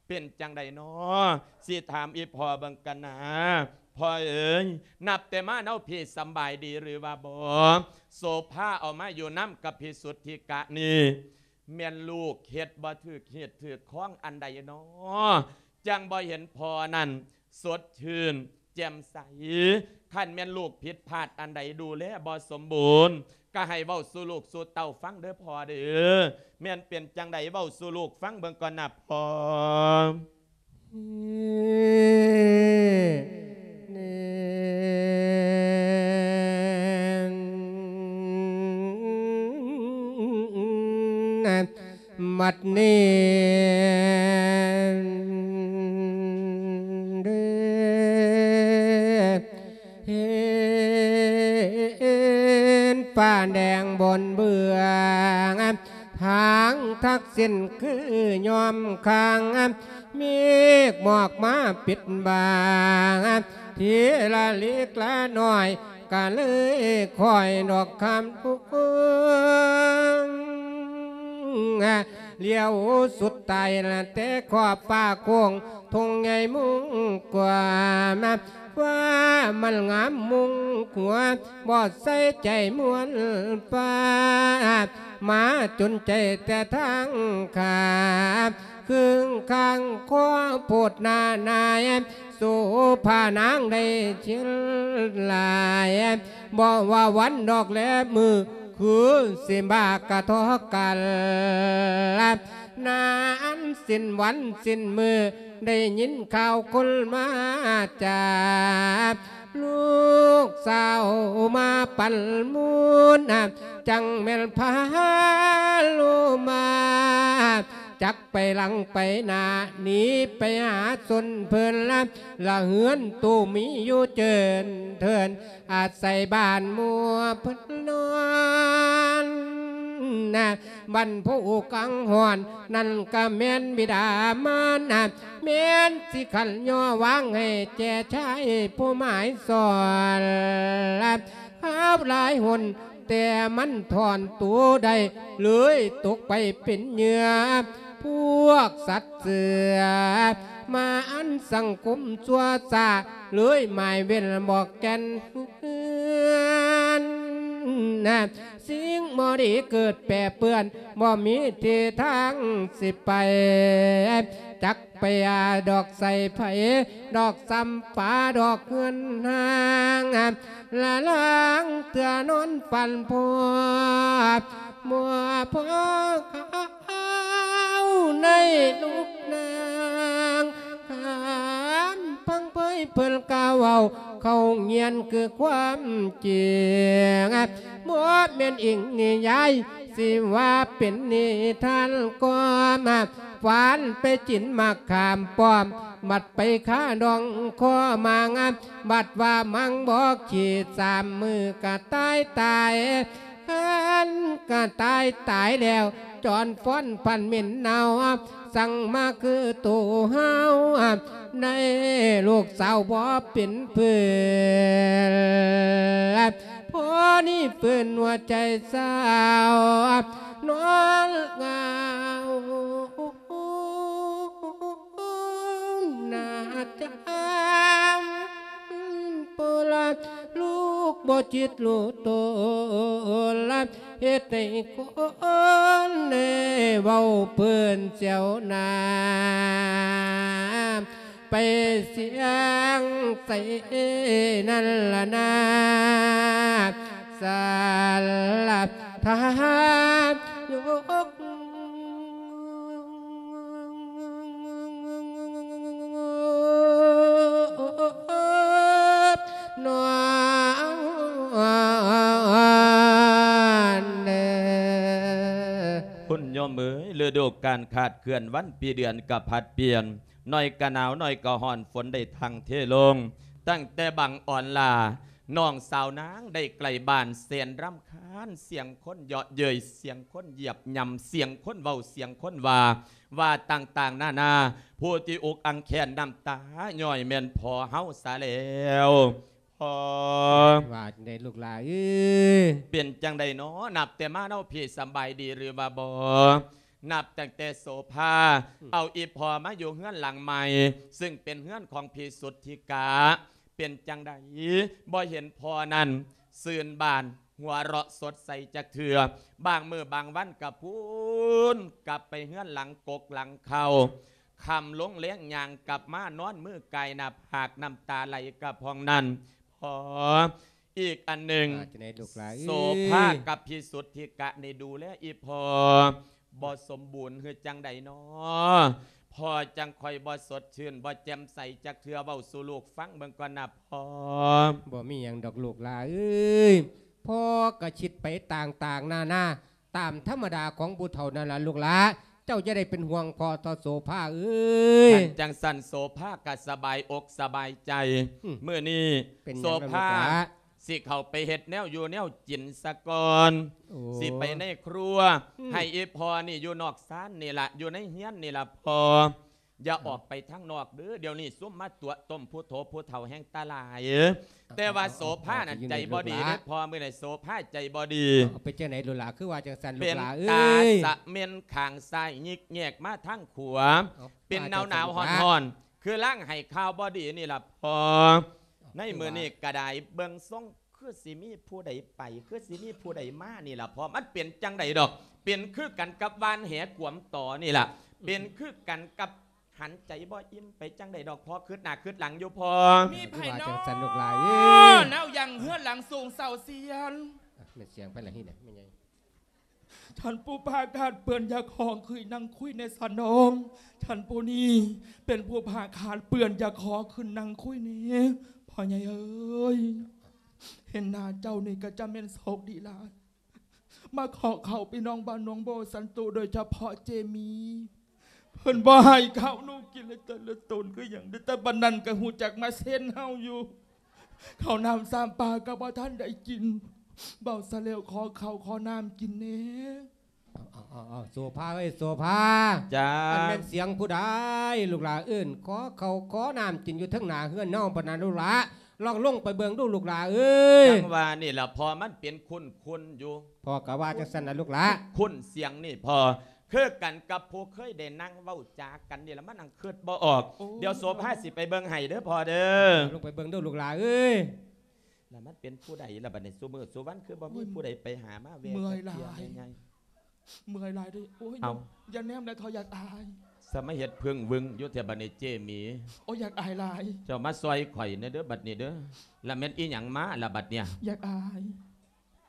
ເປັນຈັ່ງໃດນໍ ຊິຖາມອີ່ພໍ່ເບິ່ງກັນນາ. ພໍ່ເອີຍ ນັບແຕ່ມາເນາະ ພີ່ສຳບາຍດີຫຼືວ່າບໍ່? ໂສພາເອົາມາຢູ່ນຳກັບພິສຸດທິກະນີ້ ແມ່ນລູກເຮັດບໍ່ຖືກຮີດຖືກຄອງອັນໃດນໍ ຈັ່ງບໍ່ເຫັນພໍ່ນັ້ນສົດຊື່ນແຈ່ມໃສ? ຄັນແມ່ນລູກຜິດພາດອັນໃດ ດູແລບໍ່ສົມບູນ ກໍໃຫ້ເວົ້າສູ່ລູກສູ່ເຕົ້າຟັງເດີ້ພໍ່ເດີ້. ແມ່ນເປັນຈັ່ງໃດ ເວົ້າສູ່ລູກຟັງເບິ່ງກ່ອນນະພໍ່. ບັດນີ້ ເຫັນຟ້າແດງບົນເບື້ອງ ທາງທັກສິນຄືຍອມຄ້າງ ເມກໝອກມາປິດບັງ ທີລະເລັກລະນ້ອຍ ກະເລີຍຄ່ອຍດອກຄຳທຸກ ລ້ຽວສຸດທ້າຍ ແຕ່ຂອບຟ້າໂຄ້ງ ທົ່ງໃຫຍ່ມຸ່ງກວ້າງ ວ່າມັນງາມມຸງຫົວ ບໍ່ໃສ່ໃຈມ່ວນຟ້າ ມາຈົນໃຈແຕ່ທາງຂາ ເຄິ່ງຂ້າງຄໍໂພດໜ້ານາຍ ໂສພານາງໄດ້ເຊີນຫຼາຍ ບໍ່ວ່າວັນດອກແລມື້ ຄືຊິມາກະທົບກັນ ນານສິ້ນວັນສິ້ນມື້ ໄດ້ຍິນຂ່າວຄົນມາຈາ ລູກສາວມາປັນມູນ ຈັ່ງແມ່ນພາໂລມາ ຈັກໄປຫຼັງໄປໜ້າ ໜີໄປຫາຊົນເພິ່ນ ລະເຮືອນຕູ້ມີຢູ່ເຈີນເທີນ ອາໄສບ້ານໝູ່ເພິ່ນນອນ ບັນຜູ້ກັງຫອນ ນັ້ນກະແມ່ນບິດາມານ ແມ່ນຊິຂັນຍໍວາງໃຫ້ແກ່ຊາຍຜູ້ໝາຍສອນ ຄາວຫຼາຍຫົນ ແຕ່ມັນຖອນໂຕໄດ້ ເລີຍຕົກໄປເປັນເຫຍື່ອ ພວກສັດເສືອ ມາອັນສັງຄົມຊົ່ວຊ້າ ເລີຍໝາຍເວັ້ນບອກແກ່ນເຮືອນ ສິ່ງບໍ່ດີເກີດແປເປື້ອນ ບໍ່ມີທີ່ທາງຊິໄປ ຈັກໄປຫາດອກໃສໃຜ ດອກຊຳປາດອກເຮືອນຮ່າງ ລະລາງເທື່ອນອນຝັນພໍ ບໍ່ພໍຂາວໃນລູກນາງ ຄຳພັງເຜີຍເພິ່ນກ່າວເວົ້າ ເຂົ້າງຽນຄືຄວາມຈິງ ບໍ່ແມ່ນອີງນິຍາຍ ຊິວ່າເປັນນິທານກໍມາ ຟານໄປກິນໝາກຂາມປ້ອມ ບັດໄປຄາດອງຄໍໝາງ ບັດວ່າມັງບໍ່ຂີ້ ສາມມື້ກະຕາຍຕາຍ ຄັນກະຕາຍຕາຍແລ້ວ ຈອນຟ້ອນພັນເໝັນເນົ່າ ສັ່ງມາຄືໂຕເຮົາ ໃນລູກສາວບໍ່ເປັນເພື່ອນ ພໍນີ້ຟື້ນຫົວໃຈສາວ ນອນເຫງົາໜ້າຈາ ໂປລະ ລູກບໍ່ຈິດຮູ້ໂຕລະ ເຮັດໃຫ້ຄົນໄດ້ເວົ້າເພິ່ນສຽວໜ້າ ໄປສຽງໃສນັ້ນລະນາ ສາລະທານຍົກ ນອນເດີ ຄຸນໂຍມເອີຍ ລະດູການຂາດເຄື່ອນ ວັນປີເດືອນກະຜັດປ່ຽນ ໜ້ອຍກະໜາວ ໜ້ອຍກະຮ້ອນ ຝົນໄດ້ທັ່ງເທລົງ ຕັ້ງແຕ່ບັງອ່ອນຫຼ້າ ນ້ອງສາວນາງໄດ້ໃກ້ບ້ານ ແສນລຳຄານ ສຽງຄົນເຍາະເຍີ້ຍ ສຽງຄົນຢຽບຫຍ້ຳ ສຽງຄົນເວົ້າ ສຽງຄົນວ່າ ວ່າຕ່າງໆນານາ ຜູ້ທີ່ອົກອັ່ງແຄ້ນ ນ້ຳຕາຍ້ອຍແມ່ນພໍ່ເຮົາສາແລ້ວ. ພໍ່ ວ່າຈັ່ງໃດລູກຫຼ້າເອີຍ? ເປັນຈັ່ງໃດນໍ? ນັບແຕ່ມາເນາະ ພີ່ສະບາຍດີຫຼືວ່າບໍ່? ນັບຕັ້ງແຕ່ໂສພາ ອືມ ເອົາອີ່ພໍ່ມາຢູ່ເຮືອນຫຼັງໃໝ່ ຊຶ່ງເປັນເຮືອນຂອງພີ່ສຸດທິກະ ເປັນຈັ່ງໃດ ບໍ່ເຫັນພໍ່ນັ້ນຊື່ນບານ ຫົວເລາະສົດໃສຈັກເທື່ອ ບາງມື້ບາງວັນກະພຸ້ນ ກັບໄປເຮືອນຫຼັງກົກຫຼັງເຄົ້າ ຄ່ຳລົງແລງຍ່າງກັບມາ ນອນມືກາຍໜ້າຜາກ ນ້ຳຕາໄຫຼກະພອງນັ້ນ ພໍ່ ອີກອັນໜຶ່ງ ວ່າຈັ່ງໃດລູກຫຼ້າເອີຍ? ໂສພາກັບພິສຸດທິກະນີ້ດູແລອີ່ພໍ່ບໍ່ສົມບູນ ຄືຈັ່ງໃດນໍ? ພໍ່ຈັ່ງຄ່ອຍບໍ່ສົດຊື່ນ ບໍ່ແຈ່ມໃສຈັກເທື່ອ ເວົ້າສູ່ລູກຟັງເບິ່ງກ່ອນນະພໍ່. ບໍ່ມີຫຍັງດອກລູກຫຼ້າເອີຍ ພໍ່ກະຄິດໄປຕ່າງໆນານາ ຕາມທຳມະດາຂອງຜູ້ເຖົ້ານັ້ນລະລູກຫຼ້າ ເຈົ້າຢ່າໄດ້ເປັນຫ່ວງພໍ່ເຖົ້າໂສພາເອີຍ. ຄັນຈັ່ງຊັ້ນໂສພາກະສະບາຍອົກສະບາຍໃຈ ອືມ ມື້ນີ້ ເປັນຫຍັງລະ ໂສພາ ລູກຫຼ້າ? ຊິເຂົ້າໄປເຮັດແນວຢູ່ແນວກິນສາກ່ອນ ໂອ້ ຊິໄປໃນຄົວ ອືມ ໃຫ້ອີ່ພໍ່ນີ້ຢູ່ນອກຊານນີ້ລະ ຢູ່ໃນເຮືອນນີ້ລະພໍ່. ຢ່າອອກໄປທາງນອກເດີ ດຽວນີ້ຊຸມມາຕົວະຕົ້ມຜູ້ໂຖຜູ້ເຖົ້າແຮ່ງຕາຫຼາຍ. ແຕ່ວ່າໂສພານັ້ນໃຈບໍ່ດີເດ້ພໍ່ ມື້ນີ້ໂສພາໃຈບໍ່ດີ. ເປັນຈັ່ງໃດລູກຫຼ້າ ຄືວ່າຈັ່ງຊັ້ນລູກຫຼ້າເອີຍ? ເປັນຕາສະເໝັນຂ້າງຊ້າຍ ຍິກແຍກມາທາງຂວາ ເປັນໜາວໆຮ້ອນໆ ຄືລາງໃຫ້ຂ່າວບໍ່ດີນີ້ລະພໍ່. ໃນມື້ນີ້ກໍໄດ້ເບິ່ງຊົງຄືຊິມີຜູ້ໃດໄປ ຄືຊິມີຜູ້ໃດມານີ້ລະພໍ່. ມັນເປັນຈັ່ງໃດດອກ? ເປັນຄືກັນກັບຫວ່ານແຫກວມຕໍ່ນີ້ລະ ເປັນຄືກັນກັບຫັນໃຈບໍ່ອີ່ມໄປຈັ່ງໃດດອກພໍ່. ຄຶດໜ້າຄຶດຫຼັງຢູ່ພໍ່. ມີໃຜເນາະ? ວ່າຈັ່ງຊັ້ນລູກຫຼານເອີຍ ແນວຍັງເຮືອນຫຼັງສູງເຊົາຊຽນ. ແມ່ນສຽງໃຜລະນີ້ນະແມ່ໃຫຍ່? ທ່ານຜູ້ພາກາດເປື້ອນ ຢາກຂໍຂຶ້ນນັ່ງຄຸຍແດ່ສະນ້ອງ. ທ່ານຜູ້ນີ້ເປັນຜູ້ພາກາດເປື້ອນ ຢາກຂໍຂຶ້ນນັ່ງຄຸຍແດ່. ພໍ່ໃຫຍ່ເອີຍ ເຫັນໜ້າເຈົ້ານີ້ກໍຈະແມ່ນໂຊກດີຫຼາຍ ມາຂໍເຂົ້າພີ່ນ້ອງບ້ານໜອງບໍ່ສັນໂຕ ໂດຍສະເພາະເຈມີ ເພິ່ນບໍ່ໃຫ້ເຂົ້າໜູກິນເລີຍ ແຕ່ລະຕົນຄືຫຍັງ ແຕ່ບັດນັ້ນກໍຮູ້ຈັກມາເຊັນເຮົາຢູ່. ເຂົ້ານ້ຳສາມປາກໍບໍ່ທັນໄດ້ກິນ ເວົ້າຊະແລ້ວ ຂໍເຂົ້າຂໍນ້ຳກິນແດ່. ເອົາໆໆ ໂສພາເອີຍ ໂສພາ. ຈ້າ. ອັນແມ່ນສຽງຜູ້ໃດລູກຫຼານ ເອີ້ນຂໍເຂົ້າຂໍນ້ຳກິນຢູ່ເທິງໜ້າເຮືອນເຮົາປານນັ້ນລູກຫຼານ? ລອງລົງໄປເບິ່ງດູລູກຫຼານເອີຍ. ຈັ່ງວ່ານີ້ລະພໍ່ ມັນເປັນຄຸ້ນໆຢູ່. ພໍ່ກໍວ່າຈັ່ງຊັ້ນລະລູກຫຼານ. ຄຸ້ນສຽງນີ້ພໍ່ ຄືກັນກັບຜູ້ເຄີຍໄດ້ນັ່ງເວົ້າຈາກັນນີ້ລະ ມານັ່ງຄຶດບໍ່ອອກ. ໂອ້ ດຽວໂສພາຊິໄປເບິ່ງໃຫ້ເດີພໍ່ເດີ. ລົງໄປເບິ່ງດູລູກຫຼານເອີຍ. ລະມັນເປັນຜູ້ໃດລະບັດນີ້? ຊຸມື້ຊຸວັນຄືບໍ່ມີຜູ້ໃດໄປຫາມາແວ່ ເມື່ອຍຫຼາຍ ເມື່ອຍຫຼາຍເດີ. ໂອ້ຍ ເອົາ ຢ່າແນມຫຼາຍເຖົ້າ ຢາກອາຍ. ສະມາເຮັດເພິ່ງວຶງຢູ່ແທ້ບັດນີ້ເຈມີ. ໂອ້ຍ ຢາກອາຍຫຼາຍ. ເຈົ້າມາຊ່ອຍຂ້ອຍແດ່ເດີບັດນີ້ເດີ. ລະແມ່ນອີ່ຫຍັງມາລະບັດເນີ້ຍ? ຢາກອາຍ.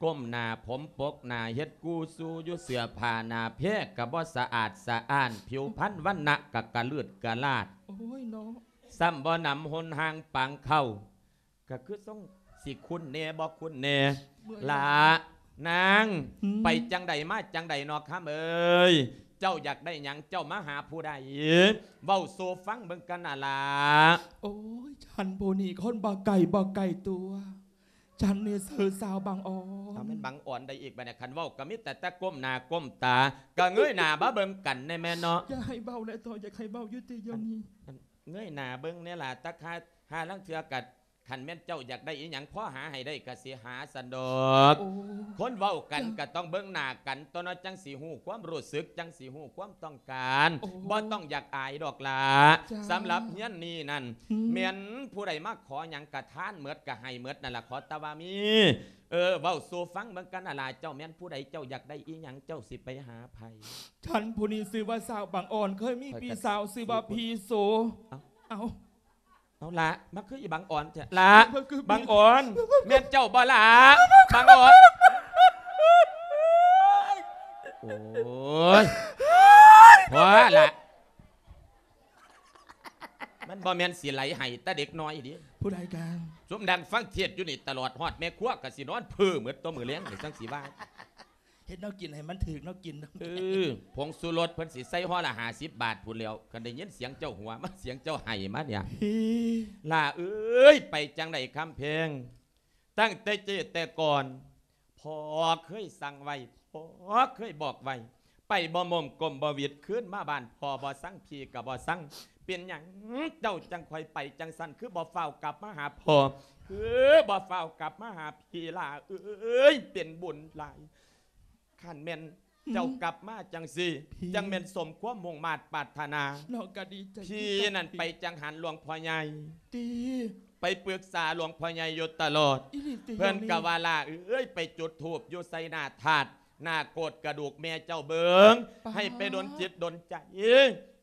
ກົ້ມໜ້າຜົມປົກໜ້າ ເຮັດກູ່ຊູຢູ່ ເສື້ອຜ້າໜ້າແພກະບໍ່ສະອາດສະອ້ານ ຜິວພັນວັນນະກະກະລືດກະລາດ. ໂອ້ຍເນາະ. ຊ້ຳບໍ່ໜຳຫົນຮ່າງປາງເຂົ້າ ກະຄືຊົງຊິຄຸ້ນແດ່ບໍ່ຄຸ້ນແດ່. ເມື່ອຍຫຼາຍ. ລະນາງ ອືມ ໄປຈັ່ງໃດມາຈັ່ງໃດເນາະຄຳເອີຍ? ເຈົ້າຢາກໄດ້ຫຍັງ? ເຈົ້າມາຫາຜູ້ໃດ? ເວົ້າສູ່ຟັງເບິ່ງກັນນະລະ. ໂອ້ຍ ທ່ານຜູ້ນີ້ຄົນບໍ່ໄກບໍ່ໄກຕົວ. ຈັ່ງນີ້ຊື່ສາວບັງອອນ. ເອົາແມ່ນບັງອອນໃດອີກບັດນີ້? ຄັນເວົ້າກໍມີແຕ່ ແຕ່ກົ້ມໜ້າກົ້ມຕາ ກໍເງີຍໜ້າມາເບິ່ງກັນແດ່ແມ່ເນາະ. ຢ່າໃຫ້ເວົ້າແຫຼະເຖົ້າ ຢາກໃຫ້ເວົ້າຢູ່ຕິດດຽວນີ້. ອັນ ອັນ ເງີຍໜ້າເບິ່ງແດ່ລະ ຕາຄາ ຫາລາງເທື່ອກໍ ຄັນແມ່ນເຈົ້າຢາກໄດ້ອີ່ຫຍັງ ພໍຫາໃຫ້ໄດ້ກໍຊິຫາຊັ້ນດອກ. ໂອ້ ຄົນເວົ້າກັນ ຈ້າ ກໍຕ້ອງເບິ່ງໜ້າກັນຕົວະເນາະ ຈັ່ງຊິຮູ້ຄວາມຮູ້ສຶກ ຈັ່ງຊິຮູ້ຄວາມຕ້ອງການ. ໂອ້ ບໍ່ຕ້ອງຢາກອາຍດອກລະ. ຈ້າ ສຳລັບເຮືອນນີ້ນັ້ນ ອືມ ແມ່ນຜູ້ໃດມາຂໍຫຍັງກະທານໝົດ ກະໃຫ້ໝົດນັ້ນລະ ຂໍແຕ່ວ່າມີ. ເອີ ເວົ້າສູ່ຟັງເບິ່ງກັນນະລະ ເຈົ້າແມ່ນຜູ້ໃດ? ເຈົ້າຢາກໄດ້ອີ່ຫຍັງ? ເຈົ້າຊິໄປຫາໃຜ? ທ່ານຜູ້ນີ້ຊື່ວ່າສາວບັງອອນ ເຄີຍມີພີ່ສາວຊື່ວ່າພີ່ໂສ. ເອົ້າ ເອົ້າ ເອົາລະ ມາຄືອີບັງອອນແທ້ລະ. ບັງອອນ ແມ່ນເຈົ້າບໍ່ລະ? ບັງອອນ ໂອ້ຍ ພໍລະ. ມັນບໍ່ແມ່ນຊິໄຫຼໄຫ້ແຕ່ເດັກນ້ອຍເດ້. ຜູ້ໃດກະ? ຊຸມນັ່ງຟັງເທດຢູ່ນີ້ຕະຫຼອດ ຮອດແມ່ຄົວກະຊິນອນເພີ້ໝົດຕົວະ ມື້ແລງນີ້ຈັ່ງຊິວ່າ. ເຮັດແນວກິນໃຫ້ມັນຖືກແນວກິນ. ເອີ ຜົງຊູລົດເພິ່ນຊິໃສ່ຫໍ່ລະຫ້າສິບບາດພຸ້ນແລ້ວ. ຄັນໄດ້ຍິນສຽງເຈົ້າຫົວມາ ສຽງເຈົ້າໄຫ້ມາເນຍ. ເອີ ຫຼ້າເອີຍ ໄປຈັ່ງໃດຄຳແພງ? ຕັ້ງແຕ່ເຈແຕ່ກ່ອນ ພໍ່ເຄີຍສັ່ງໄວ້ ພໍ່ເຄີຍບອກໄວ້ ໄປບໍ່ມົມກົ້ມບໍ່ຫວິດ ຄືນມາບ້ານພໍ່ບໍ່ຊັງ ພີ່ກໍບໍ່ຊັງ. ເປັນຫຍັງເຈົ້າຈັ່ງຄ່ອຍໄປຈັ່ງຊັ້ນ? ຄືບໍ່ຟ້າວກັບມາຫາພໍ່? ຄືບໍ່ຟ້າວກັບມາຫາພີ່? ຫຼ້າເອີຍ ເປັນບຸນຫຼາຍ. ຄັນແມ່ນເຈົ້າ ອືມ ກັບມາຈັ່ງຊີ້ ພີ່ ຈັ່ງແມ່ນສົມຄວາມມຸ່ງມາດປາດຖະໜາ. ນ້ອງກໍດີໃຈ ພີ່ນັ້ນໄປຈັງຫັນຫຼວງພໍ່ໃຫຍ່ ຕິ ໄປປຶກສາຫຼວງພໍ່ໃຫຍ່ຢູ່ຕະຫຼອດ. ອີ່ຫຼີຕິ? ເພິ່ນກໍວ່າ ຫຼ້າເອີຍ ໄປຈຸດທູບຢູ່ໃສ່ໜ້າທາດ ໜ້າໂກດກະດູກແມ່ເຈົ້າເບິ່ງ ປາດ ໃຫ້ໄປດົນຈິດດົນໃຈ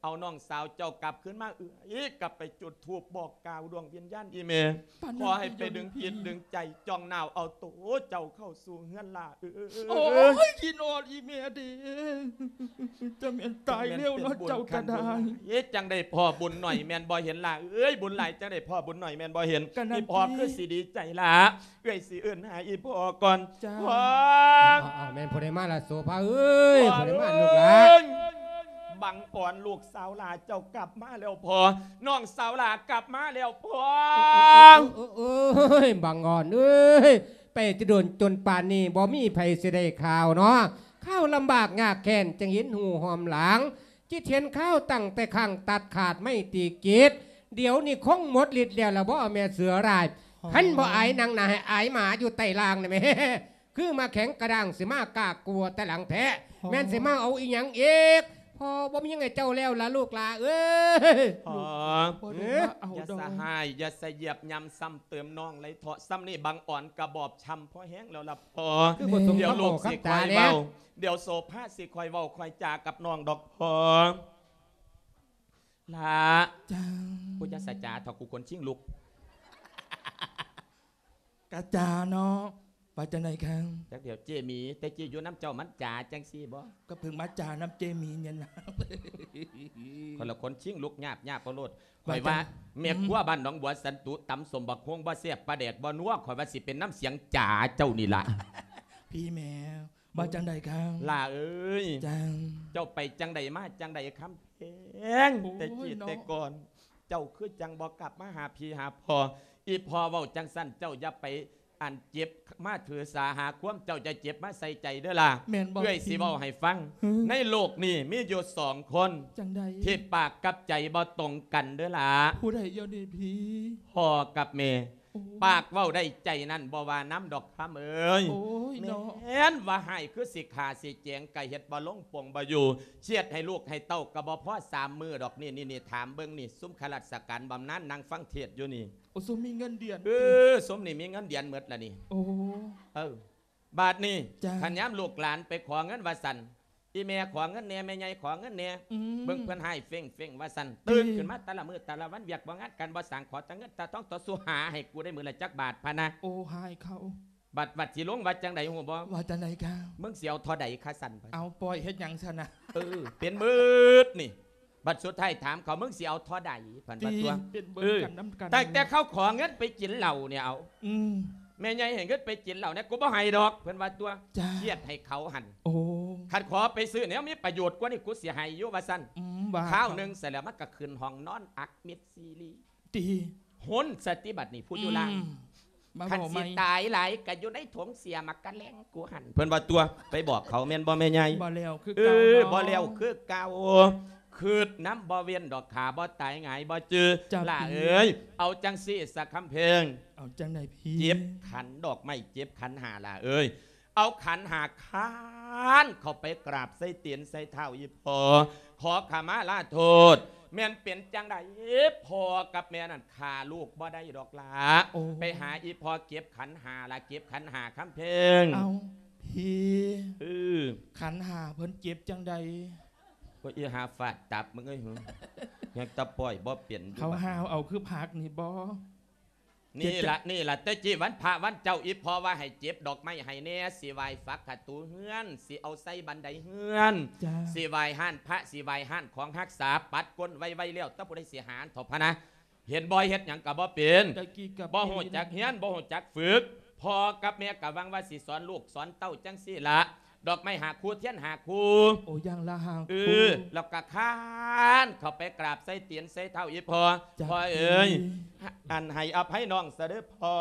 ເອົານ້ອງສາວເຈົ້າກັບຄືນມາ. ເອື້ອຍກໍໄປຈຸດທູບບອກກ່າວດວງວິນຍານອີ່ແມ່ ຂໍໃຫ້ໄປດຶງຈິດດຶງໃຈ ຈ່ອງໜາວເອົາໂຕເຈົ້າເຂົ້າສູ່ເຮືອນ ຫຼ້າເອີຍ. ໂອ້ຍ ຄິດຮອດອີ່ແມ່ເດ້ ຈະແມ່ນຕາຍເລັວເນາະເຈົ້າກໍໄດ້. ເຮັດຈັ່ງໃດພໍ່ບຸນໜ້ອຍແມ່ນບໍ່ເຫັນ ຫຼ້າເອີຍ? ບຸນຫຼາຍຈັ່ງໃດພໍ່ບຸນໜ້ຍແມ່ນບໍ່ເຫັນ? ອີ່ພໍ່ຄືຊິດີໃຈ ຫຼ້າ ເອື້ອຍຊິເອີ້ນຫາອີ່ພໍ່ກ່ອນ. ຈ້າ ພໍ່ ເອົາໆ ແມ່ນຜູ້ໃດມາລະໂສພາເອີຍ? ຜູ້ໃດມາລູກຫຼ້າ? ບັງອອນ ລູກສາວຫຼ້າເຈົ້າກັບມາແລ້ວພໍ່. ນ້ອງສາວຫຼ້າກັບມາແລ້ວພໍ່. ໂອ້ຍ ບັງອອນເອີຍ ໄປແຕ່ດົນຈົນປານນີ້ ບໍ່ມີໃຜຊິໄດ້ຂ່າວເນາະ. ຄາວລຳບາກຍາກແຄ້ນ ຈັ່ງເຫັນຮູ້ຮ່ອມຫຼັງ ຈິດເຫັນຂ່າວຕັ້ງແຕ່ຄັ້ງຕັດຂາດໄມຕີກິດ. ດຽວນີ້ຄົງໝົດລິດແລ້ວລະບໍ ແມ່ເສືອຮ້າຍ? ຄັນບໍ່ອາຍນັ່ງໜ້າ ໃຫ້ອາຍໝາຢູ່ໃຕ້ລ່າງນະແມ່. ຄືໝາກແຂງກະດ້າງ ຊິມາກາກົວແຕ່ຫຼັງແທ້. ແມ່ນຊິມາເອົາອີ່ຫຍັງອີກ? ພໍ່ ບໍ່ມີຫຍັງໃຫ້ເຈົ້າແລ້ວລະລູກຫຼ້າເອີຍ. ພໍ່ ບໍ່ໄດ້ມາເອົາດອກ ຢ່າສະຫາຍ ຢ່າສະຢຽບຫຍ້ຳຊ້ຳເຕີມນ້ອງເລີຍເຖາະ. ຊ້ຳນີ້ບັງອອນກະບອບຊ້ຳພໍແຮງແລ້ວລະພໍ່. ຄືບໍ່ສົມ ດຽວລູກຊິຄ່ອຍເວົ້າ ດຽວໂສພາຊິຄ່ອຍເວົ້າຄ່ອຍຈາກັບນ້ອງດອກພໍ່. ຫຼ້າ ເຈົ້າ ກູຈະສະຈາເຖາະ ກູຂົນຊິງລຸກ. ກະຈາເນາະ ວ່າຈັ່ງໃດຄັງ? ຈັກດຽວເຈ້ໝີ ແຕ່ເຈ້ຢູ່ນຳເຈົ້າມັນຈາຈັ່ງຊີ້ບໍ່? ກໍເພິ່ງມາຈານຳເຈ້ໝີນີ້ນະ. ຄົນລະຄົນຊິງລຸກຍາບໆ ເອົາໂລດ. ຂ້ອຍວ່າ ວ່າຈັ່ງ ແມ່ຄົວ ອືມ ບ້ານໜອງບົວສັນຕຸ ຕຳສົ້ມບັກໂຮງບໍ່ແຊບ ປາແດກບໍ່ນົວ ຂ້ອຍວ່າຊິເປັນນຳສຽງຈາເຈົ້ານີ້ລະ. ພີ່ແມ່ ວ່າຈັ່ງໃດຄັງ? ຫຼ້າເອີຍ ຈັ່ງ ເຈົ້າໄປຈັ່ງໃດມາຈັ່ງໃດຄຳແພງ? ໂອ້ຍ ແຕ່ກີ້ ເນາະ ແຕ່ກ່ອນ ເຈົ້າຄືຈັ່ງບໍ່ກັບມາຫາພີ່ຫາພໍ່. ອີ່ພໍ່ເວົ້າຈັ່ງຊັ້ນ ເຈົ້າຢ່າໄປອັນເຈັບມາຖືສາຫາຄວາມ ເຈົ້າຢ່າເຈັບມາໃສ່ໃຈເດີ້ຫຼ້າ. ແມ່ນບໍ່? ເອື້ອຍຊິເວົ້າໃຫ້ຟັງ ຫື ໃນໂລກນີ້ມີຢູ່ສອງຄົນ ຈັ່ງໃດ? ທີ່ປາກກັບໃຈບໍ່ຕົງກັນເດີ້ຫຼ້າ. ຜູ້ໃດດຽວນີ້ພີ່? ພໍ່ກັບແມ່. ໂອ້ ປາກເວົ້າໄດ້ ໃຈນັ້ນບໍ່ວ່ານຳດອກຄຳເອີຍ. ໂອ້ຍ ເນາະ ແມ່ນວ່າຮ້າຍຄືຊິຂ້າຊິແຈງ ກະເຮັດບໍ່ລົງປົງບໍ່ຢູ່ ຄຽດໃຫ້ລູກໃຫ້ເຕົ້າກະບໍ່ພໍສາມມື້ດອກ. ນີ້ໆໆ ຖາມເບິ່ງນີ້ ຊຸມຂ້າລາຊະການບຳນານນັ່ງຟັງເທດຢູ່ນີ້. ໂອ້ ຊຸມມີເງິນເດືອນ ເອີ ຕິ ຊຸມນີ້ມີເງິນເດືອນໝົດລະນີ້. ໂອ້ ເອີ ບາດນີ້ ຈ້າ ຄັນຍາມລູກຫຼານໄປຂໍເງິນວ່າຊັ້ນ ອີ່ແມ່ຂໍເງິນແດ່ ແມ່ໃຫຍ່ຂໍເງິນແດ່ ອືມ ເບິ່ງເພິ່ນຮ້າຍເຟັ້ງໆ ວ່າຊັ້ນ. ຕິ ຕື່ນຂຶ້ນມາແຕ່ລະມື້ແຕ່ລະວັນ ວຽກບໍ່ງານການບໍ່ສ້າງ ຂໍແຕ່ເງິນແຕ່ທອງ ຕໍ່ສູ້ຫາໃຫ້ກູໄດ້ມື້ລະຈັກບາດພະນະ. ໂອ້ ຮ້າຍເຂົາ. ບັດ ບັດຊິລົງວ່າຈັ່ງໃດຮູ້ບໍ່? ວ່າຈັ່ງໃດຄະ? ມຶງຊິເອົາທໍ່ໃດຄະຊັ້ນ? ເອົາ ປ່ອຍເຮັດຫຍັງຊັ້ນນະ? ເອີ ເປັນໝືດນີ້. ບັດສຸດທ້າຍຖາມເຂົາ ມຶງຊິເອົາທໍ່ໃດ? ເພິ່ນວ່າ ຕິ ຕົວະ ເປັນເບິ່ງກັນນຳກັນ ເອີ ຕັ້ງແຕ່ເຂົາຂໍເງິນໄປກິນເຫຼົ້ານີ້ ເອົາ ອືມ ແມ່ໃຫຍ່ໃຫ້ເງິນໄປກິນເຫຼົ້ານີ້ ກູບໍ່ໃຫ້ດອກ ເພິ່ນວ່າຕົວະ. ຈ້າ ຄຽດໃຫ້ເຂົາຫັ້ນ. ໂອ້ ຄັນຂໍໄປຊື້ແນວມີປະໂຫຍດກວ່ານີ້ ກູຊິໃຫ້ຢູ່ ວ່າຊັ້ນ. ອືມ ວ່າ ຄາວໜຶ່ງເສະແລ້ວ ມັນກະຂຶ້ນຫ້ອງນອນອັກມິດຊີລີ. ຕິ ຫົນສະຕິບັດນີ້ ຜູ້ຢູ່ລ່າງ ອືມ ມາ ຄັນ ເວົ້າໃໝ່ ຊິຕາຍຫຼາຍກະຢູ່ໃນຖົງເສຍໝາກກະແລັງກູຫັ້ນ ເພິ່ນວ່າຕົວະ. ໄປບອກເຂົາແມ່ນບໍ່ແມ່ໃຫຍ່? ບໍ່ແລ້ວຄື ເອີ ເກົ່າເນາະ ບໍ່ແລ້ວຄືເກົ່າ. ຄຶດນຳບໍ່ເວັ້ນດອກ ຂ້າບໍ່ຕາຍຫງາຍບໍ່ຈື່. ຫຼ້າເອີຍ ເອົາຈັ່ງຊີ້ສາຄຳເພັງ ເອົາຈັ່ງໃດພີ່? ເຈັບຂັນດອກໄມ້ ເຈັບຂັນຫ້າ ຫຼ້າເອີຍ. ເອົາຂັນຫ້າຄານເຂົ້າໄປກາບໃສ່ຕີນໃສ່ເທົ້າອີ່ພໍ່ ຂໍຂະມາລາໂທດ. ແມ່ນເປັນຈັ່ງໃດພໍ່ກັບແມ່ນັ້ນຂ້າລູກບໍ່ໄດ້ດອກຫຼ້າ. ໂອ້ ໄປຫາອີ່ພໍ່ເກັບຂັນຫ້າລະ ເກັບຂັນຫ້າຄຳເພັງ. ເອົ້າ ພີ່ ເອີ ຂັນຫ້າເພິ່ນເກັບຈັ່ງໃດ? ໂອ້ຍ ອີ່ຫາຟາດຕັບມຶງເອີຍ ຫື ຍັງຕະປ່ອຍບໍ່ເປັນຢູ່. ເຂົາຫາວເອົາຄືຜັກນີ້ບໍ່? ນີ້ລະ ນີ້ລະ ແຕ່ກີ້ວັນພະວັນເຈົ້າ ອີ່ພໍ່ວ່າໃຫ້ເກັບດອກໄມ້ໃຫ້ແດ່ ຊິໄຫວ້ຝັກຂະຕູເຮືອນ ຊິເອົາໃສ່ບັນໄດເຮືອນ. ຈ້າ ຊິໄຫວ້ຮ້ານພະ ຊິໄຫວ້ຮ້ານຂອງຮັກສາ ປັດກົ້ນໄວໆແລ້ວ ແຕ່ຜູ້ໃດຊິຫາເຖົ້າພະນະ. ເຫັນບໍ່ ເຮັດຫຍັງກະບໍ່ເປັນ ແຕ່ກີ້ກະ ບໍ່ຮູ້ຈັກຮຽນ ບໍ່ຮູ້ຈັກຝຶກ. ພໍ່ກັບແມ່ກະຫວັງວ່າຊິສອນລູກສອນເຕົ້າຈັ່ງຊີ້ລະ. ດອກໄມ້ຫ້າຄູ່ ທຽນຫ້າຄູ່. ໂອ້ ຢ່າງລະຫ້າ ເອີ ຄູ່ ແລ້ວກະຄານເຂົ້າໄປກາບໃສ່ຕີນໃສ່ເທົ້າອີ່ພໍ່. ພໍ່ເອີຍ ອັນໃຫ້ອະໄພນ້ອງຊະເດີ້ພໍ່.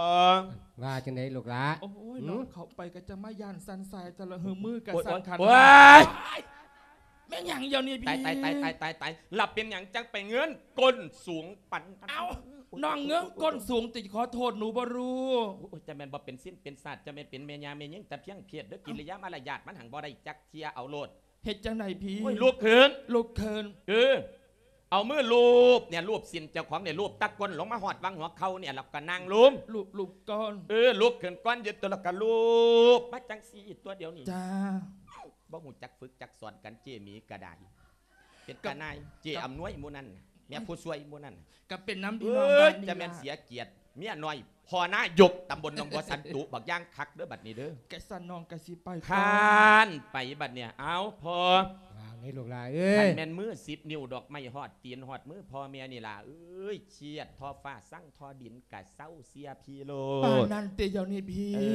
ວ່າຈັ່ງໃດລູກຫຼ້າ? ໂອ້ຍ ຫື ນ້ອງເຂົ້າໄປກະຈະມາຢ້ານສັ່ນສາຍ ແຕ່ລະຫື ມືກະສັ່ນຂັນ. ໂອ້ຍ ແມ່ນຫຍັງດຽວນີ້ພີ່? ຕາຍ ຕາຍ ຕາຍ ຕາຍ ຕາຍ ລະເປັນຫຍັງຈັ່ງໄປເງີນກົ້ນສູງປານນັ້ນ? ເອົ້າ ນ້ອງເງີນກົ້ນສູງຕິ ຂໍໂທດໜູບໍ່ຮູ້. ໂອ້ຍ ຈະແມ່ນບໍ່ເປັນສິນເປັນສາດ ຈະແມ່ນເປັນແມ່ຍ່າແມ່ຍິງ ຕະພຽງເພດເດີ້. ກິລິຍາມາລະຍາດມັນຫັ້ນບໍ່ໄດ້ຈັກເທື່ອ. ເອົາໂລດ. ເຮັດຈັ່ງໃດພີ່? ໂອ້ຍ ລຸກຂຶ້ນ ລຸກຂຶ້ນ. ເອີ ເອົາມືລູບນີ້ ລູບສິນເຈົ້າຂອງນີ້ ລູບຕະກົ້ນລົງມາຮອດຫວ່າງຫົວເຂົ່ານີ້ ແລ້ວກະນັ່ງລົງ. ລູບ ລູບກ່ອນ. ເອີ ລຸກຂຶ້ນກ່ອນ ຢືນຕົວ ແລ້ວກະລູບມາຈັ່ງຊີ້ຕົວດຽວນີ້. ຈ້າ ບໍ່ຮູ້ຈັກຝຶກຈັກສອນກັນ ເຈ້ໝີກະໄດ້. ເປັນຕານາຍ ເຈ້ອຳນວຍໝູ່ນັ້ນ ແມ່ຜູ້ຊ່ວຍໝູ່ນັ້ນ ກະເປັນນຳພີ່ນ້ອງບ້ານນີ້ລະ. ຈະແມ່ນເສຍກຽດເມຍນ້ອຍ ພໍ່ນາຍົກຕຳບົນໜອງບົວສັນຕຸ ບັກຢ່າງຄັກເດີ້ບັດນີ້ເດີ້. ກະຊັ້ນນ້ອງກະຊິໄປກ່ອນ ຄານໄປບັດນີ້. ເອົາ ພໍ່ ວ່າໄງລູກຫຼ້າເອີຍ? ຄັນແມ່ນມືສິບນິ້ວດອກໄມ້ຮອດຕີນຮອດມືພໍ່ແມ່ນີ້ຫຼ້າເອີຍ. ຄຽດທໍຟ້າຊັງທໍ່ດິນກະເຊົາ ເຊື່ອພີ່ໂລດ. ປານນັ້ນຕິດຽວນີ້ພີ່? ເອີ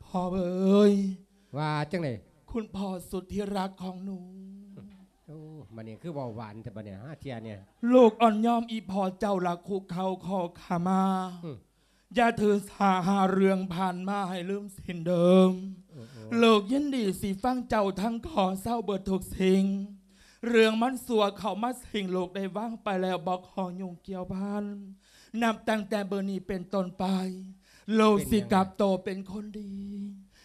ພໍ່ເອີຍ. ວ່າຈັ່ງໃດ? ຄຸນພໍ່ສຸດທີ່ຮັກຂອງໜູ. ໂອ້ ບັດນີ້ຄືເວົ້າຫວານແທ້ບັດນີ້ ຫາເທື່ອນີ້. ລູກອ່ອນຍອມອີ່ພໍ່ເຈົ້າລະຄຸກເຂົ່າຂໍຂະມາ. ອືມ ຢ່າຖືສາຫາເລື່ອງຜ່ານມາໃຫ້ລືມສິ້ນເດີມ. ໂອ້ ໂອ້ ລູກຍິນດີຊິຟັງເຈົ້າທັງຂໍເຊົາເບິດທຸກສິ່ງ. ເລື່ອງມັນຊົ່ວເຂົ້າມາສິງ ລູກໄດ້ວາງໄປແລ້ວ ບໍ່ຂໍຫຍຸ້ງກ່ຽວພັນ. ນັບຕັ້ງແຕ່ມື້ນີ້ເປັນຕົ້ນໄປ ລູກ ເປັນຫຍັງ ຊິກັບໂຕເປັນຄົນດີ.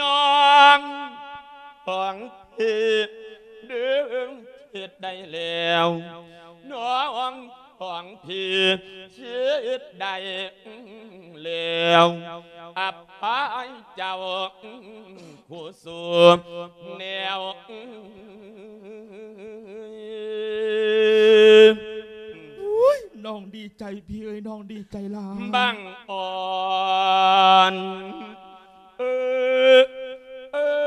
น้องของพี่เดิมเฮ็ดได้แล้ว น้องของพี่เฮ็ดได้แล้ว อภัยเจ้า ผู้สู่แนว โอ๊ย น้องดีใจพี่เอ้ย น้องดีใจหลาย บังอ่อน เออ เออ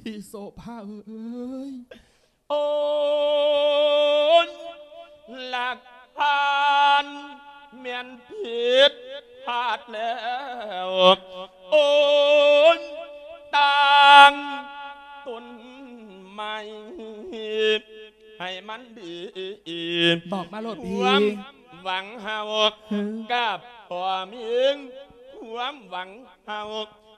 พี่โสภาเอ้ย โอ้ย หลักฐานแม่นผิดพลาดแล้ว โอ้ย ตั้งต้นใหม่ให้มันดี บอกมาโลดพี่ ความหวังเฮา เออ กับพ่อเมีย ความหวังเฮา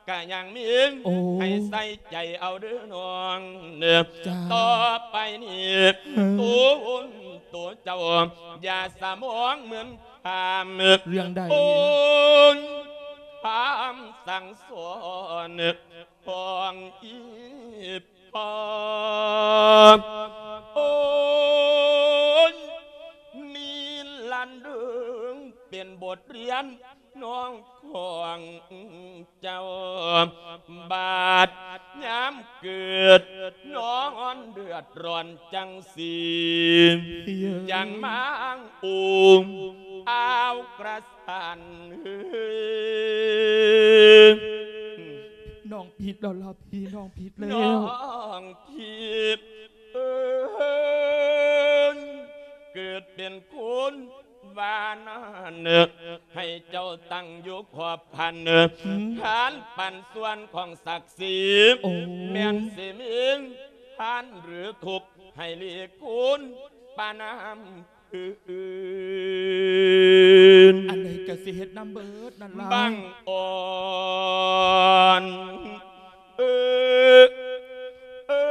กะยังมี โอ้ ให้ใส่ใจเอาเด้อน้องเด้อ จ้า ต่อไปนี้ เออ ตัวตนตัวเจ้า อย่าสมองเหมือนพาม เรื่องใด โอ้ย พามสั่งสอน ของอีพ่อ โอ้ย นี่ลันเดิงเป็นบทเรียน น้องของเจ้า บาดยามเกิด น้องเดือดร้อนจังสี จังมางอุ้มเอากระสัน ນ້ອງຜິດແລ້ວລະພີ່ ນ້ອງຜິດແລ້ວ ນ້ອງຜິດເອີຍ ເກີດເປັນຄົນວ່ານັ້ນ ໃຫ້ເຈົ້າຕັ້ງຢູ່ຂອບພັນ ຫືມ ທານປັນສ່ວນຂອງສັກສີ ໂອ້ ແມ່ນຊິມີທານຫຼືທຸກ ໃຫ້ຫຼີກຄຸນປານນຳ ອື່ນ ອັນໃດກໍຊິເຮັດນຳເບີດນັ້ນລະ ບັງອ່ອນ ເອີ ເອີ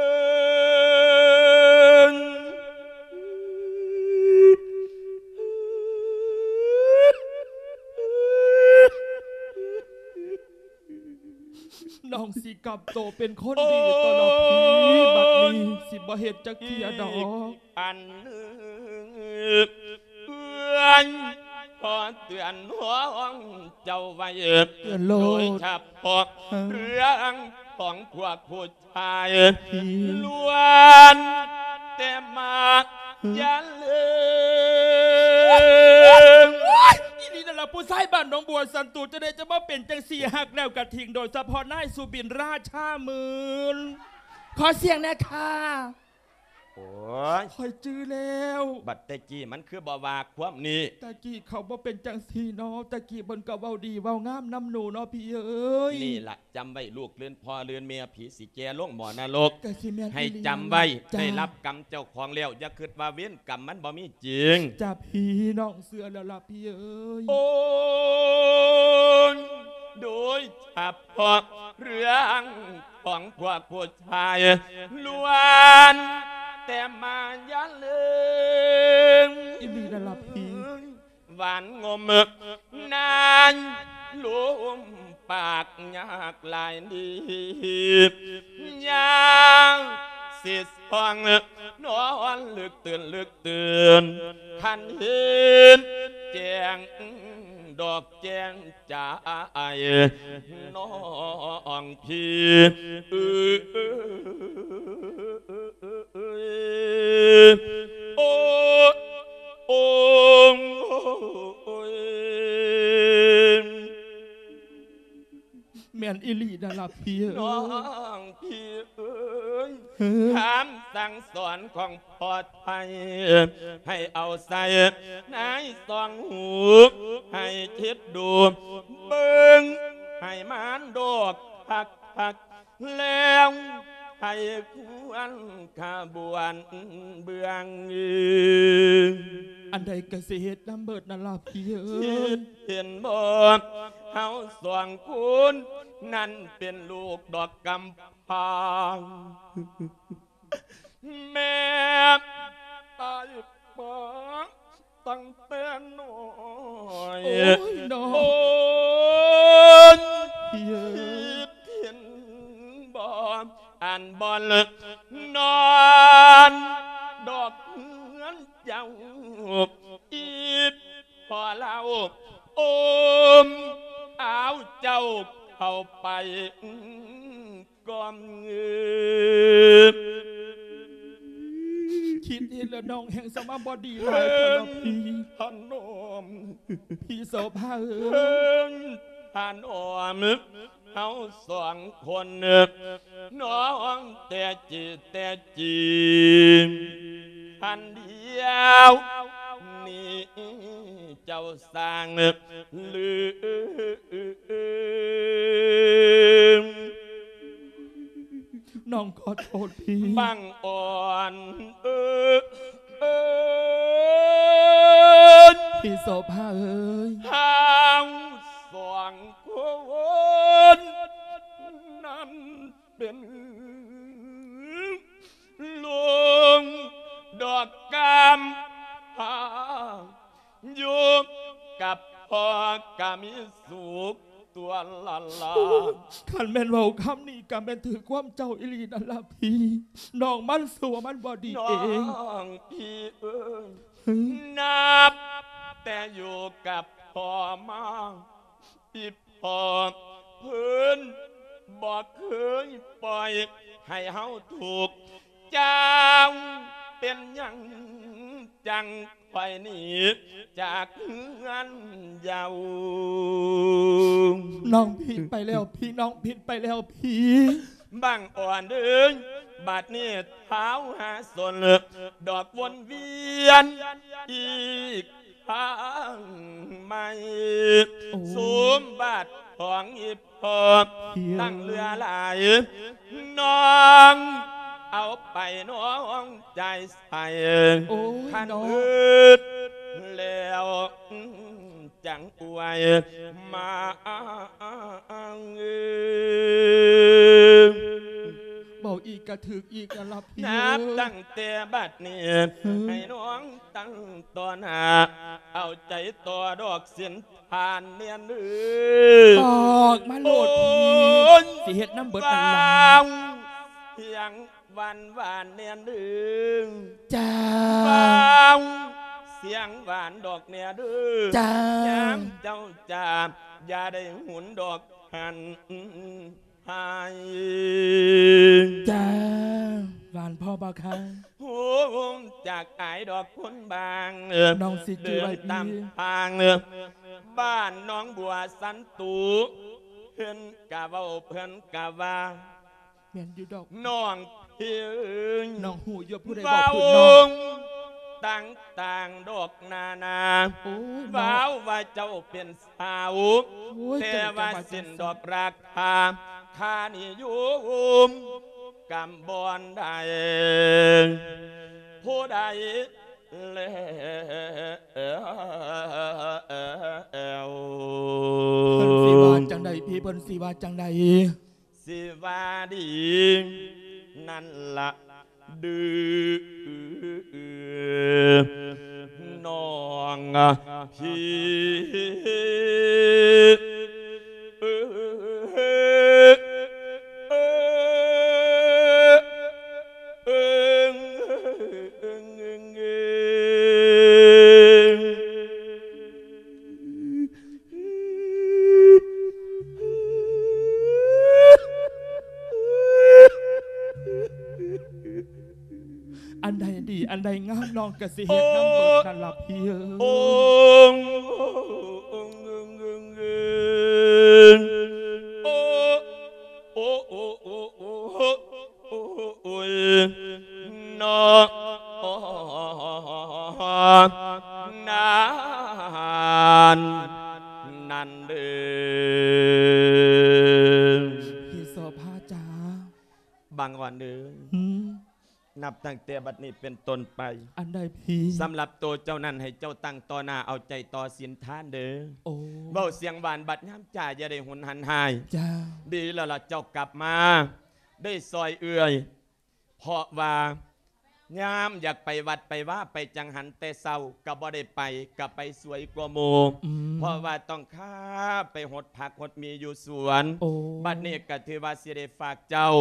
ນ້ອງຊິກັບໂຕເປັນຄົນດີໂຕລະພີ່ ໂອ້ຍ ບັດນີ້ຊິບໍ່ເຮັດຈັກເທື່ອດອກ ອັນໜຶ່ງ ເອື້ອຍ ຂໍເຕືອນຫ້ອງເຈົ້າໄວ້ ເຕືອນໂລດ ໂດຍສະເພາະ ເອີ ເລື່ອງຂອງພວກຜູ້ຊາຍ ພີ່ ລ້ວນແຕ່ມາ ເອີ ຢ່າລືມ ໂອ້ຍ ອີ່ຫຼີນັ້ນລະ ຜູ້ຊາຍບ້ານໜອງບົວສັນຕູ ຈັ່ງໃດຈະມາເປັນຈັ່ງຊີ້ ຮັກແລ້ວກະຖິ້ມ ໂດຍສະເພາະນາຍສຸບິນ ລາຊາໝື່ນ ຂໍສຽງແດ່ຄ່ະ. ໂອ້ຍ ຂ້ອຍຈື່ແລ້ວ ບັດແຕ່ກີ້ມັນຄືບໍ່ວ່າຄວາມນີ້ ແຕ່ກີ້ເຂົາບໍ່ເປັນຈັ່ງຊີ້ເນາະ ແຕ່ກີ້ເພິ່ນກໍເວົ້າດີເວົ້າງາມນຳໜູເນາະພີ່ເອີຍ ນີ້ລະ ຈຳໄວ້ລູກ ລື່ນພໍ່ລືນແມ່ ຜີຊິແກ່ລົງໝໍນະລົກ ກໍຊິແມ່ນ ໃຫ້ຈຳໄວ້ ອີ່ຫຼີ ໄດ້ຮັບກຳເຈົ້າຂອງແລ້ວ ຢ່າຄິດວ່າເວນກຳມັນບໍ່ມີຈິງ ຈ້າພີ່ ນ້ອງເຊື່ອແລ້ວລະພີ່ເອີຍ ໂອ້ຍ ໂດຍສະເພາະເລື່ອງ ຂອງພວກຜູ້ຊາຍ ລ້ວນແຕ່ມາຢ່າລືມ ອີ່ຫຼີນັ້ນລະພີ່ ຫວານງົມນາຍ ລົມປາກຍາກຫຼາຍດີ ຍາມຊິສ່ອງ ນອນລຶກຕື່ນ ລຶກຕື່ນ ຄັນເຫັນແຈ້ງ ດອກແຈ້ງ ໃຈນ້ອງພີ່ ເອີຍ ໂອ້ ໂອ້ຍ ແມ່ນອີ່ຫຼີນັ້ນລະພີ່ເອີຍ ນ້ອງພີ່ເອີຍ ຄຳສັ່ງສອນຂອງພໍ່ໄທ ໃຫ້ເອົາໃສ່ໃນສອງຫູ ໃຫ້ຄິດດູເບິ່ງ ໃຫ້ມັນດອກຄັກໆ ແລ້ວໃຫ້ຄວນຂະບວນເບື້ອງ ອັນໃດກໍຊິເຮັດນຳເບີດນັ້ນລະພີ່ເອີຍ ຄິດເຫັນບໍ່ ເຮົາສອງຄົນນັ້ນເປັນລູກດອກກຳ ພາ ແມ່ຕາຍໄປຕັ້ງແຕ່ນ້ອຍ ໂອ້ຍ ນ້ອງ ໂອ້ຍ ເອີຍ ຄິດເຫັນບໍ່ ອັນບ່ອນນອນດອກເຮືອນເຈົ້າ ອີ່ພໍ່ລາວ ໂອມ ເອົາເຈົ້າເຂົ້າໄປ ກ່ອນເງິນ ຄິດເຫັນແລ້ວນ້ອງແຮ່ງສະມາບໍ່ດີຫຼາຍເທື່ອພີ່ ພະນົມ ພີ່ໂສພາເອີຍ ພະນົມ ເຮົາສອງຄົນ ນ້ອງແຕ່ຈີແຕ່ຈີ ອັນດຽວນີ້ເຈົ້າສ້າງລືມ ນ້ອງຂໍໂທດພີ່ ບັງອ່ອນເອີຍ ພີ່ໂສພາເອີຍ ເຮົາສອງຄົນນັ້ນ ເປັນລູກດອກກຳພ້າ ຢູ່ກັບພໍ່ກໍມີສຸກຕົວະລະລະ ຄັນແມ່ນເວົ້າຄຳນີ້ກໍແມ່ນຖືກຄວາມເຈົ້າອີ່ຫຼີນັ້ນລະພີ່ ນ້ອງມັນຊົ່ວມັນບໍ່ດີເອງ ນ້ອງພີ່ເອີຍ ນັບແຕ່ຢູ່ກັບພໍ່ມາ ອີ່ພໍ່ເພິ່ນບໍ່ເຄີຍປ່ອຍໃຫ້ເຮົາທຸກ ເຈົ້າເປັນຫຍັງຈັ່ງ ຂ້ອຍໜີຈາກເຮືອນເຍົາ. ນ້ອງຜິດໄປແລ້ວພີ່ ນ້ອງຜິດໄປແລ້ວພີ່. ບັງອ່ອນເອີຍ ບັດນີ້ທ້າວຫາສົນ ດອກວົນວຽນອີກ ທາງໃໝ່ ໂອ້ ສົມບັດຂອງອີ່ພໍ່ ເອີຍ ຕັ້ງເຫຼືອຫຼາຍ ນ້ອງເອົາໄປນ້ອງຈ່າຍໃສ່ ໂອ້ຍ ຄັນ ນ້ອງ ເບີດແລ້ວ ຈັ່ງອວຍມາ ເວົ້າອີກກະຖືກອີກນະລະພີ່ ນັບ ເອີຍ ຕັ້ງແຕ່ບັດນີ້ ເອີຍ ໃຫ້ນ້ອງຕັ້ງຕໍ່ໜ້າ ເອົາໃຈຕໍ່ດອກສິນທານແນ່ນເດີ ບອກມາໂລດພີ່ ໂອ້ຍ ຊິເຮັດນຳເບິດນັ້ນລະ ເວົ້າສຽງຫວານໆແນ່ນເດີ ຈ້າ ເວົ້າສຽງຫວານດອກແນ່ເດີ ຈ້າ ຍາມເຈົ້າຈາກ ຢ່າໄດ້ຫຸນດອກຫັ້ນ ໃຫ້ ຈ້າ ຫວານພໍບໍ່ຄະ ຮູ້ຈັກອາຍດອກຄົນບາງ ນ້ອງຊິຈື່ໄວ້ ເດີນຕາມ ພີ່ ທາງ ບ້ານໜອງບົວສັນຕຸ ເພິ່ນກະເວົ້າເພິ່ນກະວ່າ ແມ່ນຢູ່ດອກ ນ້ອງພີ່ເອີຍ ນ້ອງຮູ້ຢູ່ຜູ້ໃດບອກເພິ່ນນ້ອງ ເວົ້າຕ່າງໆດອກນານາ ໂອ້ຍ ເວົ້າວ່າເຈົ້າເປັນ ສາວ ໂອ້ຍ ແຕ່ວ່າເສັ້ນດອກລາຄາ ຄ່ານິຍົມກຳບ່ອນໄດ້ ຜູ້ໃດແລ້ວ ເພິ່ນຊິວ່າຈັ່ງໃດພີ່ ເພິ່ນຊິວ່າຈັ່ງໃດ ຊິວ່າດີນັ້ນລະ ດືນ້ອງພີ່ ອັນໃດດີ ອັນໃດງາມ ນ້ອງກະຊິເຮັດນຳເບິດນັ້ນລະພີ່ເອີຍ ໂອ້ ໂອ້ ໂອ້ ໂອ້ ໂອ້ຍ ເນາະ ນັ້ນ ນັ້ນເດີ ພີ່ໂສພາຈ໋າ ບັງອ່ອນເອີຍ ຫືມ ນັບຕັ້ງແຕ່ບັດນີ້ເປັນຕົ້ນໄປ ອັນໃດພີ່ ສຳລັບໂຕເຈົ້ານັ້ນ ໃຫ້ເຈົ້າຕັ້ງຕໍ່ໜ້າ ເອົາໃຈຕໍ່ສິນທານເດີ ໂອ້ ເວົ້າສຽງຫວານ ບັດຍາມຈາຢ່າໄດ້ຫຸນຫັນຮ້າຍ ຈ້າ ດີແລ້ວລະ ເຈົ້າກັບມາ ໄດ້ຊ່ອຍເອື້ອຍ ເພາະວ່າຍາມຢາກໄປວັດໄປວາ ໄປຈັງຫັນແຕ່ເຊົ້າກະບໍ່ໄດ້ໄປ ກະໄປສວຍກວ່າໝູ່ ອືມ ເພາະວ່າຕ້ອງຂ້າໄປຫົດຜັກຫົດໝີຢູ່ສວນ ໂອ້ ບັດນີ້ກະຖືວ່າຊິໄດ້ຝາກເຈົ້າ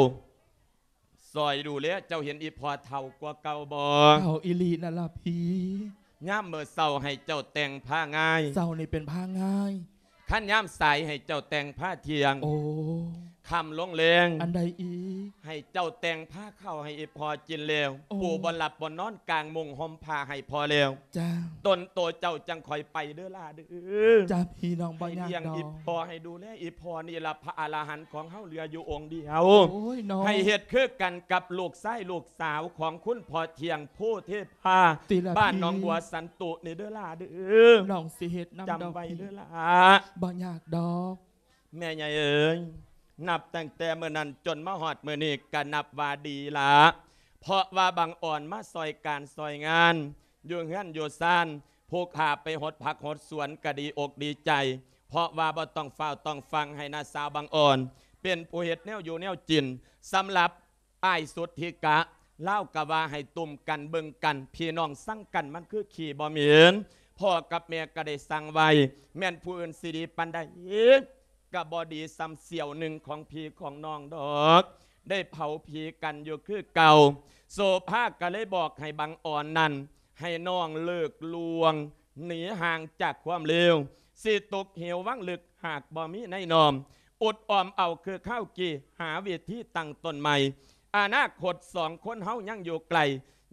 ຊ່ອຍດູແລ ເຈົ້າເຫັນອີ່ພໍ່ເຖົ້າກວ່າເກົ່າບໍ່? ເຖົ້າອີ່ຫຼີນັ້ນລະພີ່ ຍາມມື້ເຊົ້າໃຫ້ເຈົ້າແຕ່ງຜ້າງ່າຍ ເຊົ້ານີ້ເປັນຜ້າງ່າຍ ຄັນຍາມສາຍໃຫ້ເຈົ້າແຕ່ງຜ້າທ່ຽງ ໂອ້ ຄ່ຳລົງແລງ ອັນໃດອີກ? ໃຫ້ເຈົ້າແຕ່ງພາເຂົ້າໃຫ້ອີ່ພໍ່ກິນແລ້ວ ໂອ້ ປູບ່ອນຫຼັບບ່ອນນອນ ກາງມຸ້ງຫົ່ມຜ້າໃຫ້ພໍ່ແລ້ວ ຈ້າ ຕົນໂຕເຈົ້າຈັ່ງຄ່ອຍໄປເດີຫຼ້າເດີ ຈ້າ ພີ່ນ້ອງ ບໍ່ຍາກດອກ ໃຫ້ລ້ຽງອີ່ພໍ່ ໃຫ້ດູແລອີ່ພໍ່ ນີ້ລະພະອະລະຫັນຂອງເຮົາເຫຼືອຢູ່ອົງດຽວ ໂອ້ຍ ນ້ອງ ໃຫ້ເຮັດຄືກັນກັບລູກຊາຍລູກສາວຂອງຄຸນພໍ່ທ່ຽງ ໂພເທພາ ຕິລະພີ່ ບ້ານໜອງບົວສັນຕຸນີ້ເດີຫຼ້າເດີ ນ້ອງຊິເຮັດນຳ ຈຳໄວ້ເດີຫຼ້າ ບໍ່ຍາກດອກ ແມ່ໃຫຍ່ເອີຍ ນັບຕັ້ງແຕ່ມື້ນັ້ນຈົນມາຮອດມື້ນີ້ກະນັບວ່າດີລະ ເພາະວ່າບັງອ່ອນມາຊ່ອຍການຊ່ອຍງານ ຢູ່ເຮືອນຢູ່ຊານ ຜູ້ຂ້າໄປຫົດຜັກຫົດສວນກະດີອົກດີໃຈ ເພາະວ່າບໍ່ຕ້ອງຟ້າວຕ້ອງຟັ່ງ ໃຫ້ນ້າສາວບັງອ່ອນ ເປັນຜູ້ເຮັດແນວຢູ່ແນວກິນ ສຳລັບ ອ້າຍສຸດທິກະ ລາວກະວ່າໃຫ້ຕຸ້ມກັນເບິ່ງກັນ ພີ່ນ້ອງຊັງກັນມັນຄືຂີ້ບໍ່ເໝັນ ພໍ່ກັບແມ່ກະໄດ້ສັ່ງໄວ້ ແມ່ນຜູ້ອື່ນຊິດີປານໃດ ກະບໍ່ດີສ່ຳສ່ຽວໜຶ່ງຂອງພີ່ຂອງນ້ອງດອກ ໄດ້ເຜົາຜີກັນຢູ່ຄືເກົ່າ ໂສພາກະເລີຍບອກໃຫ້ບັງອ່ອນນັ້ນ ໃຫ້ນ້ອງເລີກລ່ວງໜີຫ່າງຈາກຄວາມເລວ ຊິຕົກເຫວວັງເລິກຫາກບໍ່ມີໃນນ້ອມ ອົດອອມເອົາຄືຄາວກີ້ ຫາເວທີຕັ້ງຕົ້ນໃໝ່ ອະນາຄົດສອງຄົນເຮົາຍັງຢູ່ໄກ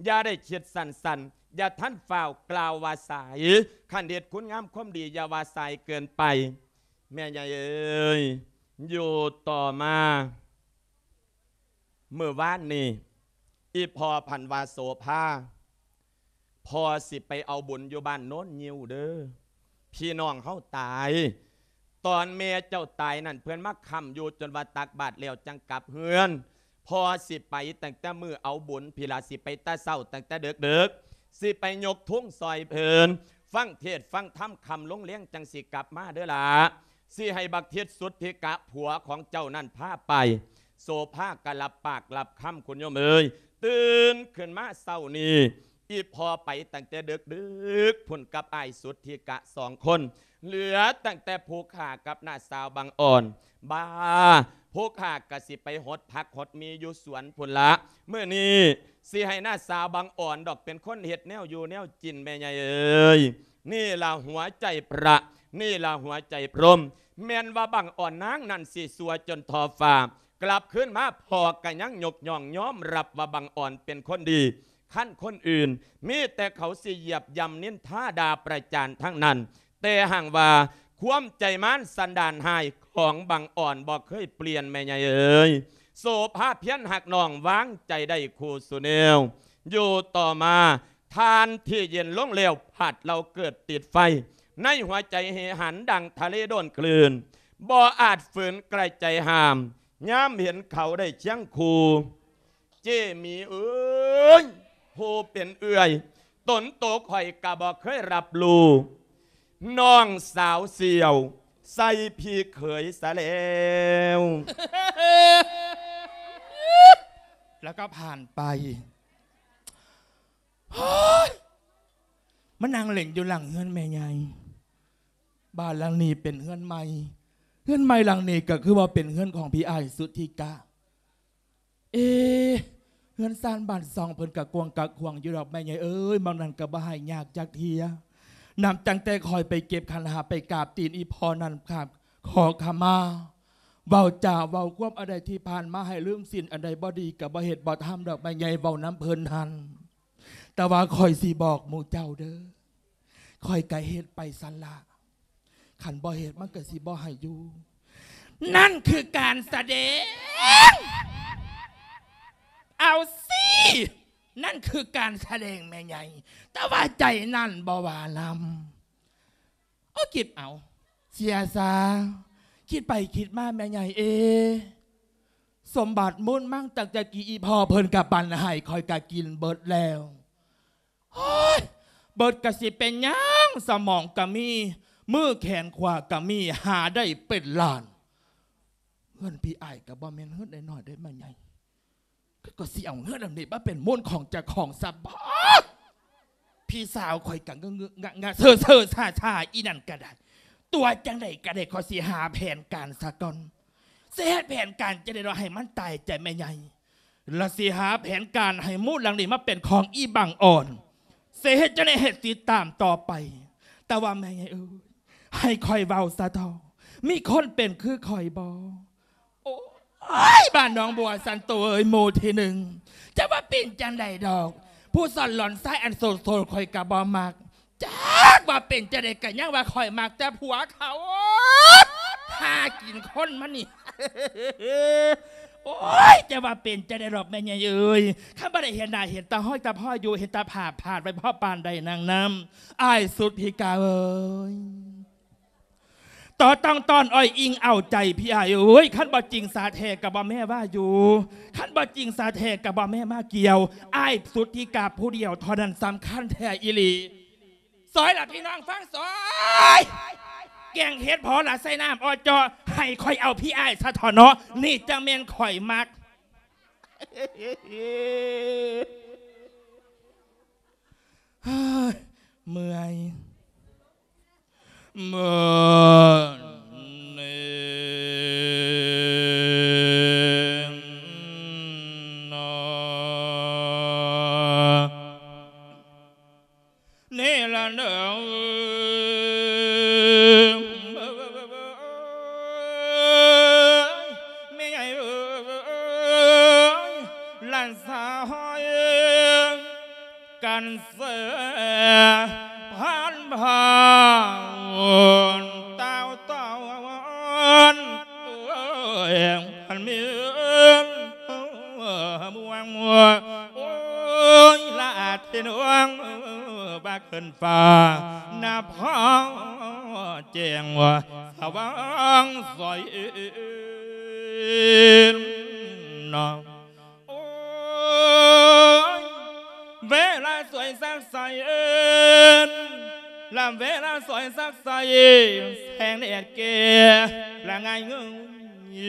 ຢ່າໄດ້ຄິດສັ້ນ ຢ່າທັນຟ້າວກ່າວວ່າສາຍ, ຄັນເຮັດຄຸນງາມຄວາມດີ ຢ່າວ່າສາຍເກີນໄປ. ແມ່ໃຫຍ່ເອີຍ, ຢູ່ຕໍ່ມາ ມື້ວານນີ້ ອີ່ພໍ່ພັນວ່າ ໂສພາ ພໍ່ຊິໄປເອົາບຸນຢູ່ບ້ານໂນນງິ້ວເດີ, ພີ່ນ້ອງເຮົາຕາຍ. ຕອນແມ່ເຈົ້າຕາຍນັ້ນ ເພິ່ນມາຄ້ຳຢູ່ຈົນວ່າຕັກບາດແລ້ວຈັ່ງກັບເຮືອນ. ພໍ່ຊິໄປຕັ້ງແຕ່ມື້ເອົາບຸນພີ້ລະ, ຊິໄປແຕ່ເຊົ້າຕັ້ງແຕ່ເດິກໆ, ຊິໄປຍົກທຸງຊ່ອຍເພິ່ນ, ຟັງເທດຟັງທຳຄ່ຳລົງແລງ ຈັ່ງຊິກັບມາເດີຫຼ້າ. ຊິໃຫ້ບັກທິດສຸດທິກະ ຜົວຂອງເຈົ້ານັ້ນພາໄປ. ໂສພາກໍຮັບປາກຮັບຄຳ ຄຸນໂຍມເອີຍ. ຕື່ນຂຶ້ນມາເຊົ້ານີ້ ອີ່ພໍ່ໄປຕັ້ງແຕ່ເດິກໆ ພຸ້ນກັບອ້າຍສຸດທິກະສອງຄົນ, ເຫຼືອຕັ້ງແຕ່ຜູ້ຂ້າກັບນ້າສາວບັງອອນ. ບາ ຜູ້ຂ້າກໍຊິໄປຫົດຜັກຫົດມີຢູ່ສວນພຸ້ນລະ. ມື້ນີ້ຊິໃຫ້ນ້າສາວບັງອອນດອກເປັນຄົນເຮັດແນວຢູ່ແນວກິນ ແມ່ໃຫຍ່ເອີຍ. ນີ້ລະຫົວໃຈພະ, ນີ້ລະຫົວໃຈພົມ. ແມ່ນວ່າບັງອອນນາງນັ້ນຊິຊົ່ວຈົນທໍ່ຟ້າ, ກັບຄືນມາພໍ່ກໍຍັງຍົກຍ້ອງຍອມຮັບວ່າບັງອອນເປັນຄົນດີ. ຄັນຄົນອື່ນ ມີແຕ່ເຂົາຊິຢຽບຢ່ຳນິນທາດ່າປະຈານທັງນັ້ນ, ແຕ່ຫາກວ່າຄວາມໃຈມານສັນດານຮ້າຍຂອງບັງອອນບໍ່ເຄີຍປ່ຽນ ແມ່ໃຫຍ່ເອີຍ. ໂສພາພຽນຮັກນ້ອງ ວາງໃຈໄດ້ຄູ່ສູ່ແນວ. ຢູ່ຕໍ່ມາ ທ່ານທີ່ເຢັນລົງແລ້ວ ພັດເລົາເກີດຕິດໄຟ, ໃນຫົວໃຈເຫຫັນດັ່ງທະເລໂດນຄື້ນ, ບໍ່ອາດຝືນກະໃຈຫ້າມ, ຍາມເຫັນເຂົາໄດ້ຄຽງຄູ່. ເຈ້ໝີເອີຍ, ຜູ້ເປັນເອື້ອຍ ຕົນໂຕຂ້ອຍກະບໍ່ເຄີຍຮັບຮູ້, ນ້ອງສາວສ່ຽວໃສ່ພີ່ເຂີຍສະແລ້ວ. ແລ້ວກໍຜ່ານໄປ. ມານັ່ງເຫຼັ່ນຢູ່ຫຼັງເຮືອນແມ່ໃຫຍ່. ບ້ານຫຼັງນີ້ເປັນເຮືອນໃໝ່, ເຮືອນໃໝ່ຫຼັງນີ້ກໍຄືວ່າເປັນເຮືອນຂອງພີ່ອ້າຍສຸດທິກະ. ເອ ເຮືອນຊານບ້ານຊ່ອງເພິ່ນກະກວ້າງກະຂວາງຢູ່ດອກແມ່ໃຫຍ່ເອີຍ, ໝ່ອງນັ້ນກະບໍ່ໃຫ້ຍາກຈັກເທື່ອ. ນັບຕັ້ງແຕ່ຂ້ອຍໄປເກັບຂັນຫ້າ ໄປກາບຕີນອີ່ພໍ່ນັ້ນ ຂາ ຂໍຂະມາ, ເວົ້າຈາເວົ້າຄວາມອັນໃດທີ່ຜ່ານມາໃຫ້ລືມສິ້ນ, ອັນໃດບໍ່ດີກະບໍ່ເຮັດບໍ່ທຳດອກແມ່ໃຫຍ່, ເວົ້ານຳເພິ່ນຫັ້ນ. ແຕ່ວ່າຂ້ອຍຊິບອກໝູ່ເຈົ້າເດີ, ຂ້ອຍກະເຮັດໄປຊັ້ນລະ, ຄັນບໍ່ເຮັດມັນກະຊິບໍ່ໃຫ້ຢູ່. ນັ້ນຄືການສະແດງ. ເອົາຊິ, ນັ້ນຄືການສະແດງແມ່ໃຫຍ່, ແຕ່ວ່າໃຈນັ້ນບໍ່ວ່ານຳ. ໂອ້ ຄິດເອົາ ເສຍຊາ, ຄິດໄປຄິດມາແມ່ໃຫຍ່ເອ, ສົມບັດມູນມັງຕັ້ງແຕ່ກີ້ອີ່ພໍ່ເພິ່ນກະປັນໃຫ້ ຂ້ອຍກະກິນເບິດແລ້ວ. ໂອ້ຍ ເບິດກະຊິເປັນຫຍັງ, ສະໝອງກະມີ, ມືແຂນຂວາກະມີ, ຫາໄດ້ເປັນລ້ານ. ເຮືອນພີ່ອ້າຍກະບໍ່ແມ່ນເຮືອນນ້ອຍໆເດ້ແມ່ໃຫຍ່. ຂ້ອຍກໍຊິເອົາເຮືອນຫຼັງນີ້ມາເປັນມູນຂອງເຈົ້າຂອງຊະບໍ. ພີ່ສາວຂ້ອຍກໍງະງະງະເຊີເຊີຊາຊາ ອີ່ນັ້ນກໍໄດ້. ຕົວະຈັ່ງໃດກໍໄດ້ ຂ້ອຍຊິຫາແຜນການຊະກ່ອນ. ຊິເຮັດແຜນການຈັ່ງໃດເນາະ ໃຫ້ມັນຕາຍໃຈແມ່ໃຫຍ່. ແລ້ວຊິຫາແຜນການໃຫ້ມູນຫຼັງນີ້ມາເປັນຂອງອີ່ບັງອ່ອນ. ຊິເຮັດຈັ່ງໃດ ເຮັດຕິດຕາມຕໍ່ໄປ. ແຕ່ວ່າແມ່ໃຫຍ່ເອີຍ ໃຫ້ຂ້ອຍເວົ້າຊະເຖາະ ມີຄົນເປັນຄືຂ້ອຍບໍ່? ໂອ້ຍ ບ້ານໜອງບົວສັນໂຕເອີຍ ໝູ່ທີໜຶ່ງ ຈະວ່າເປັນຈັ່ງໃດດອກ ຜູ້ສັນຫຼອນຊາຍອັນໂສດໆ ຂ້ອຍກະບໍ່ມັກ. ຈັກວ່າເປັນຈັ່ງໃດກະຍັງວ່າຂ້ອຍມັກແຕ່ຜົວເຂົາ. ຫາກິນຄົນມັນນີ້. ໂອ້ຍ ຈະວ່າເປັນຈັ່ງໃດດອກແມ່ໃຫຍ່ເອີຍ ຄັນບໍ່ໄດ້ເຫັນໜ້າເຫັນຕາຮອຍຕາພອຍຢູ່ ເຫັນແຕ່ພາບພາດໄວ້ພໍປານໃດນາງນຳ ອ້າຍສຸດທີ່ກາເອີຍ. ຕໍ່ຕ້ອງຕ້ອນອ້ອຍອິງເອົາໃຈພີ່ອ້າຍເອີຍ ຄັນບໍ່ຈິງສາແທ້ກະບໍ່ແມ່ວ່າຢູ່ ຄັນບໍ່ຈິງສາແທ້ກະບໍ່ແມ່ມາກ່ຽວ ອ້າຍສຸດທີ່ກາຜູ້ດຽວເທົ່ານັ້ນສຳຄັນແທ້ອີ່ຫຼີ. ຊອຍລະພີ່ນ້ອງຟັງຊອຍ ແກງເຫັດພໍລະໃສ່ນ້ຳອອເຈາະ ໃຫ້ຂ້ອຍເອົາພີ່ອ້າຍຊະເຖາະເນາະ ນີ້ຈັ່ງແມ່ນຂ້ອຍມັກ. ເມື່ອຍ. ເມື່ອຍນະ ນີ້ລະເດີ ແມ່ໃຫຍ່ເອີຍ ຫຼານສາວເອີຍ. ນເສພັນພາວຕາວຕອນ ເອີຍ ພັນມີເອີຍ ບວງ ໂອ້ຍ ລະອາທິນວງ ບາກຂຶ້ນຟ້າ ນະພອແຈ້ງ ສະຫວ່າງໃສເນາະ. ໂອ້ຍ ເວລາສວຍສັກໃສ ລະເວລາສວຍສັກໃສ ແສງແດດແກ່ລະງ່າຍເງີຍ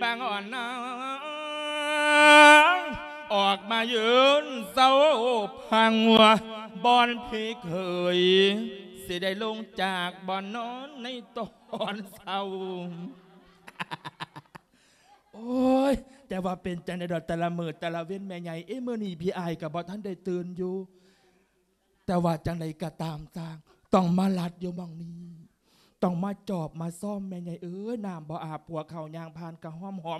ບາງອ່ອນນາງ ອອກມາຢືນເຊົາພັງ ບ່ອນພີ່ເຂີຍ ຊິໄດ້ລົງຈາກບ່ອນນອນໃນຕອນເຊົ້າ. ໂອ້ຍ ແຕ່ວ່າເປັນຈັ່ງໃດດອກ ແຕ່ລະມື້ແຕ່ລະເວັນແມ່ໃຫຍ່ເອີຍ ມື້ນີ້ພີ່ອ້າຍກໍບໍ່ທັນໄດ້ຕື່ນຢູ່ ແຕ່ວ່າຈັ່ງໃດກໍຕາມຊ່າງ ຕ້ອງມາລັດຢູ່ໝ່ອງນີ້ ຕ້ອງມາຈອບມາຊອມແມ່ໃຫຍ່ເອີຍ ນ້ຳບໍ່ອາບ ຜົວເຂົາຍ່າງຜ່ານກໍຫອມໆ. ໂອ້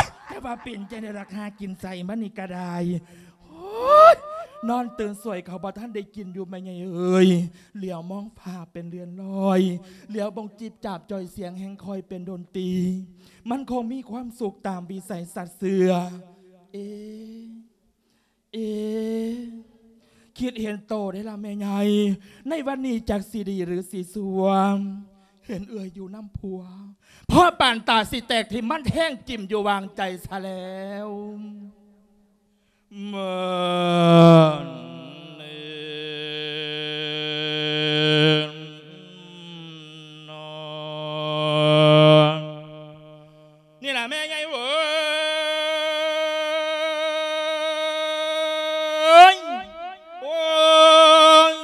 ຍ ແຕ່ວ່າເປັນຈັ່ງໃດລະ ຫາກິນໃສ່ມານີ້ກໍໄດ້. ໂອ້ຍ ນອນຕື່ນສວຍເຂົາບໍ່ທັນໄດ້ກິນຢູ່ແມ່ໃຫຍ່ເອີຍ ຫຼຽວມອງຟ້າເປັນເລື່ອນລອຍ ຫຼຽວເບິ່ງຈີບຈາບຈ່ອຍສຽງແຮ່ງຄ່ອຍເປັນດົນຕີ ມັນຄົງມີຄວາມສຸກຕາມວິໄສສັດເຊື່ອ. ເອ ເອ ຄິດເຫັນໂຕເດ້ລະແມ່ໃຫຍ່ ໃນວັນນີ້ຈັກຊິດີຫຼືຊິຊົ່ວ ເຫັນເອື້ອຍຢູ່ນຳຜົວ ພໍປານຕາຊິແຕກຖິ້ມ ມັນແທງຈິ້ມຢູ່ຫວ່າງໃຈຊະແລ້ວ. ເມີນເອນນອນ ນີ້ລະແມ່ໃຫຍ່ເອີຍ ໂອ້ຍ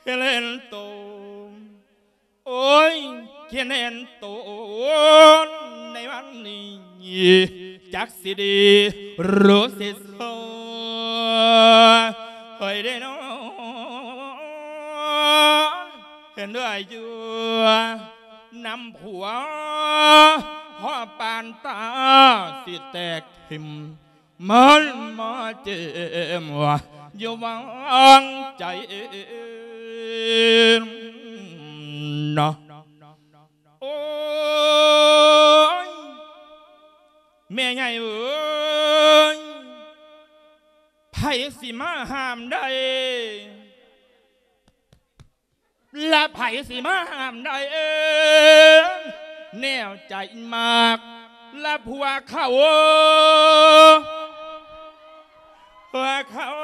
ເຫັນເຫັນໂຕ ໂອ້ຍ ເຫັນເຫັນໂຕ ໃນວັນນີ້ ຈັກຊິດີ ຮູ້ຊິຊົ່ວ ເຮີ້ຍເດ້ນອ ເຫັນເອື້ອຍຢູ່ນຳຜົວ ພໍປານຕາຊິແຕກຖິ້ມ ມັນມາເຈັບຢູ່ຫວ່າງໃຈນະ. ໂອ້ຍ ແມ່ໃຫຍ່ເອີຍ ໃຜຊິມາຫ້າມໄດ້ ລະໃຜຊິມາຫ້າມໄດ້ ແນວໃຈມັກລະຜົວເຂົາ ຜົວເຂົາ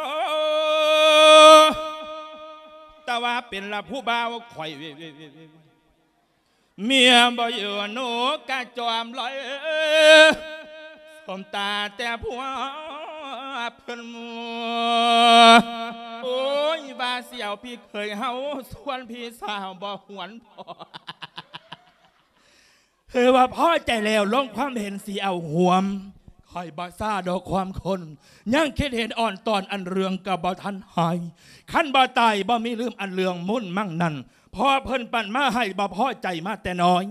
ແຕ່ວ່າເປັນລະຜູ້ບ່າວຂ້ອຍ ເມຍບໍ່ຢູ່ໜູກະຈອມລອຍ ສົມຕາແຕ່ຜົວເພິ່ນ ໂອ້ຍ ວ່າຊິເອົາພີ່ເຂີຍເຮົາ ສ່ວນພີ່ສາວບໍ່ຫວນພໍ ເຮີວ່າພໍໃຈແລ້ວ ລົງຄວາມເຫັນຊິເອົາຮ່ວມ ຂ້ອຍບໍ່ຊາດອກຄວາມຄົນ ຍັງຄິດເຫັນອ່ອນຕອນ ອັນເລື່ອງກໍບໍ່ທັນຫາຍ ຄັນບໍ່ຕາຍບໍ່ມີລືມ ອັນເລື່ອງມູນມັງນັ້ນ ພໍ່ເພິ່ນປັນມາໃຫ້ ບໍ່ພໍໃຈມາແຕ່ນ້ອຍ.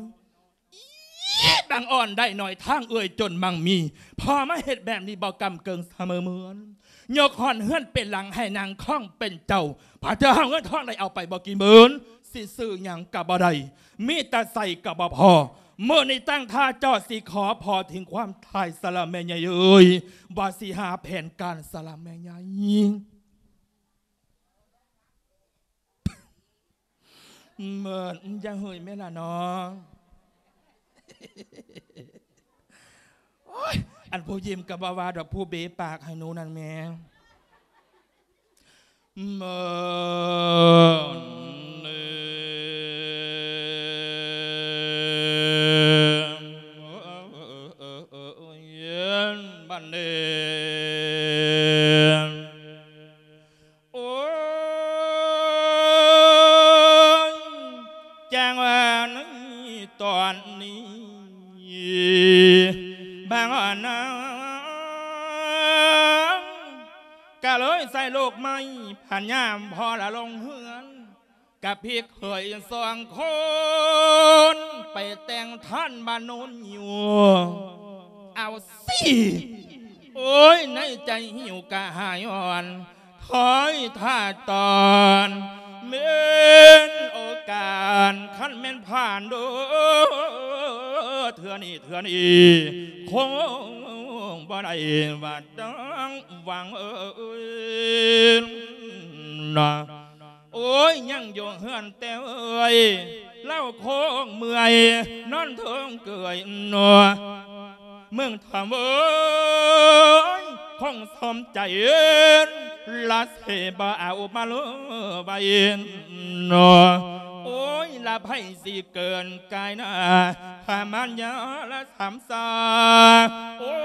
ອີ ບັງອ່ອນໄດ້ໜ້ອຍທາງເອື້ອຍຈົນມັງມີ ພໍ່ມາເຮັດແບບນີ້ບໍ່ກຳເກີງສະເໝີເໝືອນ ຍົກຮ້ອນເຮືອນເປັນຫຼັງໃຫ້ນາງຄອງເປັນເຈົ້າ ພາເທື່ອເຮົາເງິນທອງໄດ້ເອົາໄປບໍ່ກີ່ໝື່ນ ຊິຊື້ຫຍັງກໍບໍ່ໄດ້ ມີແຕ່ໃຊ້ກໍບໍ່ພໍ ມື້ນີ້ຕັ້ງທ່າຈອດຊິຂໍພໍຖິງຄວາມທ້າຍສະລະແມ່ໃຫຍ່ເອີຍ ວ່າຊິຫາແຜນການສະລະແມ່ໃຫຍ່. ເມີນ ຢ່າເຮີຍແມ່ລະນ້ອງ ໂອ້ຍ ອັນຜູ້ຍິ້ມກໍບໍ່ວ່າດອກ ຜູ້ເບປາກໃຫ້ໜູນັ້ນແມ່ ເມີນເອີຍ ບັດນີ້ ໂອ້ຍ ຈັ່ງວ່າໃນຕອນນີ້ ບາງອ່ອນນາງ ກະເລີຍໃສ່ລູກໃໝ່ ພັນຍາມພໍ່ລະລົງເຮືອນ ກັບພີ່ເຂີຍສອງຄົນ ໄປແຕ່ງທ່ານບ້ານໂນນຢູ່ ເອົາຊິ. ໂອ້ຍ ໃນໃຈຫິວກະຫາຍອ່ອນ ຄອຍຖ້າຕອນ ແມ່ນໂອກາດ ຄັນແມ່ນຜ່ານໂດ ເທື່ອນີ້ ເທື່ອນີ້ ຄົງບໍ່ໄດ້ວ່າຕ້ອງຫວັງເອີຍນະ. ໂອ້ຍ ຍັງຢູ່ເຮືອນແຕ່ເອີຍ ລາວຄົງເມື່ອຍ ນອນເທິງເກືອຍໜໍ ເມືອງທຳເອີຍ ຄົງສົມໃຈ ລະເສບໍ່ເອົາມາເລີໄວ້ນໍ. ໂອ້ຍ ລະໃຜຊິເກີນກາຍໜ້າ ພາມານຍາລະສາມສາ. ໂອ້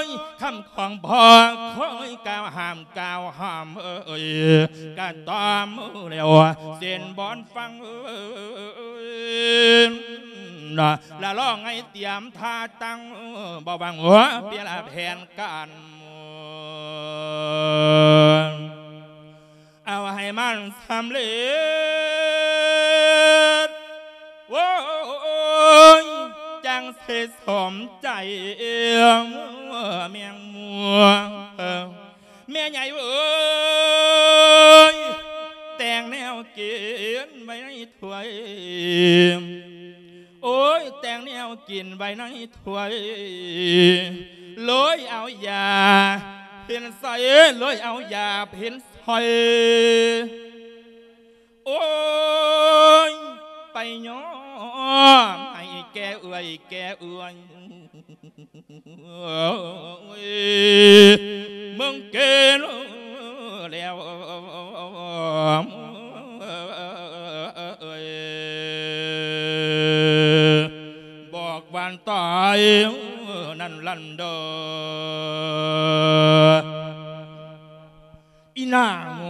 ຍ ຄຳຂອງພໍ່ຄອຍກ່າວຫ້າມ ກ່າວຫ້າມເອີຍ ກະຕ້ອມແລ້ວເຊັ່ນບ່ອນຟັງເອີຍ ລະລອງໃຫ້ຕຽມທ່າຕັ້ງ ບໍ່ຫວັງວ່າເປັນລະແຜນການ ເອົາໃຫ້ມັນສຳເລັດ ໂອ້ຍ ຈັ່ງຊິສົມໃຈແມງໝວກ ແມ່ໃຫຍ່ເອີຍ ແຕ່ງແນວກິນໄວ້ໃນຖ້ວຍ ໂອ້ຍ ແຕ່ງແນວກິນໄວ້ໃນຖ້ວຍ ເລີຍເອົາຢາເພັນໃສ່ ເລີຍເອົາຢາເພັນໃສ່ ໂອ້ຍ ໄປຍ້ອມໃຫ້ແກ່ເອື້ອຍ ແກ່ເອື້ອຍ ເມືອງເກນແລ້ວ ບອກວ່າຕາຍນັ້ນລັນດອ ອີນາງ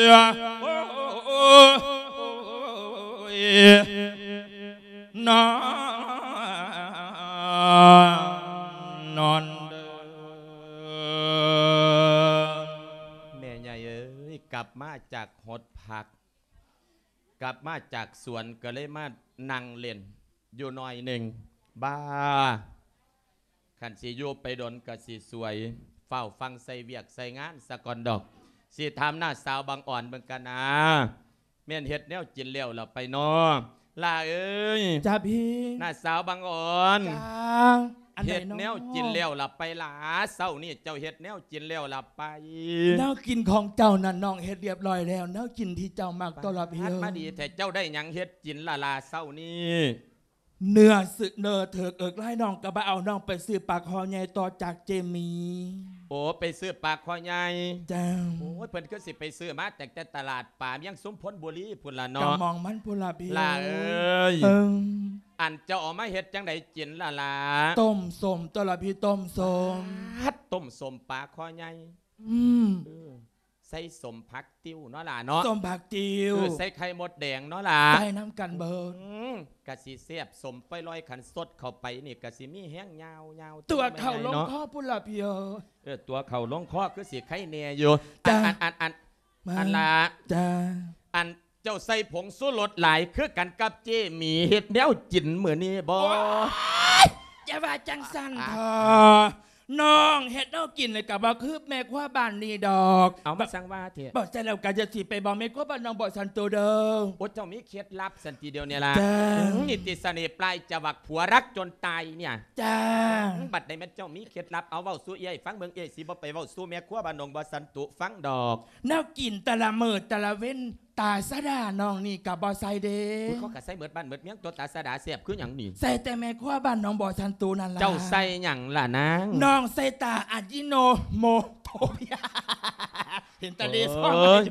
ງາມ ນອນ ນອນເດີ ແມ່ໃຫຍ່ເອີຍ ກັບມາຈາກຫົດຜັກ ກັບມາຈາກສວນ ກໍເລີຍມານັ່ງຫຼິ້ນຢູ່ໜ້ອຍໜຶ່ງ ບາ ຄັນຊິຢູ່ໄປດົນກໍຊິສວຍ ຟ້າວຟັ່ງໃສ່ວຽກໃສ່ງານສາກ່ອນດອກ ຊິຖາມນ້າສາວບັງອອນເບິ່ງກັນນາ ແມ່ນເຮັດແນວກິນແລ້ວລະໄປນໍ ຫຼ້າເອີຍ. ຈ້າພີ່. ນ້າສາວບັງອອນ. ຈ້າ. ອັນໃດນໍ? ເຮັດແນວກິນແລ້ວລະໄປຫຼ້າ? ເຊົ້ານີ້ເຈົ້າເຮັດແນວກິນແລ້ວລະໄປ? ແນວກິນຂອງເຈົ້ານັ້ນນ້ອງເຮັດລຽບຮ້ອຍແລ້ວ ແນວກິນທີ່ເຈົ້າມັກ. ໂຕລະພີ່. ມາດີແທ້ ເຈົ້າໄດ້ຫຍັງເຮັດກິນລະຫຼ້າເຊົ້ານີ້? ເນື້ອ ເນື້ອເຖິກເອິກລາຍ ນ້ອງກໍບໍ່ເອົາ ນ້ອງໄປຊື້ປາຄໍ່ໃຫຍ່ຕໍ່ຈາກເຈມີ. ໂອ້ ໄປຊື້ປາຄໍ່ໃຫຍ່. ເຈົ້າ. ໂອ້ຍ ເພິ່ນຄືຊິໄປຊື້ມາແຕ່ ແຕ່ຕະຫຼາດປາມຽງຊຸມພົນບູລີພຸ້ນລະເນາະ. ກໍໝ່ອງມັນພຸ້ນລະພີ່. ຫຼ້າເອີຍ. ເອີ. ອັນເຈົ້າເອົາມາເຮັດຈັ່ງໃດກິນລະຫຼ້າ? ຕົ້ມສົ້ມຕົວະລະພີ່ ຕົ້ມສົ້ມ. ປາດ ຕົ້ມສົ້ມປາຄໍ່ໃຫຍ່. ອືມ. ເອີ. ໃສ່ສົ້ມຜັກຕິ້ວເນາະຫຼ້າເນາະ. ສົ້ມຜັກຕິ້ວ. ເອີ ໃສ່ໄຂ່ມົດແດງເນາະຫຼ້າ. ໃສ່ນຳກັນເບີດ. ອືມ ກະຊິແຊບສົມໄປລອຍ ຄັນສົດເຂົ້າໄປນີ້ກະຊິມີແຮງຍາວໆ. ຕົວະເຂົ້າລົງຄໍພຸ້ນລະພີ່ເອີຍ. ເອີ ຕົວະເຂົ້າລົງຄໍຄືຊິໄຄແນ່ຢູ່. ອັນ ອັນ ອັນ ອັນ ອັນລະ. ຈ້າ. ອັນ ເຈົ້າໃສ່ຜົງຊູລົດຫຼາຍຄືກັນກັບເຈໝີເຮັດແນວກິນມື້ນີ້ບໍ່? ໂອ້ຍ ຢ່າວ່າຈັ່ງຊັ້ນເຖາະ. ນ້ອງເຮັດແນວກິນນີ້ກໍບໍ່ຄືແມ່ຄົວບ້ານນີ້ດອກ. ເອົາ ມາສັ່ງວ່າແທ້. ບໍ່ໃຊ່ແລ້ວກໍຢ່າຊິໄປບອກແມ່ຄົວບ້ານນ້ອງບໍ່ສັນໂຕເດີ. ໂອ້ ເຈົ້າມີເຄັດລັບຊັ້ນຕິດຽວນີ້ລະ. ຈ້າ. ອືມ ນິດຕິສະເໜ່ປາຍຈະຫວັກຜົວຮັກຈົນຕາຍເນຍ. ຈ້າ. ອືມ ບັດໃດແມ່ນເຈົ້າມີເຄັດລັບ ເອົາເວົ້າສູ່ເອື້ອຍຟັງເບິ່ງ ເອື້ອຍຊິບໍ່ໄປເວົ້າສູ່ແມ່ຄົວບ້ານນ້ອງບໍ່ສັນໂຕຟັງດອກ. ແນວກິນແຕ່ລະມື້ແຕ່ລະເວັນ ຕາສະດານ້ອງນີ້ກໍບໍ່ໃສ່ເດ້. ໂອ້ຍ ເຂົາກໍໃສ່ໝົດບ້ານໝົດເມືອງຕົວະ ຕາສະດາແຊບຄືຫຍັງນີ້. ໃສ່ແຕ່ແມ່ຄົວບ້ານໜອງບໍ່ສັນໂຕນັ້ນລະ. ເຈົ້າໃສ່ຫຍັງລະນາງ? ນ້ອງໃສ່ຕາອາຢິໂນໂມໂຕ. ເຫັນແຕ່ເລຊອງ ເອີຍ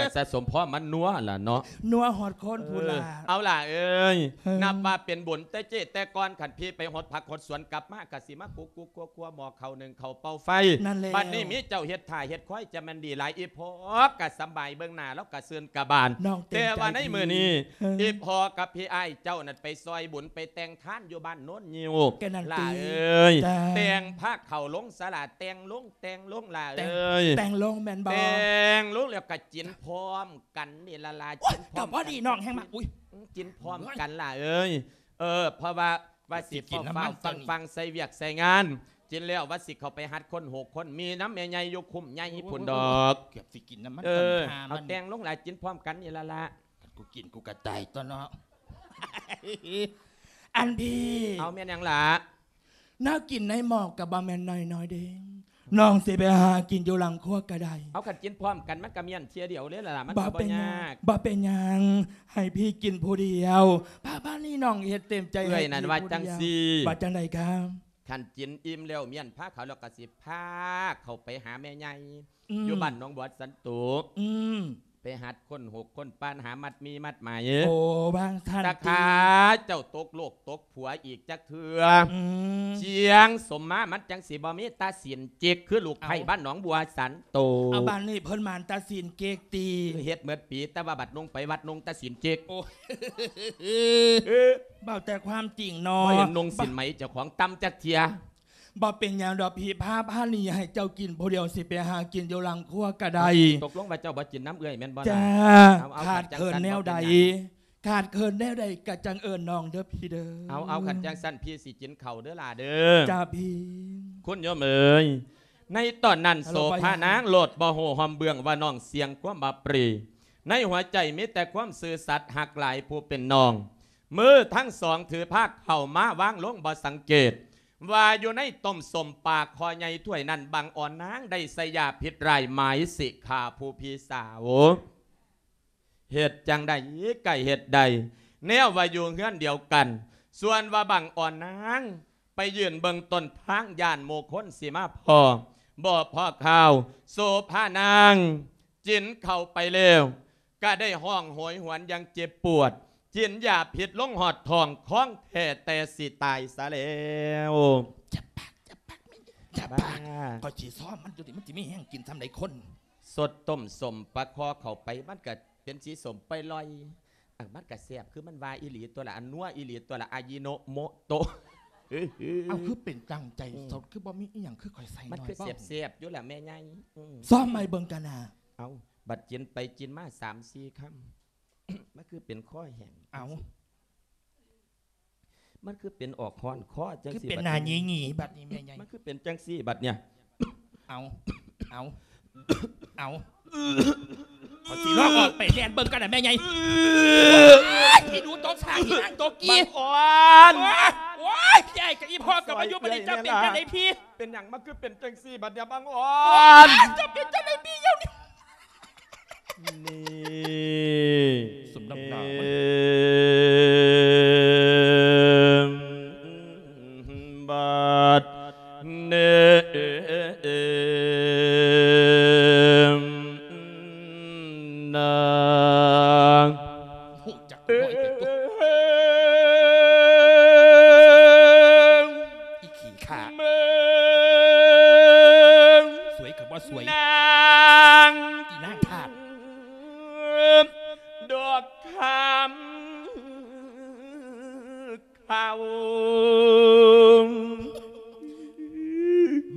ກໍສະສົມພໍມັນນົວລະເນາະ ນົວຮອດຄົນພຸ້ນລະ ເອີ ເອົາລະເອີຍ ເອີ ນັບວ່າເປັນບຸນແຕ່ເຈແຕ່ກ່ອນ ຄັນພີ່ໄປຫົດຜັກຫົດສວນກັບມາ ກໍຊິມາກຸກໆຄົວໆໝໍ້ເຂົ້າໜຶ້ງເຂົ້າເປົ່າໄຟ ນັ້ນແຫຼະ ບັດນີ້ມີເຈົ້າເຮັດຖ້າເຮັດຄອຍ ຈະແມ່ນດີຫຼາຍ ອີ່ພໍ່ກໍສຳບາຍ ເບິ່ງໜ້າລາວກໍຊື່ນກະບານ ແຕ່ວ່າໃນມື້ນີ້ ເອີ ອີ່ພໍ່ກັບພີ່ອ້າຍເຈົ້ານັ້ນໄປຊ່ອຍບຸນ ໄປແຕ່ງທານຢູ່ບ້ານໂນນງິ້ວ ກໍນັ້ນຕິ ຫຼ້າເອີຍ ແຕ່ງພາເຂົ້າລົງສາລາ ແຕ່ງລົງ ແຕ່ງລົງຫຼ້າເອີຍ ແຕ່ງລົງແມ່ນບໍ່ ແຕ່ງລົງແລ້ວກໍຈິນພ້ອມກັນນີ້ລະຫຼ້າ ໂອ້ຍ ຈິນພ້ອມກັນ ກໍພໍດີນ້ອງແຮງມາ ອຸ້ຍ ອືມ ຈິນພ້ອມກັນຫຼ້າເອີຍ ເອີ ເພາະວ່າ ວ່າຊິຟ້າວໆຟັ່ງໆໃສ່ວຽກໃສ່ງານ ຈິນແລ້ວວ່າຊິເຂົ້າໄປຮັດຄົນຫົກຄົນ ມີນຳແມ່ໃຫຍ່ຢູ່ຄຸ້ມໃຫຍ່ພຸ້ນດອກ ເກືອບຊິກິນນຳມັນ ເອີ ເອົາແຕ່ງລົງຫຼ້າ ຈິນພ້ອມກັນນີ້ລະຫຼ້າ ຄັນກູກິນກູກໍຕາຍຕົວະເນາະ ອັນພີ່ ເອົາແມ່ນຫຍັງຫຼ້າ ແນວກິນໃນໝໍ້ກໍບໍ່ແມ່ນນ້ອຍໆເດ້ ນ້ອງຊິໄປຫາກິນຢູ່ຫຼັງຄົວກໍໄດ້ ເອົາ ຄັນກິນພ້ອມກັນມັນກໍມ້ຽນເທື່ອດຽວເລີຍລະຫຼ້າ ມັນກໍບໍ່ຍາກ ບໍ່ເປັນຫຍັງ ໃຫ້ພີ່ກິນຜູ້ດຽວ ບາດນີ້ນ້ອງເຮັດເຕັມໃຈ ເອື້ອຍນັ້ນວ່າຈັ່ງຊີ້ ວ່າຈັ່ງໃດຄະ ຄັນກິນອີ່ມແລ້ວ ມ້ຽນພາເຂົ້າແລ້ວ ກໍຊິພາເຂົ້າໄປຫາແມ່ໃຫຍ່ ອືມ ຢູ່ບ້ານໜອງບົວສັນໂຕ ອືມ ໄປຫັດຄົ້ນຫູກຄົ້ນປານ ຫາມັດມີມັດໝາຍ ໂອ້ ວ່າງຊັ້ນຕິ ຕາຂ້າເຈົ້າຕົກໂລກຕົກຜົວອີກຈັກເທື່ອ ອືມ ຈຽງສົມມາ ມັນຈັ່ງຊິບໍ່ມີຕາສີນຈິກ ຄືລູກໄພ້ບ້ານໜອງບົວສັນໂຕ ເອົາ ບ້ານນີ້ເພິ່ນໝານຕາສີນເຈັກຕິ ເຮັດໝົດປີ ແຕ່ວ່າບັດນຸ່ງໄປວັດນຸ່ງຕາສີນຈິກ ໂອ້ ເວົ້າແຕ່ຄວາມຈິງເນາະ ບໍ່ເຫັນນຸ່ງສີນໄໝເຈົ້າຂອງຕ່ຳຈັກເທື່ອ ບໍ່ເປັນຫຍັງດອກພີ່ ພາ ພານີ້ໃຫ້ເຈົ້າກິນຜູ້ດຽວ ຊິໄປຫາກິນຢູ່ຫຼັງຄົວກໍໄດ້ ຕົກລົງວ່າເຈົ້າບໍ່ກິນນຳເອື້ອຍແມ່ນບໍ່ລະ ຈ້າ ເອົາ ເອົາ ຂາດເຂີນແນວໃດ ຂາດເຂີນແນວໃດກໍຈັ່ງເອີ້ນນ້ອງເດີພີ່ເດີ ເອົາ ເອົາ ຄັນຈັ່ງຊັ້ນພີ່ຊິກິນເຂົ້າເດີຫຼ້າເດີ ຈ້າພີ່ ຄຸນໂຍມເອີຍ ໃນຕອນນັ້ນໂສພານາງໂລດບໍ່ຮູ້ຮ່ອມເບື້ອງວ່ານ້ອງສ່ຽງຄວາມອັບປຣີ ໃນຫົວໃຈມີແຕ່ຄວາມຊື່ສັດຮັກຫຼາຍຜູ້ເປັນນ້ອງ ມືທັງສອງຖືພາເຂົ້າມາວາງລົງບໍ່ສັງເກດ ວ່າຢູ່ໃນຕົ້ມສົ້ມປາຄໍໃຫຍ່ຖ້ວຍນັ້ນ ບັງອ່ອນນາງໄດ້ໃສ່ຢາພິດຮ້າຍໝາຍຊິຂ້າຜູ້ພີ່ສາວ ເຮັດຈັ່ງໃດກໍເຮັດໄດ້ ແນວວ່າຢູ່ເຮືອນດຽວກັນ ສ່ວນວ່າບັງອ່ອນນາງໄປຢືນເບິ່ງຕົ້ນທາງ ຢ້ານໝູ່ຄົນຊິມາພໍ້ ບໍ່ພໍ້ຂ່າວ ໂສພານາງ ກິນເຂົ້າໄປແລ້ວ ກະໄດ້ຮ້ອງໂຫຍຫວນຢ່າງເຈັບປວດ ກິນຢາພິດລົງຮອດທ້ອງ ຂອງແທ້ແຕ່ຊິຕາຍຊະແລ້ວ ຢ່າປາກ ຢ່າປາກ ຢ່າປາກ ຂ້ອຍຊິຊ້ອມມັນຢູ່ນີ້ ມັນຊິມີແຮງກິນສ່ຳໃດຄົນ ສົດຕົ້ມສົ້ມປາຄໍເຂົ້າໄປ ມັນກະເປັນສີສົ້ມໄປລອຍ ອັນມັນກະແຊບ ຄືມັນວ່າອີ່ຫຼີຕົວະລະ ອັນນົວອີ່ຫຼີຕົວະລະ ອາຢິໂນໂມໂຕະ ເອົ້າ ຄືເປັນຈັ່ງໃຈ ອືມ ສົດ ຄືບໍ່ມີອີ່ຫຍັງ ຄືຂ້ອຍໃສ່ ມັນຄືແຊບໆຢູ່ລະແມ່ໃຫຍ່ ອືມ ຊ້ອມໃໝ່ເບິ່ງກັນນະ ເອົ້າ ບັດກິນໄປກິນມາສາມສີ່ຄຳ ມັນຄືເປັນຄໍແຫ້ງ ເອົ້າ ມັນຄືເປັນອອກຮ້ອນຄໍຈັ່ງຊີ້ ຄືເປັນໜ້າຫຢີໆບັດນີ້ແມ່ໃຫຍ່ ມັນຄືເປັນຈັ່ງຊີ້ບັດເນີ້ຍ ເອົາ ເອົາ ເອົາ ເຂົາຊິລອກອອກໄປແລ່ນເບິ່ງກັນນະແມ່ໃຫຍ່ ໂອ້ຍ ອີ່ໜູຕົກສາກ ອີນາງຕົກກີ່ ບັງອ່ອນ ໂອ້ຍ ໂອ້ຍ ພີ່ອ້າຍກັບອີ່ພໍ່ກັບມາຢູ່ບັດນີ້ ເຈົ້າເປັນຈັ່ງໃດພີ່ ເປັນຫຍັງມັນຄືເປັນຈັ່ງຊີ້ບັດເນີ້ຍ ບັງອ່ອນ ໂອ້ຍ ເຈົ້າເປັນຈັ່ງໃດພີ່ດຽວນີ້ ນີ້ ສົມນ້ຳໜ້າມັນ ບັດນີ້ນາ ຮູ້ຈັກ ເອີ ນ້ອຍເປັນຕົວ ອີຂີ້ຂ້າ ສວຍກໍບໍ່ສວຍ ນາງ ອີນາງທາດ ດອກຄຳຂາວ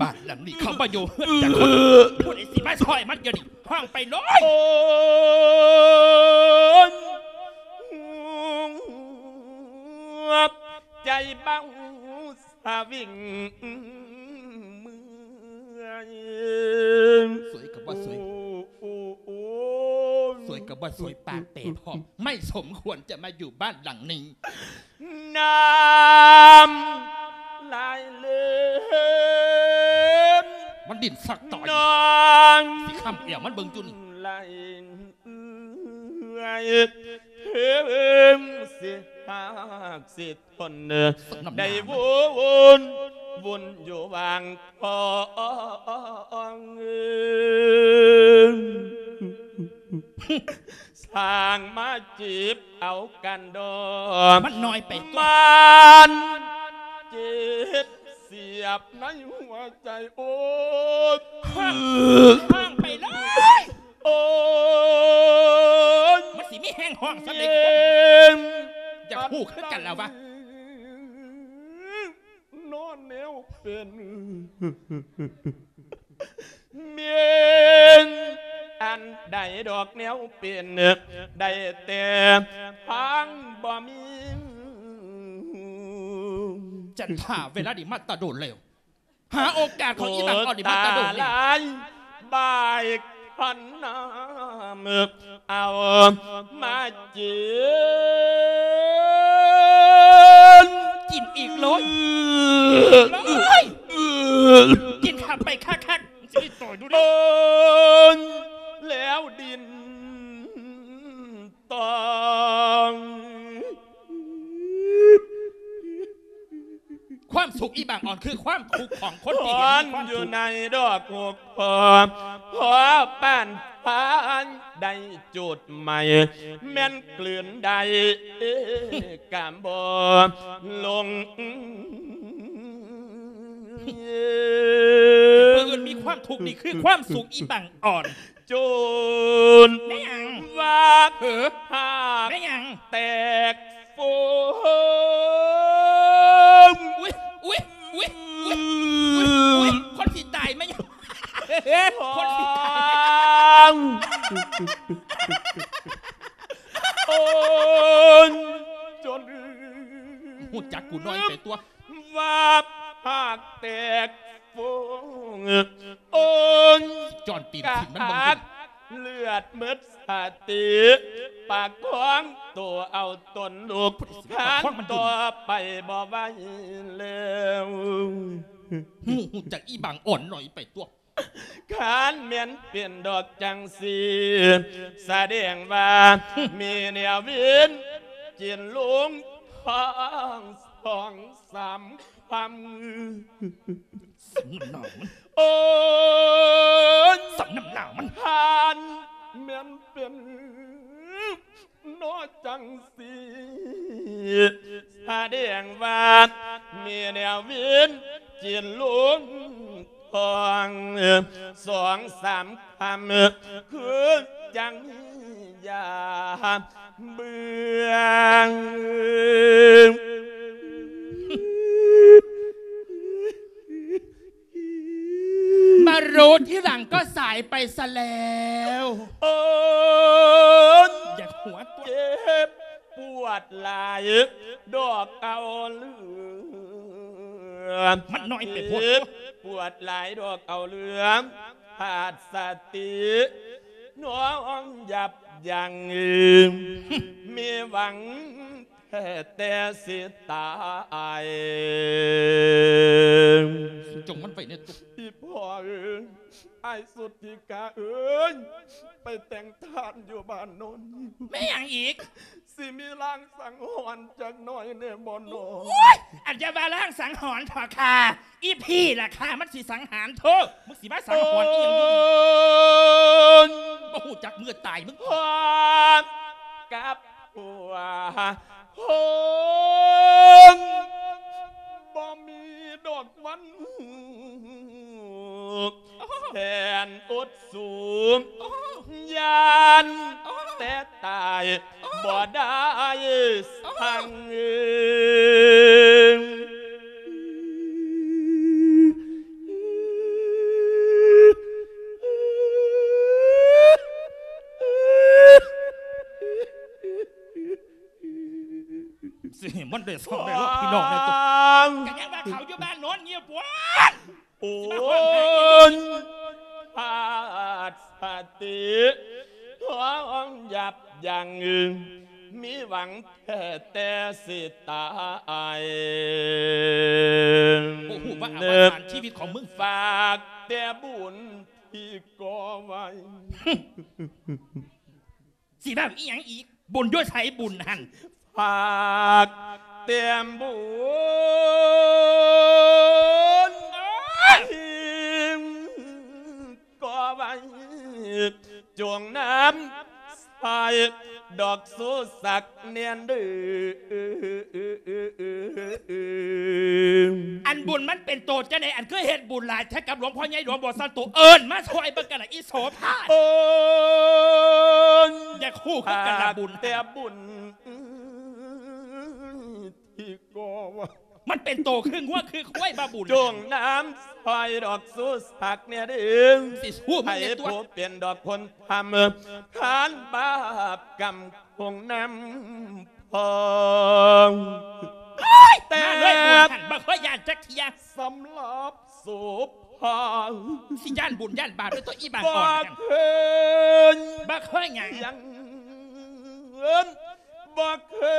ບ້ານຫຼັງນີ້ເຂົາບໍ່ຢູ່ເຮືອນຈັກຄົນ ຜູ້ໃດຊິມາຊ່ອຍມັນດຽວນີ້ ຮ້ອງໄປເລີຍ ໂອ້ຍ ໃຈເບົາ ສະວິງເມື່ອຍ ສວຍກໍບໍ່ສວຍ ໂອ້ ໂອ້ ໂອ້ ສວຍກໍບໍ່ສວຍ ປາກແຕກພ້ອມ ໄມ່ສົມຄວນຈະມາຢູ່ບ້ານຫຼັງນີ້ ນ້ຳລາຍເລີນ ມັນດິ້ນສັກຕອຍ ນ້ອງ ຊິຄ້ຳແອວມັນເບິ່ງຢູ່ນີ້ ໄຫຼເອື້ອຍ ເຖິງຊິຮາກຊິ ຄົນເດີ ໄດ້ວຸ່ນ ວຸ່ນຢູ່ຫວ່າງຂອງ ຊ່າງມາຈີບເອົາກັນດອກ ມັນນ້ອຍໄປຕົວະ ມັນເຈັບສຽບໃນຫົວໃຈ ໂອ້ຍ ຮ້ອງ ຮ້ອງໄປເລີຍ ໂອ້ຍ ມັນຊິມີແຮງຮ້ອງສ່ຳໃດຄົນ ຢາກຮູ້ຄືກັນລະວະ ນອນແນວເປັນ ແມ່ນອັນໃດດອກແນວເປັນ ໄດ້ແຕ່ທາງບໍ່ມີ ຈັນທາ ເວລານີ້ມາແຕ່ດົນແລ້ວ ຫາໂອກາດຂອງອີ່ບັງອ່ອນນີ້ມາແຕ່ດົນແລ້ວ ໂອ້ ຕາຫຼາຍ ບາຍຄັນນ້ຳ ເອົາມາກິນ ກິນອີກໂລດ ກິນເຂົ້າໄປຄັກໆ ຊິໄດ້ຕໍ່ຢູ່ເດ້ ໂອ້ຍ ແລ້ວດິນຕອງ ຄວາມສຸກອີ່ບັງອ່ອນ ຄືຄວາມທຸກຂອງຄົນທີ່ເຫັນມີຄວາມທຸກ ຢູ່ໃນດອກຫົກພໍ ພໍປານພານໄດ້ຈູດໄໝ້ ແມ່ນກືນໄດ້ການບໍ່ລົງ ຜູ້ອື່ນມີຄວາມທຸກ ນີ້ຄືຄວາມສຸກອີ່ບັງອ່ອນ ຈູນ ແມ່ນຫຍັງ ວ່າ ເອີ ຫາກ ແມ່ນຫຍັງ ແຕກໂຟມ ອຸ໊ຍ ອຸ໊ຍ ອຸ໊ຍ ອຸ໊ຍ ອຸ໊ຍ ຄົນຊິຕາຍ ແມ່ນຫຍັງ ຄົນຊິຕາຍ ໂອ້ຍ ຈົນ ຮູ້ຈັກກູນ້ອຍໄປຕົວະ ວ່າຫາກແຕກໂຟມ ໂອ້ຍ ຈອນຕີນຖິ້ມມັນເບິ່ງດູ ເລືອດໝົດສະຕິ ປະຄອງໂຕເອົາຕົນລຸກ ຫັນຕໍ່ໄປບໍ່ໄຫວແລ້ວ ຮູ້ ຮູ້ຈັກອີ່ບັງອ່ອນໜ້ອຍໄປຕົວະ ຄັນແມ່ນເປັນດອກຈັ່ງຊີ້ ສະແດງວ່າມີແນວວິນກິນລຸງທອງສອງສາມຄຳ ສົມນ້ຳໜ້າມັນ ໂອ້ຍ ສົມນ້ຳໜ້າມັນ ຄັນແມ່ນເປັນ ເນາະ ຈັ່ງຊີ້ ສະແດງວ່າມີແນວວິນກິນລຸງທອງສອງສາມຄຳ ຄືຈັ່ງມີຢາເບື່ອງ ມາຮູ້ທີຫຼັງກໍສາຍໄປຊະແລ້ວ ໂອ້ຍ ຢາກຫົວຕົວະ ເຈັບປວດຫຼາຍດອກເອົາເຫຼືອ ມັນນ້ອຍໄປໂພດ ເຈັບປວດຫຼາຍດອກເອົາເຫຼືອ ຂາດສະຕິ ນອນຫຍັບຍັງ ມີຫວັງ ແທ້ແຕ່ຊິຕາຍ ຈົ່ງມັນໄວ້ແດ່ ອີ່ພໍ່ເອີຍ ອ້າຍສຸດທິກາເອີຍ ໄປແຕ່ງທານຢູ່ບ້ານໂນນ ແມ່ນຫຍັງອີກ? ຊິມີລາງສັງຫອນຈັກໜ້ອຍແດ່ບໍ່ໜໍ? ໂອ້ຍ ອັນຢ່າວ່າລາງສັງຫອນເຖາະຄ່າ ອີ່ຜີ້ລະຄ່າ ມັນຊິສັງຫານໂທ ມຶງຊິມາສັງຫອນອີ່ຫຍັງຢູ່ນີ້? ໂອ້ຍ ບໍ່ຮູ້ຈັກເມື່ອຕາຍມຶງ ກັບ ຫົວໂຮງ ບໍ່ມີດອກວັນ ແສນອົດສູ ຢ້ານແຕ່ຕາຍ ບໍ່ໄດ້ສັງ ຊິໃຫ້ມັນໄດ້ສອງໄດ້ລອບພີ່ນ້ອງແດ່ຕົວະ ກະຍັງວ່າເຂົາຢູ່ບ້ານນອນງຽບ ໂອ້ຍ ຂາດສະຕິ ທ້ອງຫຍັບຍັງ ມີຫວັງແທ້ແຕ່ຊິຕາຍ ບໍ່ຮູ້ວ່າອະວະສານຊີວິດຂອງມຶງ ຝາກແຕ່ບຸນທີ່ກໍ່ໄວ້ ຊິເວົ້າອີ່ຫຍັງອີກ? ບຸນຢູ່ໃສບຸນຫັ້ນ? ຝາກແຕ້ມບຸນທີ່ກໍ່ໄວ້ ຈົ່ງນຳ ພາຍດອກຊູສັກແນ່ເດີ. ອັນບຸນມັນເປັນໂຕຈັ່ງໃດ ອັນຄືເຮັດບຸນຫຼາຍແທ້ກັບຫຼວງພໍ່ໃຫຍ່ຫຼວງບໍ່ສັນໂຕ? ເອີ້ນມາຊ່ອຍເບິ່ງກັນລະ ອີໂສພາ. ໂອ້ຍ ຢາກຮູ້ຄືກັນລະບຸນ ແຕ່ບຸນທີ່ກໍວ່າ ມັນເປັນໂຕຄືງົວຄືຄວາຍບໍ່ບຸນ ຈົ່ງນຳຊ່ອຍດອກຊູສັກແນ່ເດີ. ຊິສູ້ມຶງແນ່ຕົວະ ໃຫ້ຜູ້ເປັນດອກຄົນທຳ ທ່ານບາບກຳຄົງນຳພອງ. ໂອ້ຍ ແຕ່ມາເລີຍບຸນຫັ້ນ ບໍ່ເຄີຍຢ້ານຈັກເທື່ອ. ສຳລັບໂສພາ ຊິຢ້ານບຸນຢ້ານບາບເລີຍຕົວະ ອີບາງອ່ອນຫັ້ນ. ບໍ່ເຄີຍ ບໍ່ເຄີຍຫຍັງ ຍັງ ບໍ່ເຄີ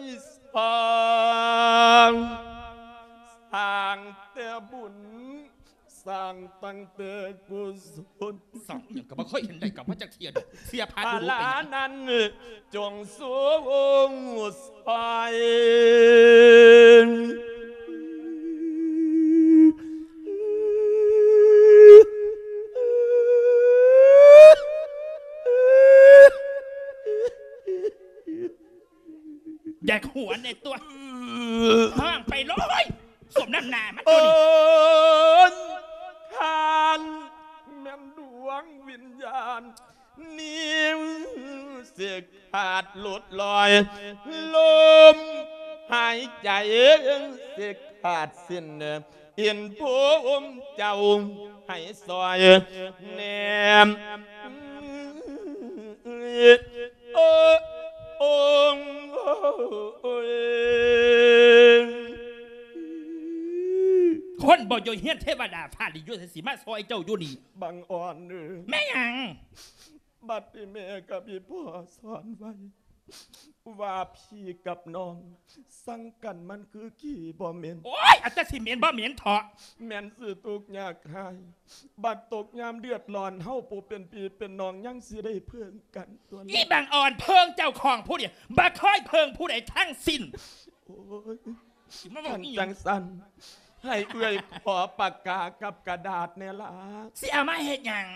ຍສ້າງ ສ້າງແຕ່ບຸນ ສ້າງຕັ້ງແຕ່ກຸສົນ. ສ້າງຫຍັງກໍບໍ່ເຄີຍເຫັນໄດ້ກັບມາຈັກເທື່ອດອກ ເສຍພາດອຸດົກໄປຫຍັງ. ພາລານັ້ນຈົ່ງສູງຊ່ອຍ ຢາກຫົວແນ່ຕົວະ ຮ້ອງໄປເລີຍ ສົມນ້ຳໜ້າມັນຢູ່ນີ້. ໂອ້ຍ ທ່ານແມ່ນດວງວິນຍານ ນິ້ວຊິຂາດຫຼຸດລອຍ ລົມຫາຍໃຈຊິຂາດສິ້ນ ເຫັນພູມເຈົ້າໃຫ້ຊ່ອຍແນມ ໂອ້ ໂອ້ ໂອ້ຍ ຄົນບໍ່ຢູ່ເຮືອນເທວະດາຟ້າລິນຢູ່ໃສ ຊິມາຊ່ອຍເຈົ້າຢູ່ນີ້. ບັງອ່ອນເອີຍ ແມ່ນຫຍັງ? ບັດນີ້ແມ່ກັບອີ່ພໍ່ສອນໄວ້ ວ່າພີ່ກັບນ້ອງສັງກັນມັນຄືຂີ້ບໍ່ເໝັນ. ໂອ້ຍ ອັນຕະຊິເໝັນບໍ່ເໝັນເຖາະ ແມ່ນຊິທຸກຍາກຮ້າຍ ບັດຕົກຍາມເດືອດຮ້ອນ ເຮົາຜູ້ເປັນພີ່ເປັນນ້ອງຍັງຊິໄດ້ເພິ່ງກັນຕົວະ. ອີ່ບັງອ່ອນ ເພິ່ງເຈົ້າຂອງຜູ້ດຽວ ບໍ່ເຄີຍເພິ່ງຜູ້ໃດທັງສິ້ນ. ໂອ້ຍ ຊິມາເວົ້າອີ່ຫຍັງ? ຄັນຈັ່ງຊັ້ນ ໃຫ້ເອື້ອຍຂໍປາກກາກັບກະດາດແດ່ລະ. ຊິເອົາມາເຮັດຫຍັງ?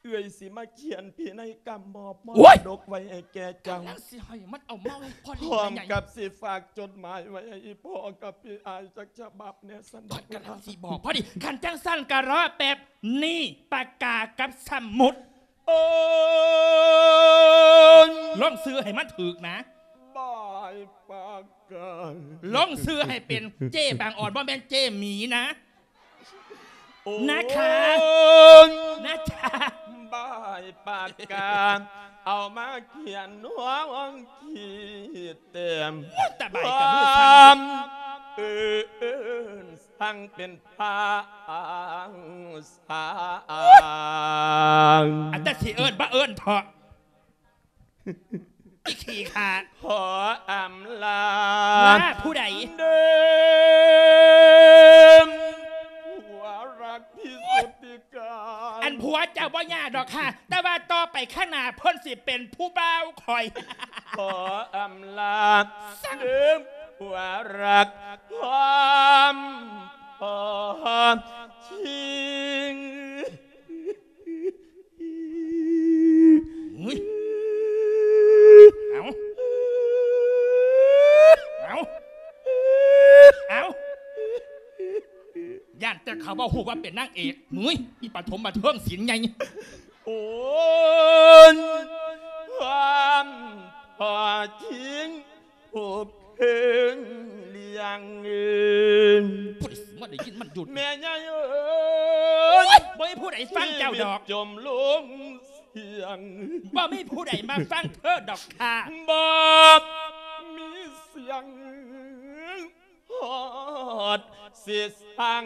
ເອື້ອຍຊິມາຂຽນພິໄນກຳມອບມໍລະດົກໄວ້ໃຫ້ແກ່ເຈົ້າ. ໂອ້ຍ ກຳລັງຊິໃຫ້ມັນເອົາມາໃຫ້ພໍ່ ພ້ອມກັບຊິຝາກຈົດໝາຍໄວ້ໃຫ້ອີ່ພໍ່ກັບພີ່ອ້າຍຈັກສະບັບແດ່ຊັ້ນ. ຂ້ອຍກຳລັງຊິບອກພໍດີ. ຄັນຈັ່ງຊັ້ນກໍລໍແປັບໜຶ່ງ ປາກກາກັບສະໝຸດ. ໂອ້ຍ ລົງຊື່ໃຫ້ມັນຖືກນະ. ບາຍປາກກາ ລົງຊື່ໃຫ້ເປັນເຈ້ບາງອ່ອນ ບໍ່ແມ່ນເຈ້ໝີນະ. ໂອ້ຍ ນະຄະ ນະຄະ ບາຍປາກກາ ເອົາມາຂຽນຫົວຫ້ອງຂີດແຕ້ມ. ໂອ້ຍ ຕະບາຍກັບມືສັ່ນ. ເອີ້ນສັ່ງເປັນພາງສາງ. ອັນຕະຊິເອີ້ນ ບໍ່ເອີ້ນເຖາະ. ອີ່ຂີ້ຂາດ. ຂໍອຳລາ ລາຜູ້ໃດ? ເດີມ ຜົວຮັກທີ່ສຸດທີ່ກາຍ. ອັນຜົວເຈົ້າບໍ່ຍາກດອກຄ່າ ແຕ່ວ່າຕໍ່ໄປຂ້າງໜ້າເພິ່ນຊິເປັນຜູ້ບ່າວຂ້ອຍ. ຂໍອຳລາ ເດີມຜົວຮັກ ຄວາມພໍຈິງ. ຫືຍ ເອົາ ເອົາ ເອົາ ຢ້ານແຕ່ເຂົາບໍ່ຮູ້ວ່າເປັນນາງເອກ. ຫືຍ ອີປະຖົມບັນເທີງສິນໃຫຍ່. ໂອ້ຍ ຄວາມພໍຈິງ ຜູ້ເຄີງລ້ຽງ. ຜູ້ໃດຊິມາໄດ້ຍິນມັນຢູ່? ແມ່ໃຫຍ່ເອີຍ ໂອ້ຍ ບໍ່ມີຜູ້ໃດຟັງເຈົ້າດອກ. ຊີວິດຈົມລົງສຽງ ບໍ່ມີຜູ້ໃດມາຟັງເທີດອກຄ່າ. ບໍ່ມີສຽງຮອດຊິສັງ.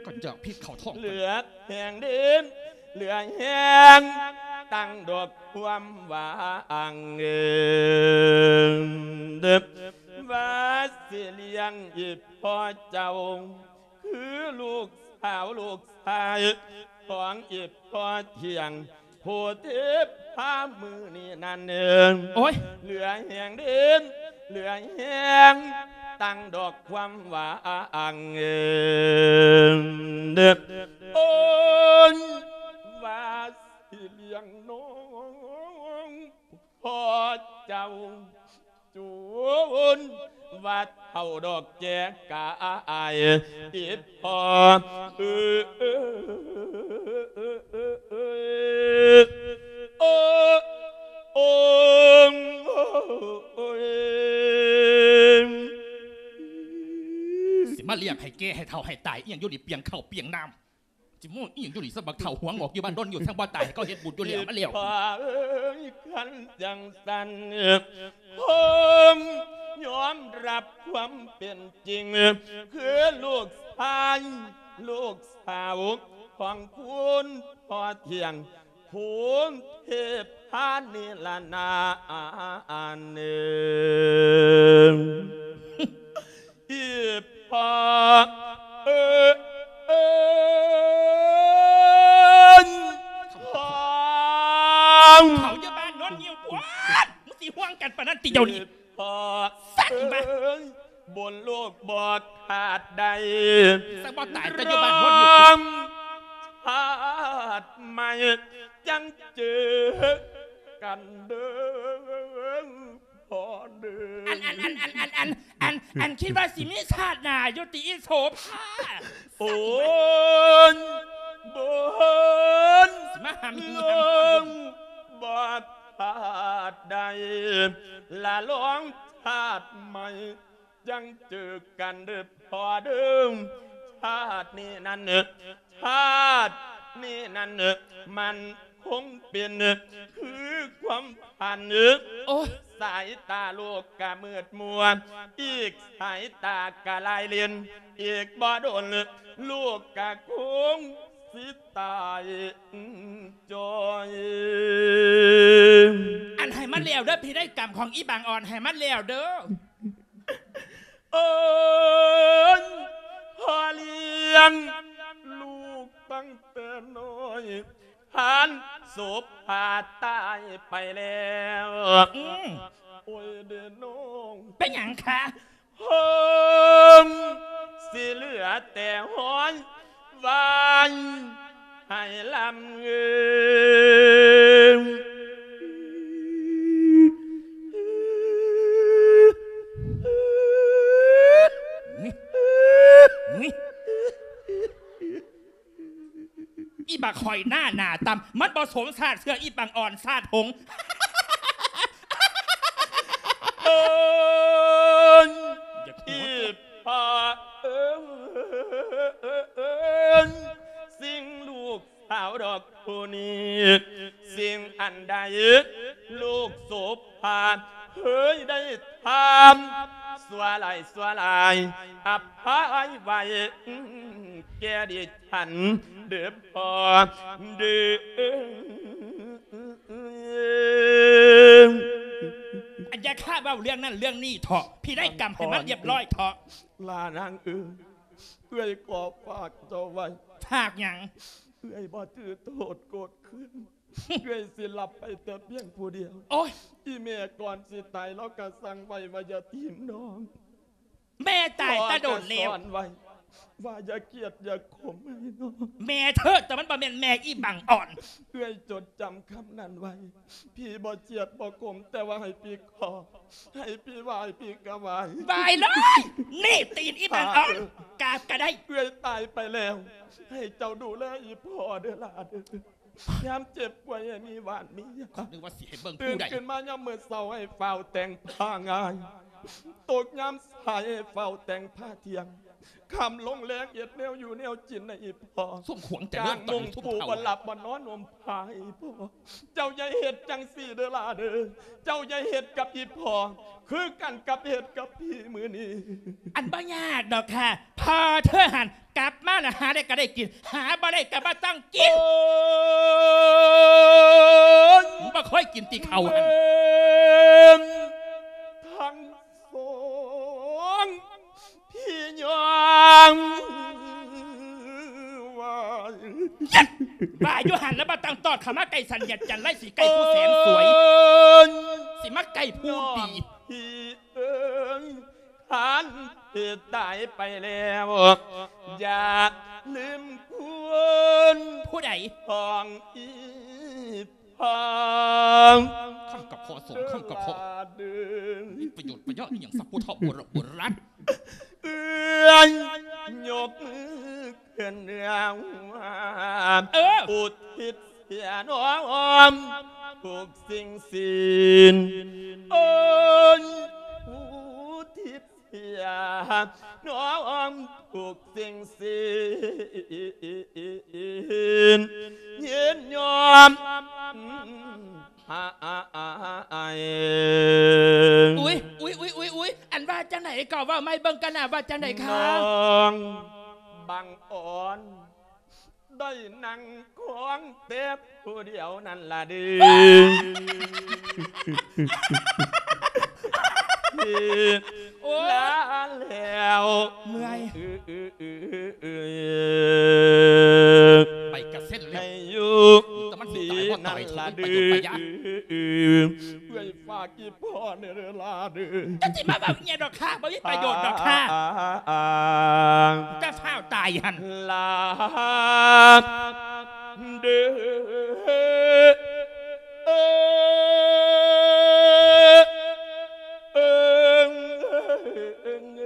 ກໍຢາກພິດເຂົ້າທ້ອງ ເຫຼືອແຮງເດີນ ເຫຼືອແຮງຕັ້ງດອກຄວາມຫວັງ ວ່າຊິລ້ຽງອີພໍ່ເຈົ້າ ຄືລູກສາວລູກຊາຍຂອງອີພໍ່ທ່ຽງ ຜູ້ທີ່ພາມື້ນີ້ນັ້ນເອີງ. ໂອ້ຍ ເຫຼືອແຮງເດີນ ເຫຼືອແຮງຕັ້ງດອກຄວາມຫວັງ. ໂອ້ຍ ອົາດອກແຈກາຍ ອີ່ພໍ່ ຊິມາລ້ຽງໃຫ້ແກ່ໃຫ້ເຖົ້າໃຫ້ຕາຍອີ່ຫຍັງຢູ່ນີ້ ປຽງເຂົ້າປຽງນ້ຳ ຊິໂມ້ອີ່ຫຍັງຢູ່ນີ້ ສະບັກເຖົ້າຫົວງອກຢູ່ບ້ານດົນຢູ່ ທັງບໍ່ຕາຍໃຫ້ເຂົາເຮັດບຸນຢູ່ແລ້ວມາແລ້ວ ພໍ່ເອີຍ ຄັນຈັ່ງຊັ້ນ ຜົມຍອມຮັບຄວາມເປັນຈິງ ຄືລູກຊາຍ ລູກສາວຂອງຄຸນພໍ່ທ່ຽງ ພູນເທພານິລະນານ ອີ່ພໍ່ເອີຍ ພໍ່ ເຂົາຢູ່ບ້ານໂນນງິ້ວພຸ້ນ ມຶງຊິຫ່ວງກັນປານນັ້ນຕິດຽວນີ້ ພໍ່ເອີຍ ບົນໂລກບໍ່ຂາດໄດ້ ສັກບໍ່ຕາຍແຕ່ຢູ່ບ້ານໂນນງິ້ວ ຊາດໃໝ່ຈັ່ງເຈີກັນເດີ ພໍ່ເດີ ອັນ ອັນ ອັນ ຄິດວ່າຊິມີຊາດໜ້າຢູ່ຕິອີ່ໂສພາ ໂອ້ຍ ບົນ ຊິມາຫາມີຫຍັງ ໂລກບໍ່ຂາດໄດ້ ລະລອງຊາດໃໝ່ຈັ່ງເຈີກັນເດີພໍ່ເດີ ຊາດນີ້ນັ້ນ ຊາດນີ້ນັ້ນ ມັນ ຄົງເປັນຄືຄວາມຝັນ ໂອ້ຍ ສາຍຕາລູກກະມືດມົວ ອີກສາຍຕາກະລາຍເລນ ອີກບໍ່ດົນລູກກະຄົງຊິຕາຍຈ່ອຍ ອັນໃຫ້ມັນແລ້ວເດີ ພິໄນກຳຂອງອີ່ບັງອ່ອນ ໃຫ້ມັນແລ້ວເດີ ເອີຍ ພໍ່ລ້ຽງລູກຕັ້ງແຕ່ນ້ອຍ ທ່ານໂສພາຕາຍໄປແລ້ວ ອືມ ໂອ້ຍເດນ້ອງ ເປັນຫຍັງຄະ ເຮີ້ມ ຊິເຫຼືອແຕ່ຮອຍວາຍ ໃຫ້ລຳເອີຍ ອີ່ບັກຫອຍໜ້າໜາຕ່ຳ ມັນບໍ່ສົມຊາດເຊື່ອ ອີ່ບັກອ່ອນຊາດຫົງ ເອີຍ ອີ່ພໍ່ເອີຍ ສິ່ງລູກສາວດອກຜູ້ນີ້ ສິ່ງອັນໃດລູກໂສພາເຄີຍໄດ້ທຳ ຊົ່ວຫຼາຍຊົ່ວຫຼາຍ ອະໄພໄວ້ແກ່ດິ ອັນເດີພໍ່ເດີ ອັນຢ່າຄາເວົ້າເລື່ອງນັ້ນເລື່ອງນີ້ເຖາະ ພິໄນກຳໃຫ້ມັນລຽບຮ້ອຍເຖາະ ຫຼ້ານາງເອີຍ ເອື້ອຍຂໍຝາກເຈົ້າໄວ້ ຝາກຫຍັງ ເອື້ອຍບໍ່ຖືໂທດໂກດເຄືອນ ເອື້ອຍຊິຮັບໄປແຕ່ພຽງຜູ້ດຽວ ໂອ້ຍ ອີ່ແມ່ກ່ອນຊິຕາຍລາວກະສັ່ງໄວ້ວ່າຢ່າຖິ້ມນ້ອງ ແມ່ຕາຍແຕ່ດົນແລ້ວ ພໍ່ກະສອນໄວ້ວ່າຢ່າກຽດຢ່າຂົມໃຫ້ນ້ອງ ແມ່ເທີດ ແຕ່ມັນບໍ່ແມ່ນແມ່ອີ່ບັງອ່ອນ ເອື້ອຍຈົດຈຳຄຳນັ້ນໄວ້ ພີ່ບໍ່ຈຽດບໍ່ຂົມ ແຕ່ວ່າໃຫ້ພີ່ຂໍ ໃຫ້ພີ່ໄຫວ້ ພີ່ກະໄຫວ້ ໄຫວ້ເລີຍ ນີ້ຕີນອີ່ບັງອ່ອນ ກາບກະໄດ້ ເອື້ອຍຕາຍໄປແລ້ວ ໃຫ້ເຈົ້າດູແລອີ່ພໍ່ເດີຫຼ້າເດີ ຍາມເຈັບປ່ວຍໃຫ້ມີຫວານມີຢາ ນຶກວ່າຊິໃຫ້ເບິ່ງຜູ້ໃດ ຕື່ນຂຶ້ນມາຍາມມື້ເຊົ້າໃຫ້ຟ້າວແຕ່ງຜ້າງ່າຍ ຕົກຍາມສາຍໃຫ້ຟ້າວແຕ່ງຜ້າທ່ຽງ ຄ່ຳລົງແລງເຮັດແນວຢູ່ແນວກິນໃຫ້ອີ່ພໍ່ ຊຸມຂວາງຈະເລີນຕອນຊຸມເຖົ້າ ກາງມຸງປູບ່ອນຫຼັບບ່ອນນອນຫົ່ມຜ້າໃຫ້ອີ່ພໍ່ ເຈົ້າຢ່າເຮັດຈັ່ງຊີ້ເດີຫຼ້າເດີ ເຈົ້າຢ່າເຮັດກັບອີ່ພໍ່ ຄືກັນກັບເຮັດກັບພີ່ມື້ນີ້ ອັນບໍ່ຍາກດອກຄ່ະ ພໍ່ເທີຫັ້ນກັບມາລະຫາໄດ້ກະໄດ້ກິນ ຫາບໍ່ໄດ້ກະບໍ່ຕ້ອງກິນ ໂອ້ຍ ບໍ່ເຄີຍກິນຕິເຂົ້າຫັ້ນ ທັງ ສອງ ພີ່ຍອງ ວ່າ ຢ້ານ ວ່າຢູ່ຫັ້ນລະບໍ່ຕ້ອງຕອດເຂົ້າມາໃກ້ສັນ ຢ້ານຈັນໄລຊິໃກ້ຜູ້ແສນສວຍ ໂອ້ຍ ຊິມາໃກ້ຜູ້ດີ ພີ່ເອີຍ ທ່ານທີ່ຕາຍໄປແລ້ວ ຢ່າລືມຄຸນ ຜູ້ໃດ ຂອງອີ່ພໍ່ ຄຳກັບພໍ່ສອງຄຳກັບພໍ່ ມີປະໂຫຍດປະຍະອີ່ຫຍັງ ສັບຜູ້ເຖົ້າໂບຣະໂບຣານ ເອື້ອຍ ຍົກມືຂຶ້ນເໜືອຫົວ ເອີ ອຸທິດເສຍນ້ອມທຸກສິ່ງສິ່ງ ໂອ້ຍ ອຸທິດເສຍນ້ອມທຸກສິ່ງສິ່ງ ຍິນຍອມ ອາ ອາ ອາ ອາ ອາ ອຸຍ ອຸຍ ອຸຍ ອຸຍ ອຸຍ ອັນວ່າຈັ່ງໃດກໍເວົ້າໃໝ່ເບິ່ງກັນນະ ວ່າຈັ່ງໃດຄະ? ນ້ອງບັງອອນ ໄດ້ນັ່ງຄອງແຕ່ຜູ້ດຽວນັ້ນລະເດີ ໂອ້ຍ ລາແລ້ວ ເມື່ອຍ ໄປກະເຊັນແລ້ວ ໃຫ້ຢູ່ ແຕ່ມັນຊິຕາຍບໍ່ຕາຍ ທີ່ນັ້ນລະເດີ ເອື້ອຍຝາກອີ່ພໍ່ແດ່ເດີລາເດີ ຈະຊິມາເວົ້າອີ່ຫຍັງດອກຄ່າ ບໍ່ມີປະໂຫຍດດອກຄ່າ ຈະຟ້າວຕາຍຫັ້ນ ລາເດີ ເອີ ເອີ ເອີ ເອີ ເອີ ເອີ ເອີ ເອີ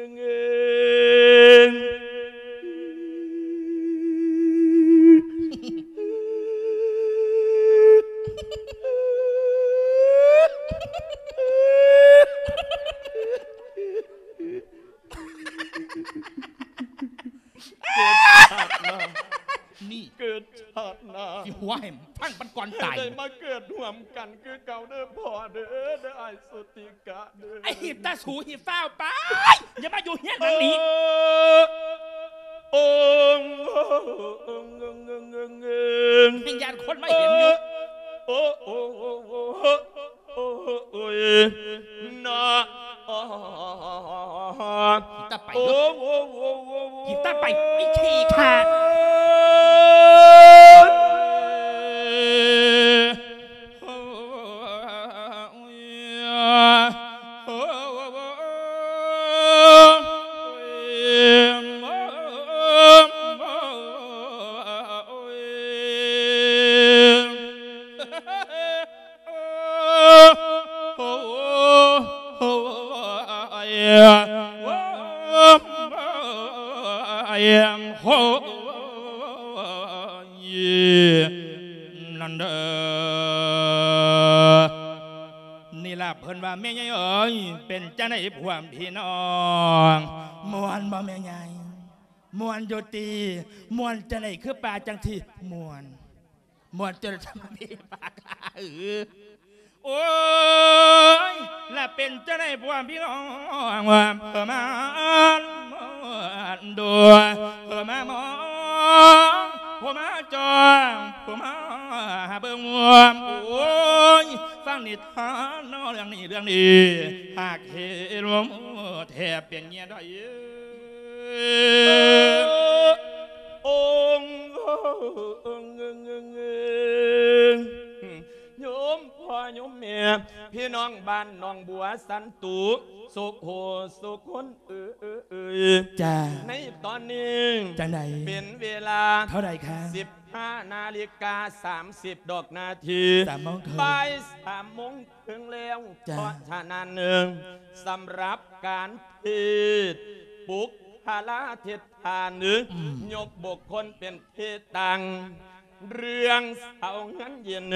ເອີ ເກີດຊາດໜ້າ ນີ້ ເກີດຊາດໜ້າ ຊິຫົວໃຫ້ຟັງມັນກ່ອນຕາຍ ໄດ້ມາເກີດຮ່ວມກັນຄືເກົ່າເດີພໍ່ເດີ ເດີອ້າຍສຸຕິກະເດີ ໄອ້ຫີບຕາສູ ຫີບຟ້າວໄປ ຢ່າມາຢູ່ເຮືອນຫຼັງນີ້ ໂອ້ ແຮ່ງຢ້ານຄົນມາເຫັນຢູ່ ໂອ້ ໂອ້ຍ ນະ ຂີ້ຕາໄປເນາະ ຂີ້ຕາໄປ ໄອ້ຂີ້ຂ້າ ນັ້ນເດີ ນີ້ລະເພິ່ນວ່າ ແມ່ໃຫຍ່ເອີຍ ເປັນຈັ່ງໃດພວກພີ່ນ້ອງ ມ່ວນບໍ່ແມ່ໃຫຍ່? ມ່ວນຢູ່ຕິ ມ່ວນຈັ່ງໃດຄືປາຈັ່ງທີ່ມ່ວນ ມ່ວນຈົນທຳມີປາກ ເອີ ໂອ້ຍ ລະເປັນຈັ່ງໃດພວກພີ່ນ້ອງ ວ່າເພິ່ນມາ ເພິ່ນມາມອງ ເພິ່ນມາຈ້ອງ ເພິ່ນມາເບິ່ງ ໂອ້ຍ ຟັງນິທານເນາະ ເລື່ອງນີ້ ເລື່ອງນີ້ ຫາກເຫັນແທບເປັນເຫຍື່ອດອຍ ໂອ້ ໂຍມພໍ່ໂຍມແມ່ ພີ່ນ້ອງບ້ານໜອງບົວສັນຕຸ ສຸຂູສຸຄົນເອີຍ ຈ້າ ໃນຕອນນີ້ ຈັ່ງໃດ ເປັນເວລາເທົ່າໃດຄະ? ສິບຫ້ານາລິກາສາມສິບດອກນາທີ ສາມໂມງເຄິ່ງ ບ່າຍສາມໂມງເຄິ່ງແລ້ວ ຈ້າ ເພາະສະນັ້ນ ສຳລັບການເທດ ປຸກຄະລາທິດຖານ ອືມ ຍົກບຸກຄົນເປັນທີ່ຕັ້ງ ເລື່ອງເຊົາເງິນເຢັນ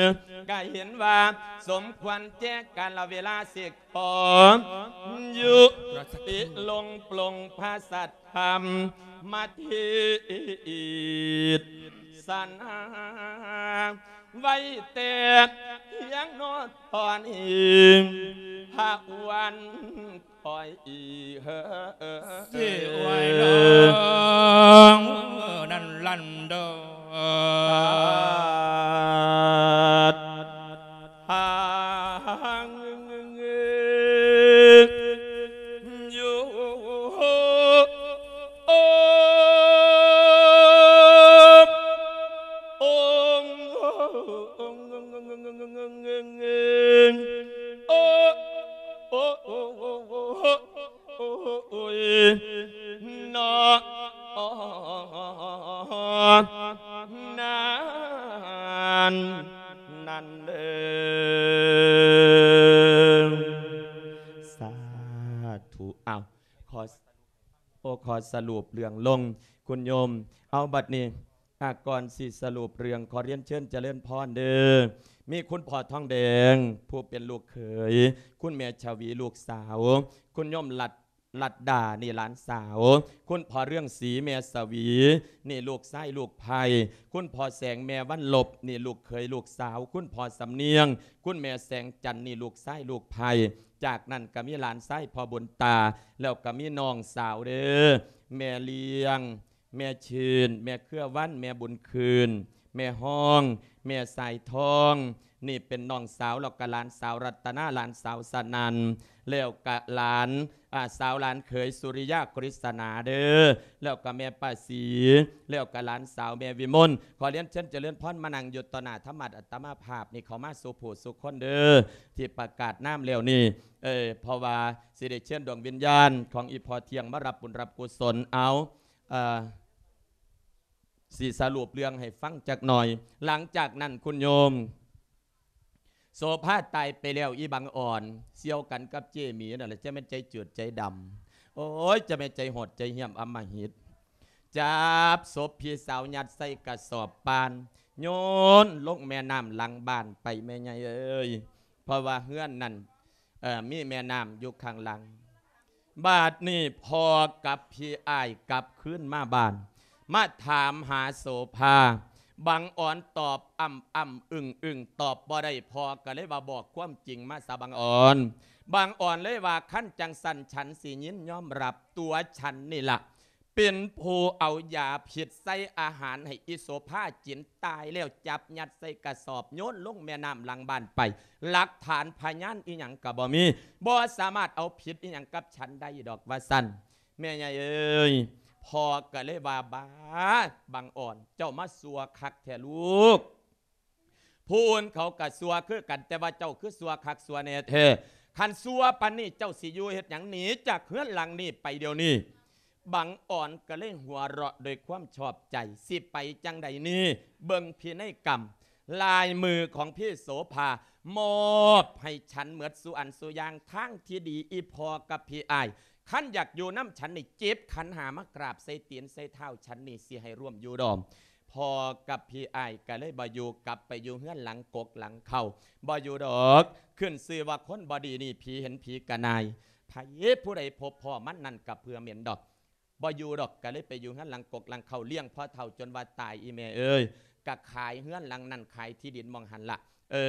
ກະເຫັນວ່າສົມຄວນແຈການລະເວລາ ຊິຂໍຍຸຕິລົງ ປົງພະສັດທຳມະເທດສະໜາ ໄວ້ແຕ່ພຽງເນາະ ຕອນນີ້ພະວັນ ໂອ້ຍ ເອີ ເສຍໂອ້ຍ ນ້ອງນັ້ນລັນດອນ ທາງຢູ່ ໂອ້ ໂອ້ ໂອ້ ໂອ້ ໂອ້ ໂອ້ ໂອ້ຍ ເນາະ ນັ້ນ ນັ້ນເດີ ສາທຸ ອ້າວ ສະຫຼຸບເລື່ອງລົງ ຄຸນໂຍມ. ເອົາ ບັດນີ້ ອາ ກ່ອນຊິສະຫຼຸບເລື່ອງ ຂໍລຽນເຊີນຈະເລີນພອນເດີ ມີຄຸນພໍ່ທອງແດງ ຜູ້ເປັນລູກເຂີຍ, ຄຸນແມ່ຊະຫວີ ລູກສາວ, ຄຸນໂຍມລັດ ລັດດາ ນີ້ຫຼານສາວ, ຄຸນພໍ່ເຮືອງສີ ແມ່ສະຫວີ ນີ້ລູກຊາຍລູກໃພ້, ຄຸນພໍ່ແສງ ແມ່ວັນລົບ ນີ້ລູກເຂີຍລູກສາວ, ຄຸນພໍ່ສຳນຽງ ຄຸນແມ່ແສງຈັນ ນີ້ລູກຊາຍລູກໃພ້. ຈາກນັ້ນກໍມີຫຼານຊາຍພໍ່ບຸນຕາ ແລ້ວກໍມີນ້ອງສາວເດີ ແມ່ລ້ຽງ ແມ່ຊື່ນ ແມ່ເຄືອວັນ ແມ່ບຸນຄືນ ແມ່ຮອງ ແມ່ສາຍທອງ ນີ້ເປັນນ້ອງສາວ ແລ້ວກໍຫຼານສາວລັດຕະນາ ຫຼານສາວສະໜັ່ນ ແລ້ວກະຫຼານ ອາ ສາວຫຼານເຂີຍສຸລິຍາ ກະລິດສະໜາເດີ ແລ້ວກະແມ່ປ້າສີ ແລ້ວກະຫຼານສາວແມ່ວິມົນ. ຂໍລຽນເຊີນຈະເລີນພອນມານັ່ງຢູ່ຕໍ່ໜ້າທຳມະອັດຕະມາພາບນີ້ ເຂົ້າມາສູ່ຜູ້ສູ່ຄົນເດີ ທີ່ປະກາດນາມແລ້ວນີ້ ເອີ ເພາະວ່າຊິໄດ້ເຊີນດວງວິນຍານຂອງອີ່ພໍ່ທ່ຽງມາຮັບບຸນຮັບກຸສົນ. ເອົາ ເອີ ຊິສະຫຼຸບເລື່ອງໃຫ້ຟັງຈັກໜ່ອຍ. ຫຼັງຈາກນັ້ນ ຄຸນໂຍມ ໂສພາຕາຍໄປແລ້ວ ອີ່ບັງອ່ອນສ່ຽວກັນກັບເຈ້ໝີນັ້ນແຫຼະ ຈະແມ່ນໃຈຈືດໃຈດຳ ໂອ້ຍ ຈະແມ່ນໃຈໂຫດໃຈຫ້ຽມອຳມະຫິດ ຈັບສົບພີ່ສາວຍັດໃສ່ກະສອບປານ ໂຍນລົງແມ່ນ້ຳຫຼັງບ້ານໄປ ແມ່ໃຫຍ່ເອີຍ. ເພາະວ່າເຮືອນນັ້ນ ເອີ ມີແມ່ນ້ຳຢູ່ຂ້າງຫຼັງ. ບາດນີ້ພໍ່ກັບພີ່ອ້າຍກັບຄືນມາບ້ານ ມາຖາມຫາໂສພາ. ບັງອອນຕອບອ້ຳໆອຶ້ງໆ ຕອບບໍ່ໄດ້. ພໍ່ກໍເລີຍວ່າ ບອກຄວາມຈິງມາຊະບັງອອນ. ບັງອອນເລີຍວ່າ ຄັນຈັ່ງຊັ້ນ ສັນຊິຍິນຍອມຮັບ ຕົວສັນນີ້ລະ ເປັນຜູ້ເອົາຢາພິດໃສ່ອາຫານໃຫ້ອີ່ໂສພາກິນ ຕາຍແລ້ວຈັບຍັດໃສ່ກະສອບໂຍນລົງແມ່ນ້ຳຫຼັງບ້ານໄປ ຫຼັກຖານພະຍານອີ່ຫຍັງກະບໍ່ມີ ບໍ່ສາມາດເອົາຜິດອີ່ຫຍັງກັບສັນໄດ້ດອກ ວ່າຊັ້ນ. ແມ່ໃຫຍ່ເອີຍ ພໍ່ກະເລີຍວ່າ ບາ ບັງອອນ ເຈົ້າມາຊົ່ວຄັກແທ້ລູກ. ຜູ້ອື່ນເຂົາກະຊົ່ວຄືກັນ ແຕ່ວ່າເຈົ້າຄືຊົ່ວຄັກຊົ່ວແນ່ແທ້. ຄັນຊົ່ວປານນີ້ ເຈົ້າຊິຢູ່ເຮັດຫຍັງ? ໜີຈາກເຮືອນຫຼັງນີ້ໄປດຽວນີ້. ບັງອອນກໍເລີຍຫົວເຣາະໂດຍຄວາມຊອບໃຈ. ຊິໄປຈັ່ງໃດນີ້? ເບິ່ງພິໄນກຳ ລາຍມືຂອງພີ່ໂສພາ ມອບໃຫ້ສັນໝົດສູ່ອັນສູ່ຢ່າງ. ທາງທີ່ດີ ອີ່ພໍ່ກັບພີ່ອ້າຍ ຄັນຢາກຢູ່ນຳສັນນີ້ ເຈັບຂັນຫ້າມາກາບໃສ່ຕີນໃສ່ເທົ້າສັນນີ້ ຊິໃຫ້ຮ່ວມຢູ່ດອມ. ພໍ່ກັບພີ່ອ້າຍກໍເລີຍບໍ່ຢູ່ ກັບໄປຢູ່ເຮືອນຫຼັງກົກຫຼັງເຄົ້າ ບໍ່ຢູ່ດອກ. ຂຶ້ນຊື່ວ່າຄົນບໍ່ດີນີ້ ຜີເຫັນຜີກະໜ່າຍ. ໃຜຜູ້ໃດພົບພໍ້ມັນນັ້ນກໍເຜື່ອເໝັນດອກ. ບໍ່ຢູ່ດອກ ກໍເລີຍໄປຢູ່ເຮືອນຫຼັງກົກຫຼັງເຄົ້າ ລ້ຽງພໍ່ເຖົ້າຈົນວ່າຕາຍ. ອີ່ແມ່ເອີຍ ກໍຂາຍເຮືອນຫຼັງນັ້ນ ຂາຍທີ່ດິນໝ່ອງຫັ້ນລະ. ເອີ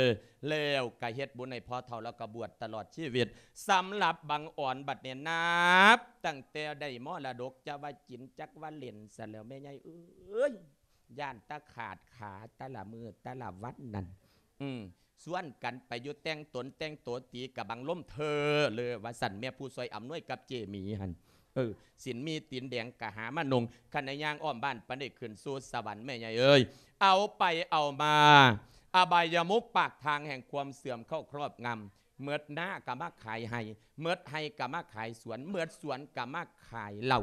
ແລ້ວກໍເຮັດບຸນໃຫ້ພໍ່ເຖົ້າ ແລ້ວກໍບວດຕະຫຼອດຊີວິດ. ສຳລັບບັງອອນບັດນີ້ ນັບຕັ້ງແຕ່ໄດ້ມໍລະດົກ ຈັກວ່າກິນ ຈັກວ່າຫຼິ້ນຊັ້ນແຫຼ້ວ ແມ່ໃຫຍ່ເອີຍ. ຢ້ານແຕ່ຂາດຂາແຕ່ລະມື້ແຕ່ລະວັນນັ້ນ. ອືມ ຊວນກັນໄປຢູ່ແຕ່ງຕົນແຕ່ງໂຕ ຕີກະບັງລົມເທີເລີວ່າຊັ້ນ ແມ່ຜູ້ຊ່ວຍອຳນວຍກັບເຈ້ໝີຫັ້ນ. ເອີ ສິນມີຕີນແດງກະຫາມານຸ່ງ ຄັນໄດ້ຍ່າງອ້ອມບ້ານປານໃດຂຶ້ນສູ່ສະຫວັນ ແມ່ໃຫຍ່ເອີຍ. ເອົາໄປເອົາມາ ອະບາຍະມຸກ ປາກທາງແຫ່ງຄວາມເສື່ອມເຂົ້າຄອບງຳ. ໝົດນາກໍມາຂາຍໄຮ່ ໝົດໄຮ່ກໍມາຂາຍສວນ ໝົດສວນກໍມາຂາຍເຫຼົ້າ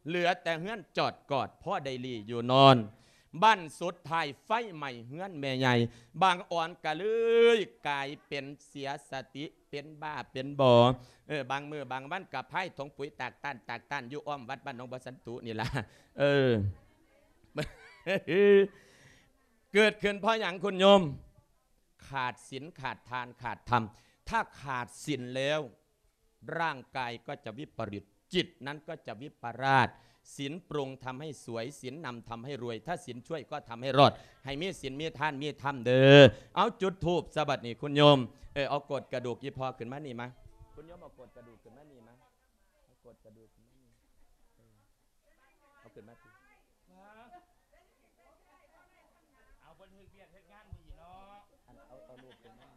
ເຫຼືອແຕ່ເຮືອນຈອດກອດ ພໍໄດ້ຫຼີ້ຢູ່ນອນ. ບັ້ນສຸດທ້າຍໄຟໄໝ້ເຮືອນແມ່ໃຫຍ່ ບັງອອນກໍເລີຍກາຍເປັນເສຍສະຕິ ເປັນບ້າເປັນບໍ. ເອີ ບາງມື້ບາງວັນກໍພາຍຖົງປຸຍຕາກຕ້ານ ຕາກຕ້ານຢູ່ອ້ອມວັດບ້ານໜອງບໍ່ສັນຕຸນີ້ລະ. ເອີ ເກີດຂຶ້ນເພາະຫຍັງຄຸນໂຍມ? ຂາດສິນ ຂາດທານ ຂາດທຳ. ຖ້າຂາດສິນແລ້ວ ຮ່າງກາຍກໍຈະວິປະລິດ ຈິດນັ້ນກໍຈະວິປະລາດ. ສິນປຸງທຳໃຫ້ສວຍ ສິນນຳທຳໃຫ້ລວຍ ຖ້າສິນຊ່ວຍກໍທຳໃຫ້ລອດ. ໃຫ້ມີສິນ ມີທານ ມີທຳເດີ. ເອົາ ຈຸດທູບຊະບັດນີ້ຄຸນໂຍມ. ເອີ ເອົາໂກດກະດູກອີ່ພໍ່ຂຶ້ນມານີ້ມາ. ຄຸນໂຍມເອົາໂກດກະດູກຂຶ້ນມານີ້ມາ. ເອົາໂກດກະດູກຂຶ້ນມານີ້. ເອີ ເອົາຂຶ້ນມາຕິ. ເອົາ ເພິ່ນເຮັດວຽກເຮັດງານມື້ນີ້ເນາະ. ອັນ ເອົາ ເອົາລູກຂຶ້ນມາ.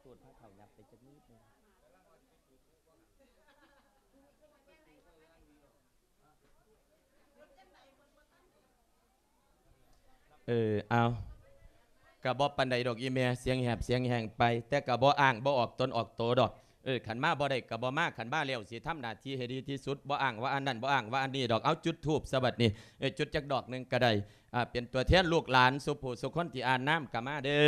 ຕູດພາເຖົ້າຫຍັບໄປຈັກນິດໜຶ່ງ. ເອີ ເອົາ ກະບໍ່ປານໃດດອກອີ່ແມ່ ສຽງແຫບສຽງແຮງໄປ ແຕ່ກະບໍ່ອ້າງ ບໍ່ອອກຕົນອອກໂຕດອກ. ເອີ ຄັນມາບໍ່ໄດ້ກະບໍ່ມາ ຄັນມາແລ້ວຊິທຳໜ້າທີ່ໃຫ້ດີທີ່ສຸດ ບໍ່ອ້າງວ່າອັນນັ້ນ ບໍ່ອ້າງວ່າອັນນີ້ດອກ. ເອົາ ຈຸດທູບຊະບັດນີ້. ເອີ ຈຸດຈັກດອກໜຶ່ງກະໄດ້ ອາ ເປັນຕົວແທນລູກຫຼານສູ່ຜູ້ສູ່ຄົນທີ່ອ່ານນາມກະມາເດີ.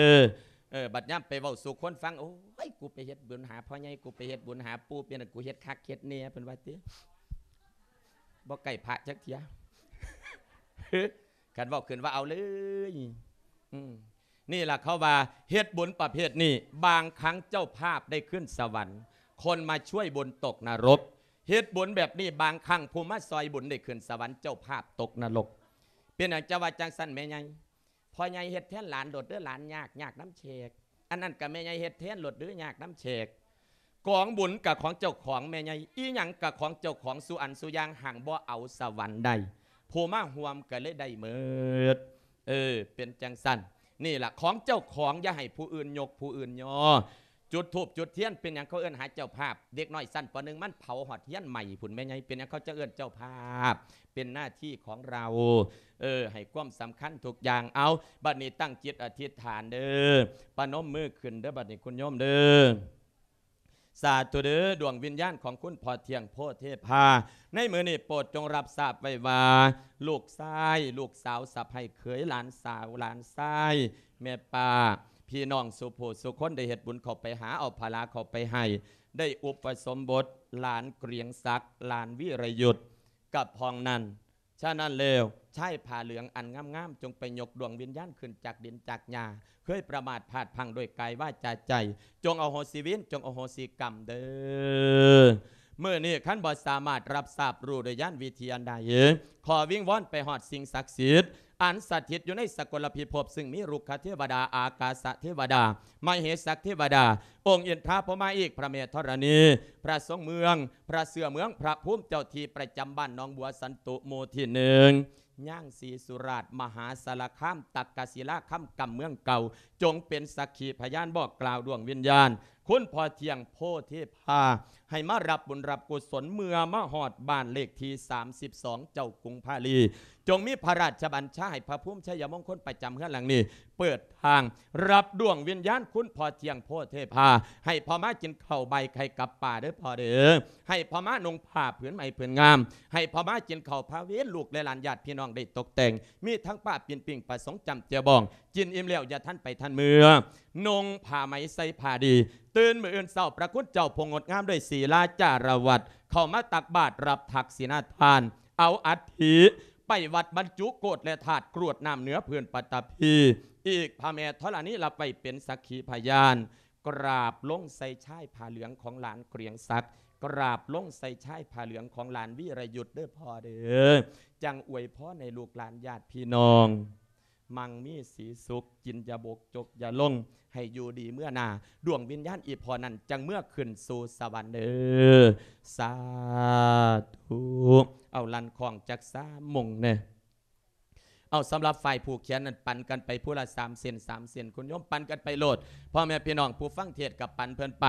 ເອີ ບັດຍາມໄປເວົ້າສູ່ຄົນຟັງ ໂອ້ຍ ກູໄປເຮັດບຸນຫາພໍ່ໃຫຍ່ ກູໄປເຮັດບຸນຫາປູ່ ເປັນ ກູເຮັດຄັກເຮັດແນ່ ເພິ່ນວ່າຕິ ບໍ່ໃກ້ພະຈັກເທື່ອ ຄັນເວົ້າຂຶ້ນວ່າເອົາເລີຍ ອືມ ນີ້ລະເຂົາວ່າເຮັດບຸນປະເພດນີ້ ບາງຄັ້ງເຈົ້າພາບໄດ້ຂຶ້ນສະຫວັນ ຄົນມາຊ່ວຍບຸນຕົກນະລົກ ເຮັດບຸນແບບນີ້ ບາງຄັ້ງຜູ້ມາຊ່ອຍບຸນໄດ້ຂຶ້ນສະຫວັນ ເຈົ້າພາບຕົກນະລົກ. ເປັນຫຍັງຈະວ່າຈັ່ງຊັ້ນແມ່ໃຫຍ່? ພໍ່ໃຫຍ່ເຮັດແທນຫຼານໂລດເດີ ຫຼານຍາກ ຍາກນຳແຂກ ອັນນັ້ນກະແມ່ໃຫຍ່ເຮັດແທນໂລດເດີ ຍາກນຳແຂກ. ກອງບຸນກະຂອງເຈົ້າຂອງແມ່ໃຫຍ່ ອີ່ຫຍັງກະຂອງເຈົ້າຂອງ ສູ່ອັນສູ່ຢ່າງ ຫາກບໍ່ເອົາສະຫວັນໄດ້ ຜູ້ມາຮ່ວມກະເລີຍໄດ້ໝົດ. ເອີ ເປັນຈັ່ງຊັ້ນ ນີ້ລະ ຂອງເຈົ້າຂອງ ຢ່າໃຫ້ຜູ້ອື່ນຍົກຜູ້ອື່ນຍໍ. ຈຸດທູບຈຸດທຽນ ເປັນຫຍັງເຂົາເອີ້ນຫາເຈົ້າພາບ? ເດັກນ້ອຍຊັ້ນ ປໍໜຶ່ງ ມັນເຜົາຮອດຮຽນໃໝ່ພຸ້ນແມ່ໃຫຍ່ ເປັນຫຍັງເຂົາຈະເອີ້ນເຈົ້າພາບ? ເປັນໜ້າທີ່ຂອງເຮົາ ເອີ ໃຫ້ຄວາມສຳຄັນທຸກຢ່າງ. ເອົາ ບັດນີ້ຕັ້ງຈິດອະທິດຖານເດີ ປະນົມມືຂຶ້ນເດີ ບັດນີ້ຄຸນໂຍມເດີ. ສາທຸເດີ ດວງວິນຍານຂອງຄຸນພໍ່ທ່ຽງໂພເທພາ ໃນມື້ນີ້ໂປດຈົ່ງຮັບຊາບໄວ້ວ່າ ລູກຊາຍ ລູກສາວ ສະໃພ້ເຂີຍ ຫຼານສາວ ຫຼານຊາຍ ແມ່ປ້າ ພີ່ນ້ອງສູ່ຜູ້ສູ່ຄົນ ໄດ້ເຮັດບຸນເຂົ້າໄປຫາ ເອົາພາລາເຂົ້າໄປໃຫ້ ໄດ້ອຸປະສົມບົດຫຼານກຽງສັກ ຫຼານວິລະຍຸດ ກັບຫ້ອງນັ້ນ. ສະນັ້ນແລ້ວ ຊາຍຜ້າເຫຼືອງອັນງາມໆ ຈົ່ງໄປຍົກດວງວິນຍານຂຶ້ນຈາກດິນຈາກຫຍ້າ ເຄີຍປະໝາດພາດພລັ້ງດ້ວຍກາຍວາຈາໃຈ ຈົ່ງອະໂຫສິເວນ ຈົ່ງອະໂຫສິກຳເດີ. ມື້ນີ້ຄັນບໍ່ສາມາດຮັບຊາບຮູ້ດ້ວຍຍານວິທີອັນໃດ ຂໍວິງວອນໄປຮອດສິ່ງສັກສິດ ອັນສະຖິດຢູ່ໃນສະກົນລະພິພົບ ຊຶ່ງມີລຸກຂະເທວະດາ ອາກາສະເທວະດາ ມະເຫສັກເທວະດາ ອົງອິນທາພົມມາອີກ ພະແມ່ທໍລະນີ ພະສົງເມືອງ ພະເສືອເມືອງ ພະພູມເຈົ້າທີ່ປະຈຳບ້ານໜອງບົວສັນຕຸ ໝູ່ທີໜຶ່ງ ຍ່າງສີສຸລາດ ມະຫາສາລະຄາມ ຕັກກະສິລາຄຳ ກຳເມືອງເກົ່າ ຈົ່ງເປັນສັກຂີພະຍານບອກກ່າວດວງວິນຍານ ຄຸນພໍ່ທ່ຽງໂພເທພາ ໃຫ້ມາຮັບບຸນຮັບກຸສົນ ເມື່ອມາຮອດບ້ານເລກທີສາມສິບສອງ ເຈົ້າກຸງພາລີ ຈົ່ງມີພະລາຊະບັນຊາໃຫ້ພະພູມໄຊຍະມົງຄົນປະຈຳເຮືອນຫຼັງນີ້ ເປີດທາງຮັບດວງວິນຍານຄຸນພໍ່ທ່ຽງໂພເທພາ ໃຫ້ພໍ່ມາກິນເຂົ້າບ່າຍໄຂ່ກັບປາເດີພໍ່ເດີ ໃຫ້ພໍ່ມານຸ່ງຜ້າຜືນໃໝ່ຜືນງາມ ໃຫ້ພໍ່ມາກິນເຂົ້າພາເວນ ລູກແລະຫຼານຍາດພີ່ນ້ອງໄດ້ຕົກແຕ່ງ ມີທັງປ້າປີ້ນປີ້ງ ປາສົງຈ້ຳແຈ່ວບອງ ກິນອີ່ມແລ້ວຢ່າທັນໄປທັນເມືອ ນຸ່ງຜ້າໄໝໃສ່ຜ້າດີ ຕື່ນມື້ອື່ນເຊົ້າ ພະຄຸນເຈົ້າຜູ້ງົດງາມດ້ວຍສີລາຈາລະວັດ ເຂົ້າມາຕັກບາດຮັບທັກສິນນາທານ ເອົາອັດຖິໄປວັດບັນຈຸໂກດແລະທາດ ກຣວດນ້ຳເໜືອພື້ນປະຕະພີ ອີກພະແມ່ທໍລະນີຮັບໄວ້ເປັນສັກຂີພະຍານ ກາບລົງໃສ່ຊາຍຜ້າເຫຼືອງຂອງຫຼານກຽງສັກ ກາບລົງໃສ່ຊາຍຜ້າເຫຼືອງຂອງຫຼານວີລະຍຸດເດີພໍ່ເດີ ຈັ່ງອວຍພອນໃຫ້ລູກຫຼານຍາດພີ່ນ້ອງ ມັ່ງມີສີສຸກ ກິນຢ່າບົກຈົກຢ່າລົງ ໃຫ້ຢູ່ດີເມືອໜ້າ ດວງວິນຍານອີ່ພໍ່ນັ້ນຈັ່ງເມືອຂຶ້ນສູ່ສະຫວັນເດີ ສາທຸ ເອົາລັ່ນຄ້ອງຈັກສາມໂມງແດ່. ເອົາ ສຳລັບຝ່າຍຜູກແຂນນັ້ນ ປັນກັນໄປຜູ້ລະສາມເສັ້ນ ສາມເສັ້ນ ຄຸນໂຍມ ປັນກັນໄປໂລດ ພໍ່ແມ່ພີ່ນ້ອງຜູ້ຟັງເທດກໍປັນເພິ່ນໄປ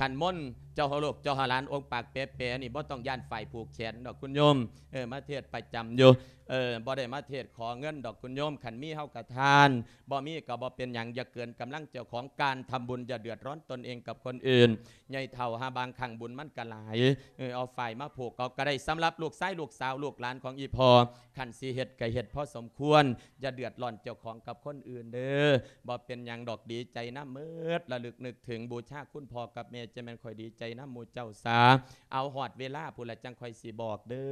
ຂັນມົນ ເຈົ້າຮາລູກ ເຈົ້າຮາຫຼານ ອົງປາກແປໆ ນີ້ ບໍ່ຕ້ອງຢ້ານຝ່າຍຜູກແຂນດອກ ຄຸນໂຍມ ເອີ ມາເທດປະຈຳຢູ່ ເອີ ບໍ່ໄດ້ມາເທດຂໍເງິນດອກ ຄຸນໂຍມ ຄັນມີເຮົາກໍທານ ບໍ່ມີກໍບໍ່ເປັນຫຍັງ ຢ່າເກີນກຳລັງເຈົ້າຂອງ ການທຳບຸນຢ່າເດືອດຮ້ອນຕົນເອງກັບຄົນອື່ນ ໃຫຍ່ເຖົ້າຫາບາງຄັ້ງບຸນມັນກໍຫຼາຍ ເອີ ເອົາຝ້າຍມາຜູກເອົາກໍໄດ້ ສຳລັບລູກຊາຍລູກສາວລູກຫຼານຂອງອີ່ພໍ່ ຄັນຊິເຮັດກໍເຮັດພໍສົມຄວນ ຢ່າເດືອດຮ້ອນເຈົ້າຂອງກັບຄົນອື່ນເດີ ບໍ່ເປັນຫຍັງດອກ ດີໃຈນຳເໝິດ ລະລຶກນຶກເຖິງບູຊາຄຸນພໍ່ກັບແມ່ ຈະແມ່ນຂ້ອຍດີໃຈນຳໝູ່ເຈົ້າສາ ເອົາຮອດເວລາພຸ້ນລະ ຈັ່ງຂ້ອຍຊິບອກເດີ.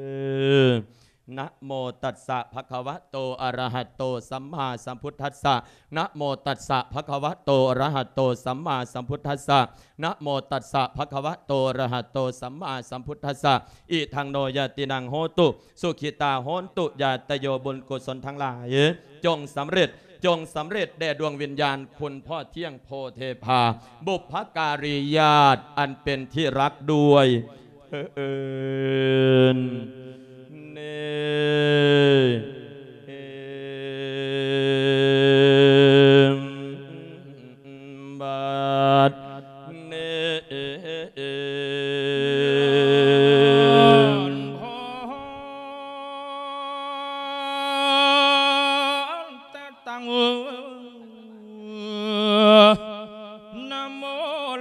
ນະໂມຕັດສະ ພະຄະວະໂຕ ອະລະຫະໂຕ ສຳມາສຳພຸດທັດສະ ນະໂມຕັດສະ ພະຄະວະໂຕ ອະລະຫະໂຕ ສຳມາສຳພຸດທັດສະ ນະໂມຕັດສະ ພະຄະວະໂຕ ອະລະຫະໂຕ ສຳມາສຳພຸດທັດສະ ອິທັງໂນ ຍາຕິນັງ ໂຫຕຸ ສຸຂິຕາ ໂຫນຕຸ ຍາດຕະໂຍ ບຸນກຸສົນທັງຫຼາຍ ຈົ່ງສຳເລັດ ຈົ່ງສຳເລັດແດ່ດວງວິນຍານ ຄຸນພໍ່ທ່ຽງ ໂພເທພາ ບຸບພະກາລີຍາດ ອັນເປັນທີ່ຮັກດ້ວຍເທີ້ນ ເນ ບັດນີ້ ຕັ້ງ ນະໂມ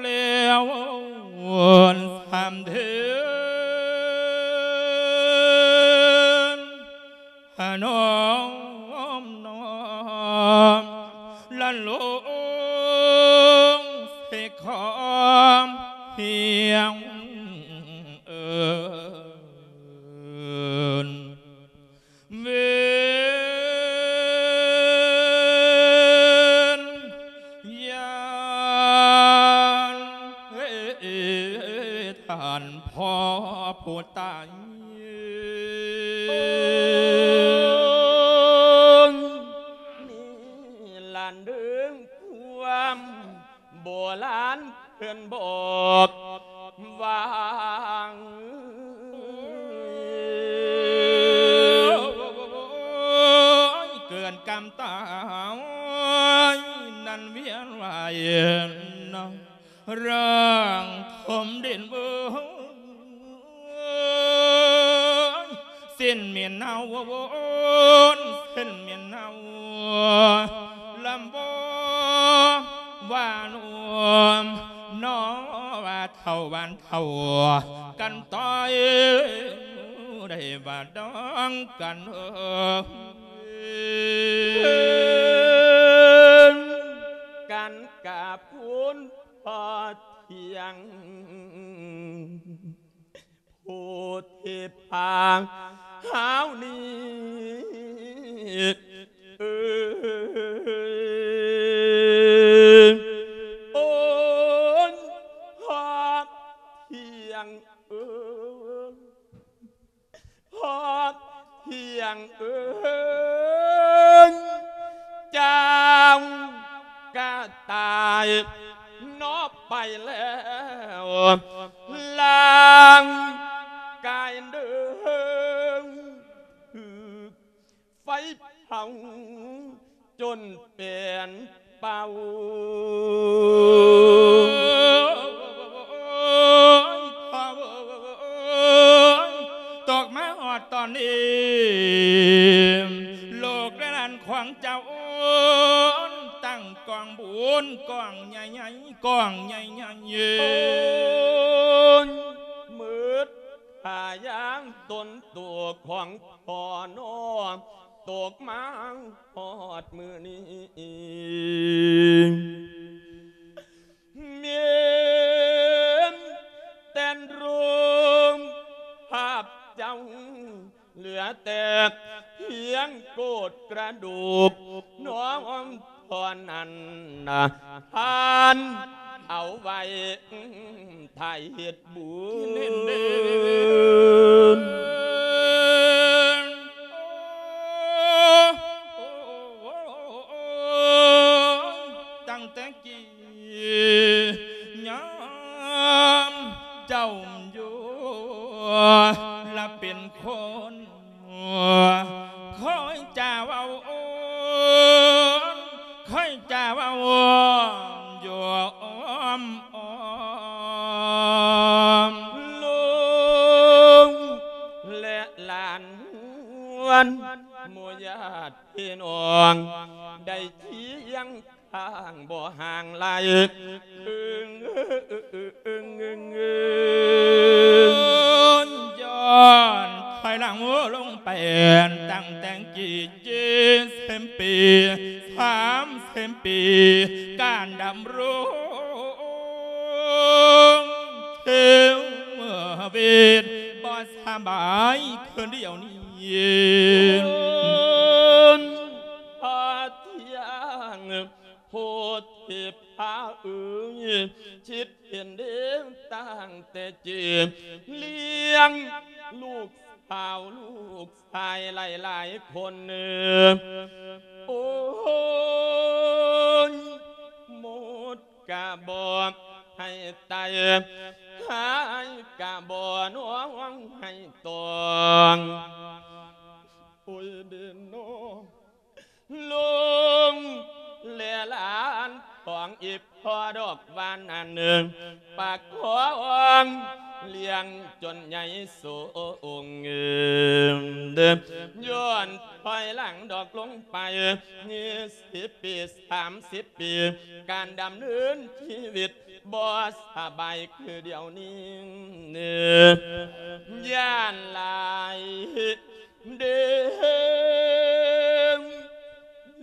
ແລ້ວສາມເທື່ອ ນອມນ້ອມລະລົງ ນເມນເນົ່າ ເສັ້ນເມນເນົ່າ ລຳບໍ່ວ່ານວມ ນໍວ່າເຖົ້າຫວານເຖົ້າກັນຕ້ອຍ ໄດ້ວ່າດອງກັນເອີ ກັນກາບຄຸນພໍ່ທ່ຽງ ຜູ້ທີ່ພາເຮົານີ້ ເອີ ໂອ້ຍ ພໍ່ທ່ຽງເອີ ພໍ່ທ່ຽງເອີຍ ເຈົ້າກະຕາຍເນາະໄປແລ້ວ ຮ່າງກາຍເດີ ຖືກໄຟເຜົາຈົນເປັນເປົ່າ ຕົກມາຮອດຕອນນີ້ ລູກແລະຫຼານຂອງເຈົ້າ ຕັ້ງກອງບຸນກອງໃຫຍ່ໆ ກອງໃຫຍ່ໆ ເອີຍ ໝົດຄ່າຢ່າງຕົນໂຕຂອງພໍ່ນ້ອງ ຕົກມາຮອດມື້ນີ້ ແມ່ນແຕ່ນໂລງພາບເຈົ້າ ເຫຼືອແຕ່ພຽງໂກດກະດູກ ນ້ອງເທົ່ານັ້ນນະ ທ່ານເອົາໄວ້ ຖ້າເຮັດບຸນ ຕັ້ງແຕ່ກີ້ຍາມເຈົ້າຢູ່ລະເປັນຄົນ ຄ່ອຍຈາເວົ້າ ຄ່ອຍຈາເວົ້າຢູ່ອ້ອມໆ ລູກແລະຫຼານ ໝູ່ຍາດພີ່ນ້ອງ ໄດ້ຄຽງຂ້າງບໍ່ຫ່າງໄກ ຍ້ອນຖອຍຫຼັງລົງໄປ ຕັ້ງແຕ່ງ ເຈັດສິບປີ ສາມສິບປີ ການດຳລົງຊີວິດບໍ່ສະບາຍຄືດຽວນີ້ ໂອ້ຍ ພໍ່ທ່ຽງ ໂພທິພາເອີຍ ຄິດເຫັນເດ້ຕັ້ງແຕ່ເກີດ ລ້ຽງລູກສາວລູກຊາຍຫຼາຍໆຄົນ ໂອ້ຍ ໝົດກະບໍ່ໃຫ້ໄຕ ຫາຍກະບໍ່ນ້ອງໃຫ້ຕອງ ໂອ້ຍເດໂນ ລຸງແລະຫຼານຂອງອີ່ພໍ່ດອກວ່ານັ້ນ ປະຄອງລ້ຽງຈົນໃຫຍ່ສູງ ຍ້ອນຖອຍຫຼັງດອກລົງໄປ ຊາວປີ ສາມສິບປີ ການດຳເນີນຊີວິດບໍ່ສະບາຍຄືດຽວນີ້ ຢ້ານຫຼາຍ ເດ້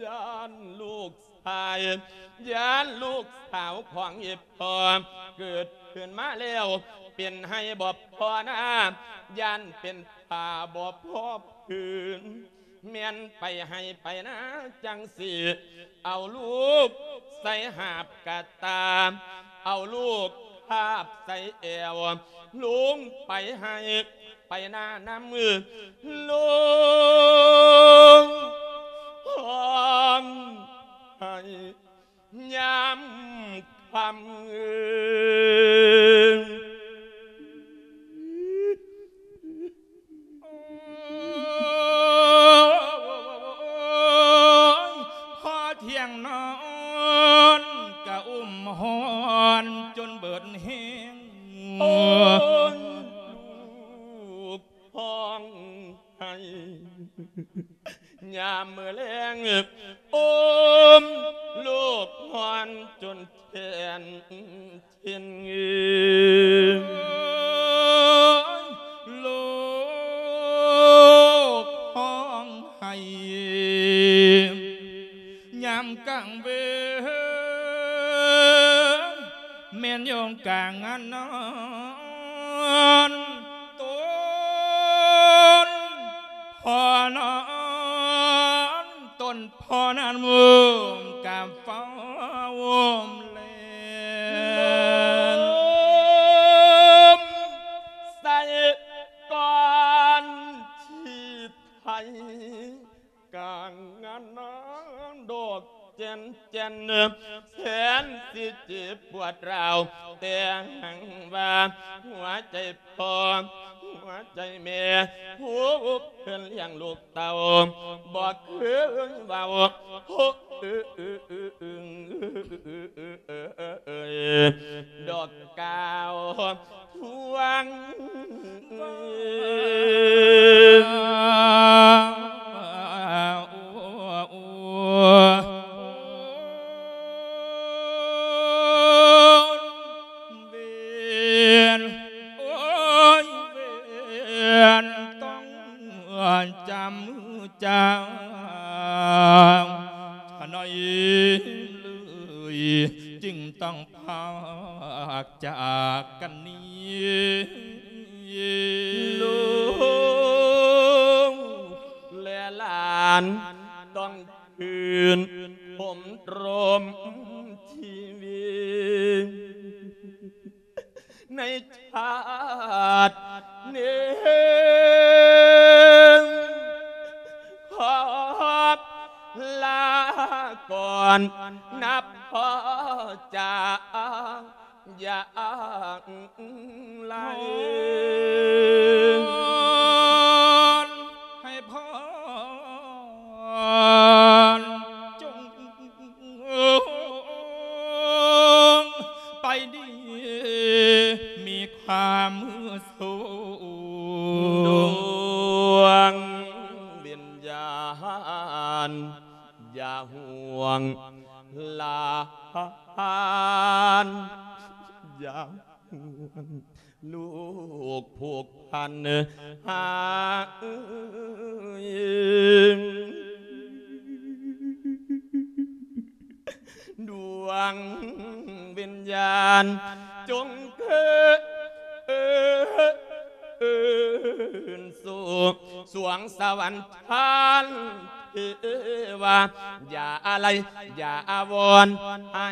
ຢ້ານລູກຊາຍ ຢ້ານລູກສາວຂອງອີ່ພໍ່ ເກີດຂຶ້ນມາແລ້ວ ເປັນໄຮ່ບໍ່ພໍນາ ຢ້ານເປັນຜ້າບໍ່ພໍຜືນ ແມ່ນໄປໄຮ່ໄປນາຈັ່ງຊີ້ ເອົາລູກໃສ່ຫາບກະຕ່າ ເອົາລູກຫາບໃສ່ແອວ ລົງໄປໄຮ່ ໄປນານຳມື ລົງຮ້ອງໄຫ້ຍາມຄ່ຳ ໂອ້ຍ ພໍ່ທ່ຽງນອນກະອຸ້ມຮ້ອນຈົນເບີດແຮງ ໂອ້ຍ ລູກຮ້ອງໄຫ້ ຍາມມື້ແລງ ໂອມ ລູກຮ້ອນຈົນແຂນເຈັນ ລູກຮ້ອງໄຫ້ ຍາມກາງເວັນ ແມ່ນຢູ່ກາງງານນອນ ຕົ້ນພໍ່ນອນ ຕົ້ນພໍ່ນັ້ນໂຮມກາເຝົ້າໂຮມແລນ ໂຮມໃສ່ກ່ອນທີ່ໄທ ກາງງານນາງດອກແກ່ນແກ່ນ ແສນຊິເຈັບປວດຮ້າວ ແຕ່ຫາກວ່າຫົວໃຈພໍ່ ຫົວໃຈແມ່ ຜູ້ເພິ່ນລ້ຽງລູກເຕົ້າ ບໍ່ເຄີຍເວົ້າ ໂອ້ ເອີ ເອີ ເອີ ເອີ ເອີ ດອກ ກ່າວທວງເວນ ໂອ້ຍ ເວນຕ້ອງຈຳຈາງ ຂະໜ້ອຍເລີຍຈຶ່ງຕ້ອງ ພາກຈາກກັນນີ້ ລູກແລະຫຼານຕ້ອງຄືນພົມລົມຊີວິດ ໃນຊາດນີ້ ຂໍລາກ່ອນນະພໍ່ຈາ ຢ່າໄລ ໃຫ້ພອນ ຈົ່ງໄປດີ ມີຄວາມສຸກ ດວງວິນຍານ ຢ່າຫ່ວງຫຼານ ຢ່າຫ່ວງລູກຜູກພັນຫາ ດວງວິນຍານ ຈົ່ງຄືນສູ່ສວງສະຫວັນທານເທວາ ຢ່າອາໄລ ຢ່າອາວອນ ໃຫ້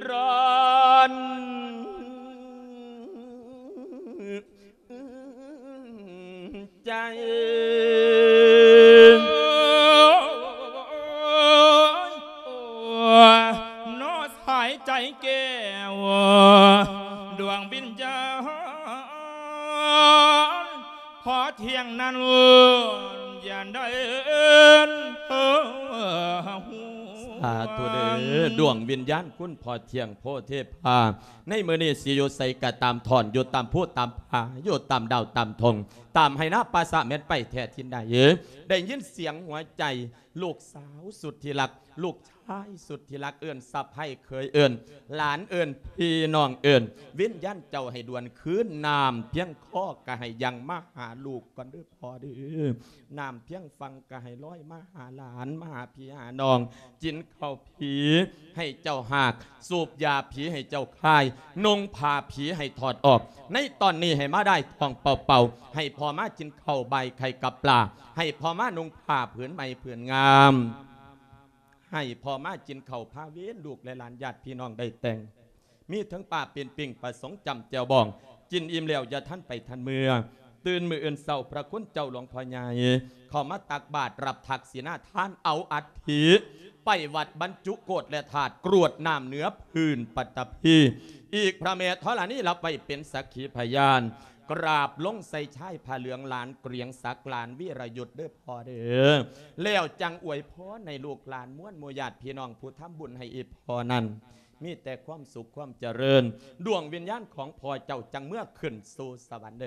ຮ້ອນໃຈ ເນາະ ສາຍໃຈແກ້ວ ດວງວິນຍານ ພໍທ່ຽງນັ້ນ ຢ່າໄດ້ ສາທຸເດີ້ ດວງວິນຍານຄຸນພໍ່ທ່ຽງໂພເທພາ ໃນມື້ນີ້ຊິຢູ່ໃສກໍຕາມ ທ່ອນຢູ່ຕາມພູຕາມຜາ ຢູ່ຕາມດາວຕາມທົ່ງ ຕາມໄຮ່ນາປ່າສະ ແມ່ນໄປແທ້ທີ່ໃດ ໄດ້ຍິນສຽງຫົວໃຈ ລູກສາວສຸດທີ່ຮັກ ລູກຊາຍສຸດທີ່ຮັກ ເອີ້ນສະໃພ້ເຂີຍ ເອີ້ນຫຼານ ເອີ້ນພີ່ນ້ອງ ເອີ້ນວິນຍານເຈົ້າໃຫ້ດວນຄືນ ນ້ຳພຽງຄໍກໍໃຫ້ຍັ່ງມາຫາລູກກ່ອນເດີ້ພໍ່ເດີ້ ນ້ຳພຽງຝັ່ງກໍໃຫ້ລອຍມາຫາຫຼານ ມາຫາພີ່ຫານ້ອງ ກິນເຂົ້າຜີໃຫ້ເຈົ້າຮາກ ສູບຢາຜີໃຫ້ເຈົ້າຄາຍ ນຸ່ງຜ້າຜີໃຫ້ຖອດອອກ ໃນຕອນນີ້ໃຫ້ມາໄດ້ທ້ອງເປົ່າໆ ໃຫ້ພໍ່ມາກິນເຂົ້າບ່າຍໄຂ່ກັບປາ ໃຫ້ພໍ່ມານຸ່ງຜ້າຜືນໃໝ່ຜືນງາມ ໃຫ້ພໍ່ມາກິນເຂົ້າພາເວນ ລູກແລະຫຼານຍາດພີ່ນ້ອງໄດ້ແຕ່ງ ມີເຖິງປາປີ້ງ ປາສົງ ຈ້ຳແຈ່ວບອງ ກິນອີ່ມແລ້ວຢ່າທັນໄປທັນເມືອ ຕື່ນມື້ອື່ນເຊົ້າ ພະຄຸນເຈົ້າຫຼວງພໍ່ໃຫຍ່ ເຂົ້າມາຕັກບາດ ຮັບທັກສິນາທານ ເອົາອັດຖິໄປວັດບັນຈຸໂກດແລະທາດ ກຣວດນ້ຳເໜືອພື້ນປັດຕະພີ ອີກພະແມ່ທໍລະນີ ຮັບໄວ້ເປັນສັກຂີພະຍານ ກາບລົງໃສ່ຊາຍຜ້າເຫຼືອງ ຫຼານກຽງສັກ ຫຼານວີລະຍຸດເດີ້ພໍ່ເດີ້ ແລ້ວຈັ່ງອວຍພອນໃຫ້ລູກຫຼານ ມວນໝູ່ຍາດພີ່ນ້ອງຜູ້ທຳບຸນໃຫ້ອີ່ພໍ່ນັ້ນ ມີແຕ່ຄວາມສຸກຄວາມຈະເລີນ ດວງວິນຍານຂອງພໍ່ເຈົ້າຈັ່ງເມືອຂຶ້ນສູ່ສະຫວັນເດ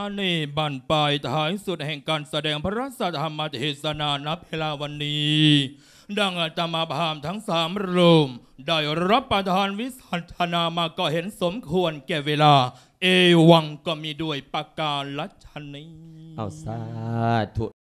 ໃນບັ້ນປາຍທ້າຍສຸດແຫ່ງການສະແດງພະລະສະທຳມະເທສະນາ ໃນເວລາວັນນີ້ ດັ່ງອາດຕະມາພາບທັງສາມຮູບ ໄດ້ຮັບປະທານວິສັດທະນາມາ ກໍເຫັນສົມຄວນແກ່ເວລາ ເອວັງກໍມີດ້ວຍປະກາລະຊະນີ. ເອົາ ສາທຸ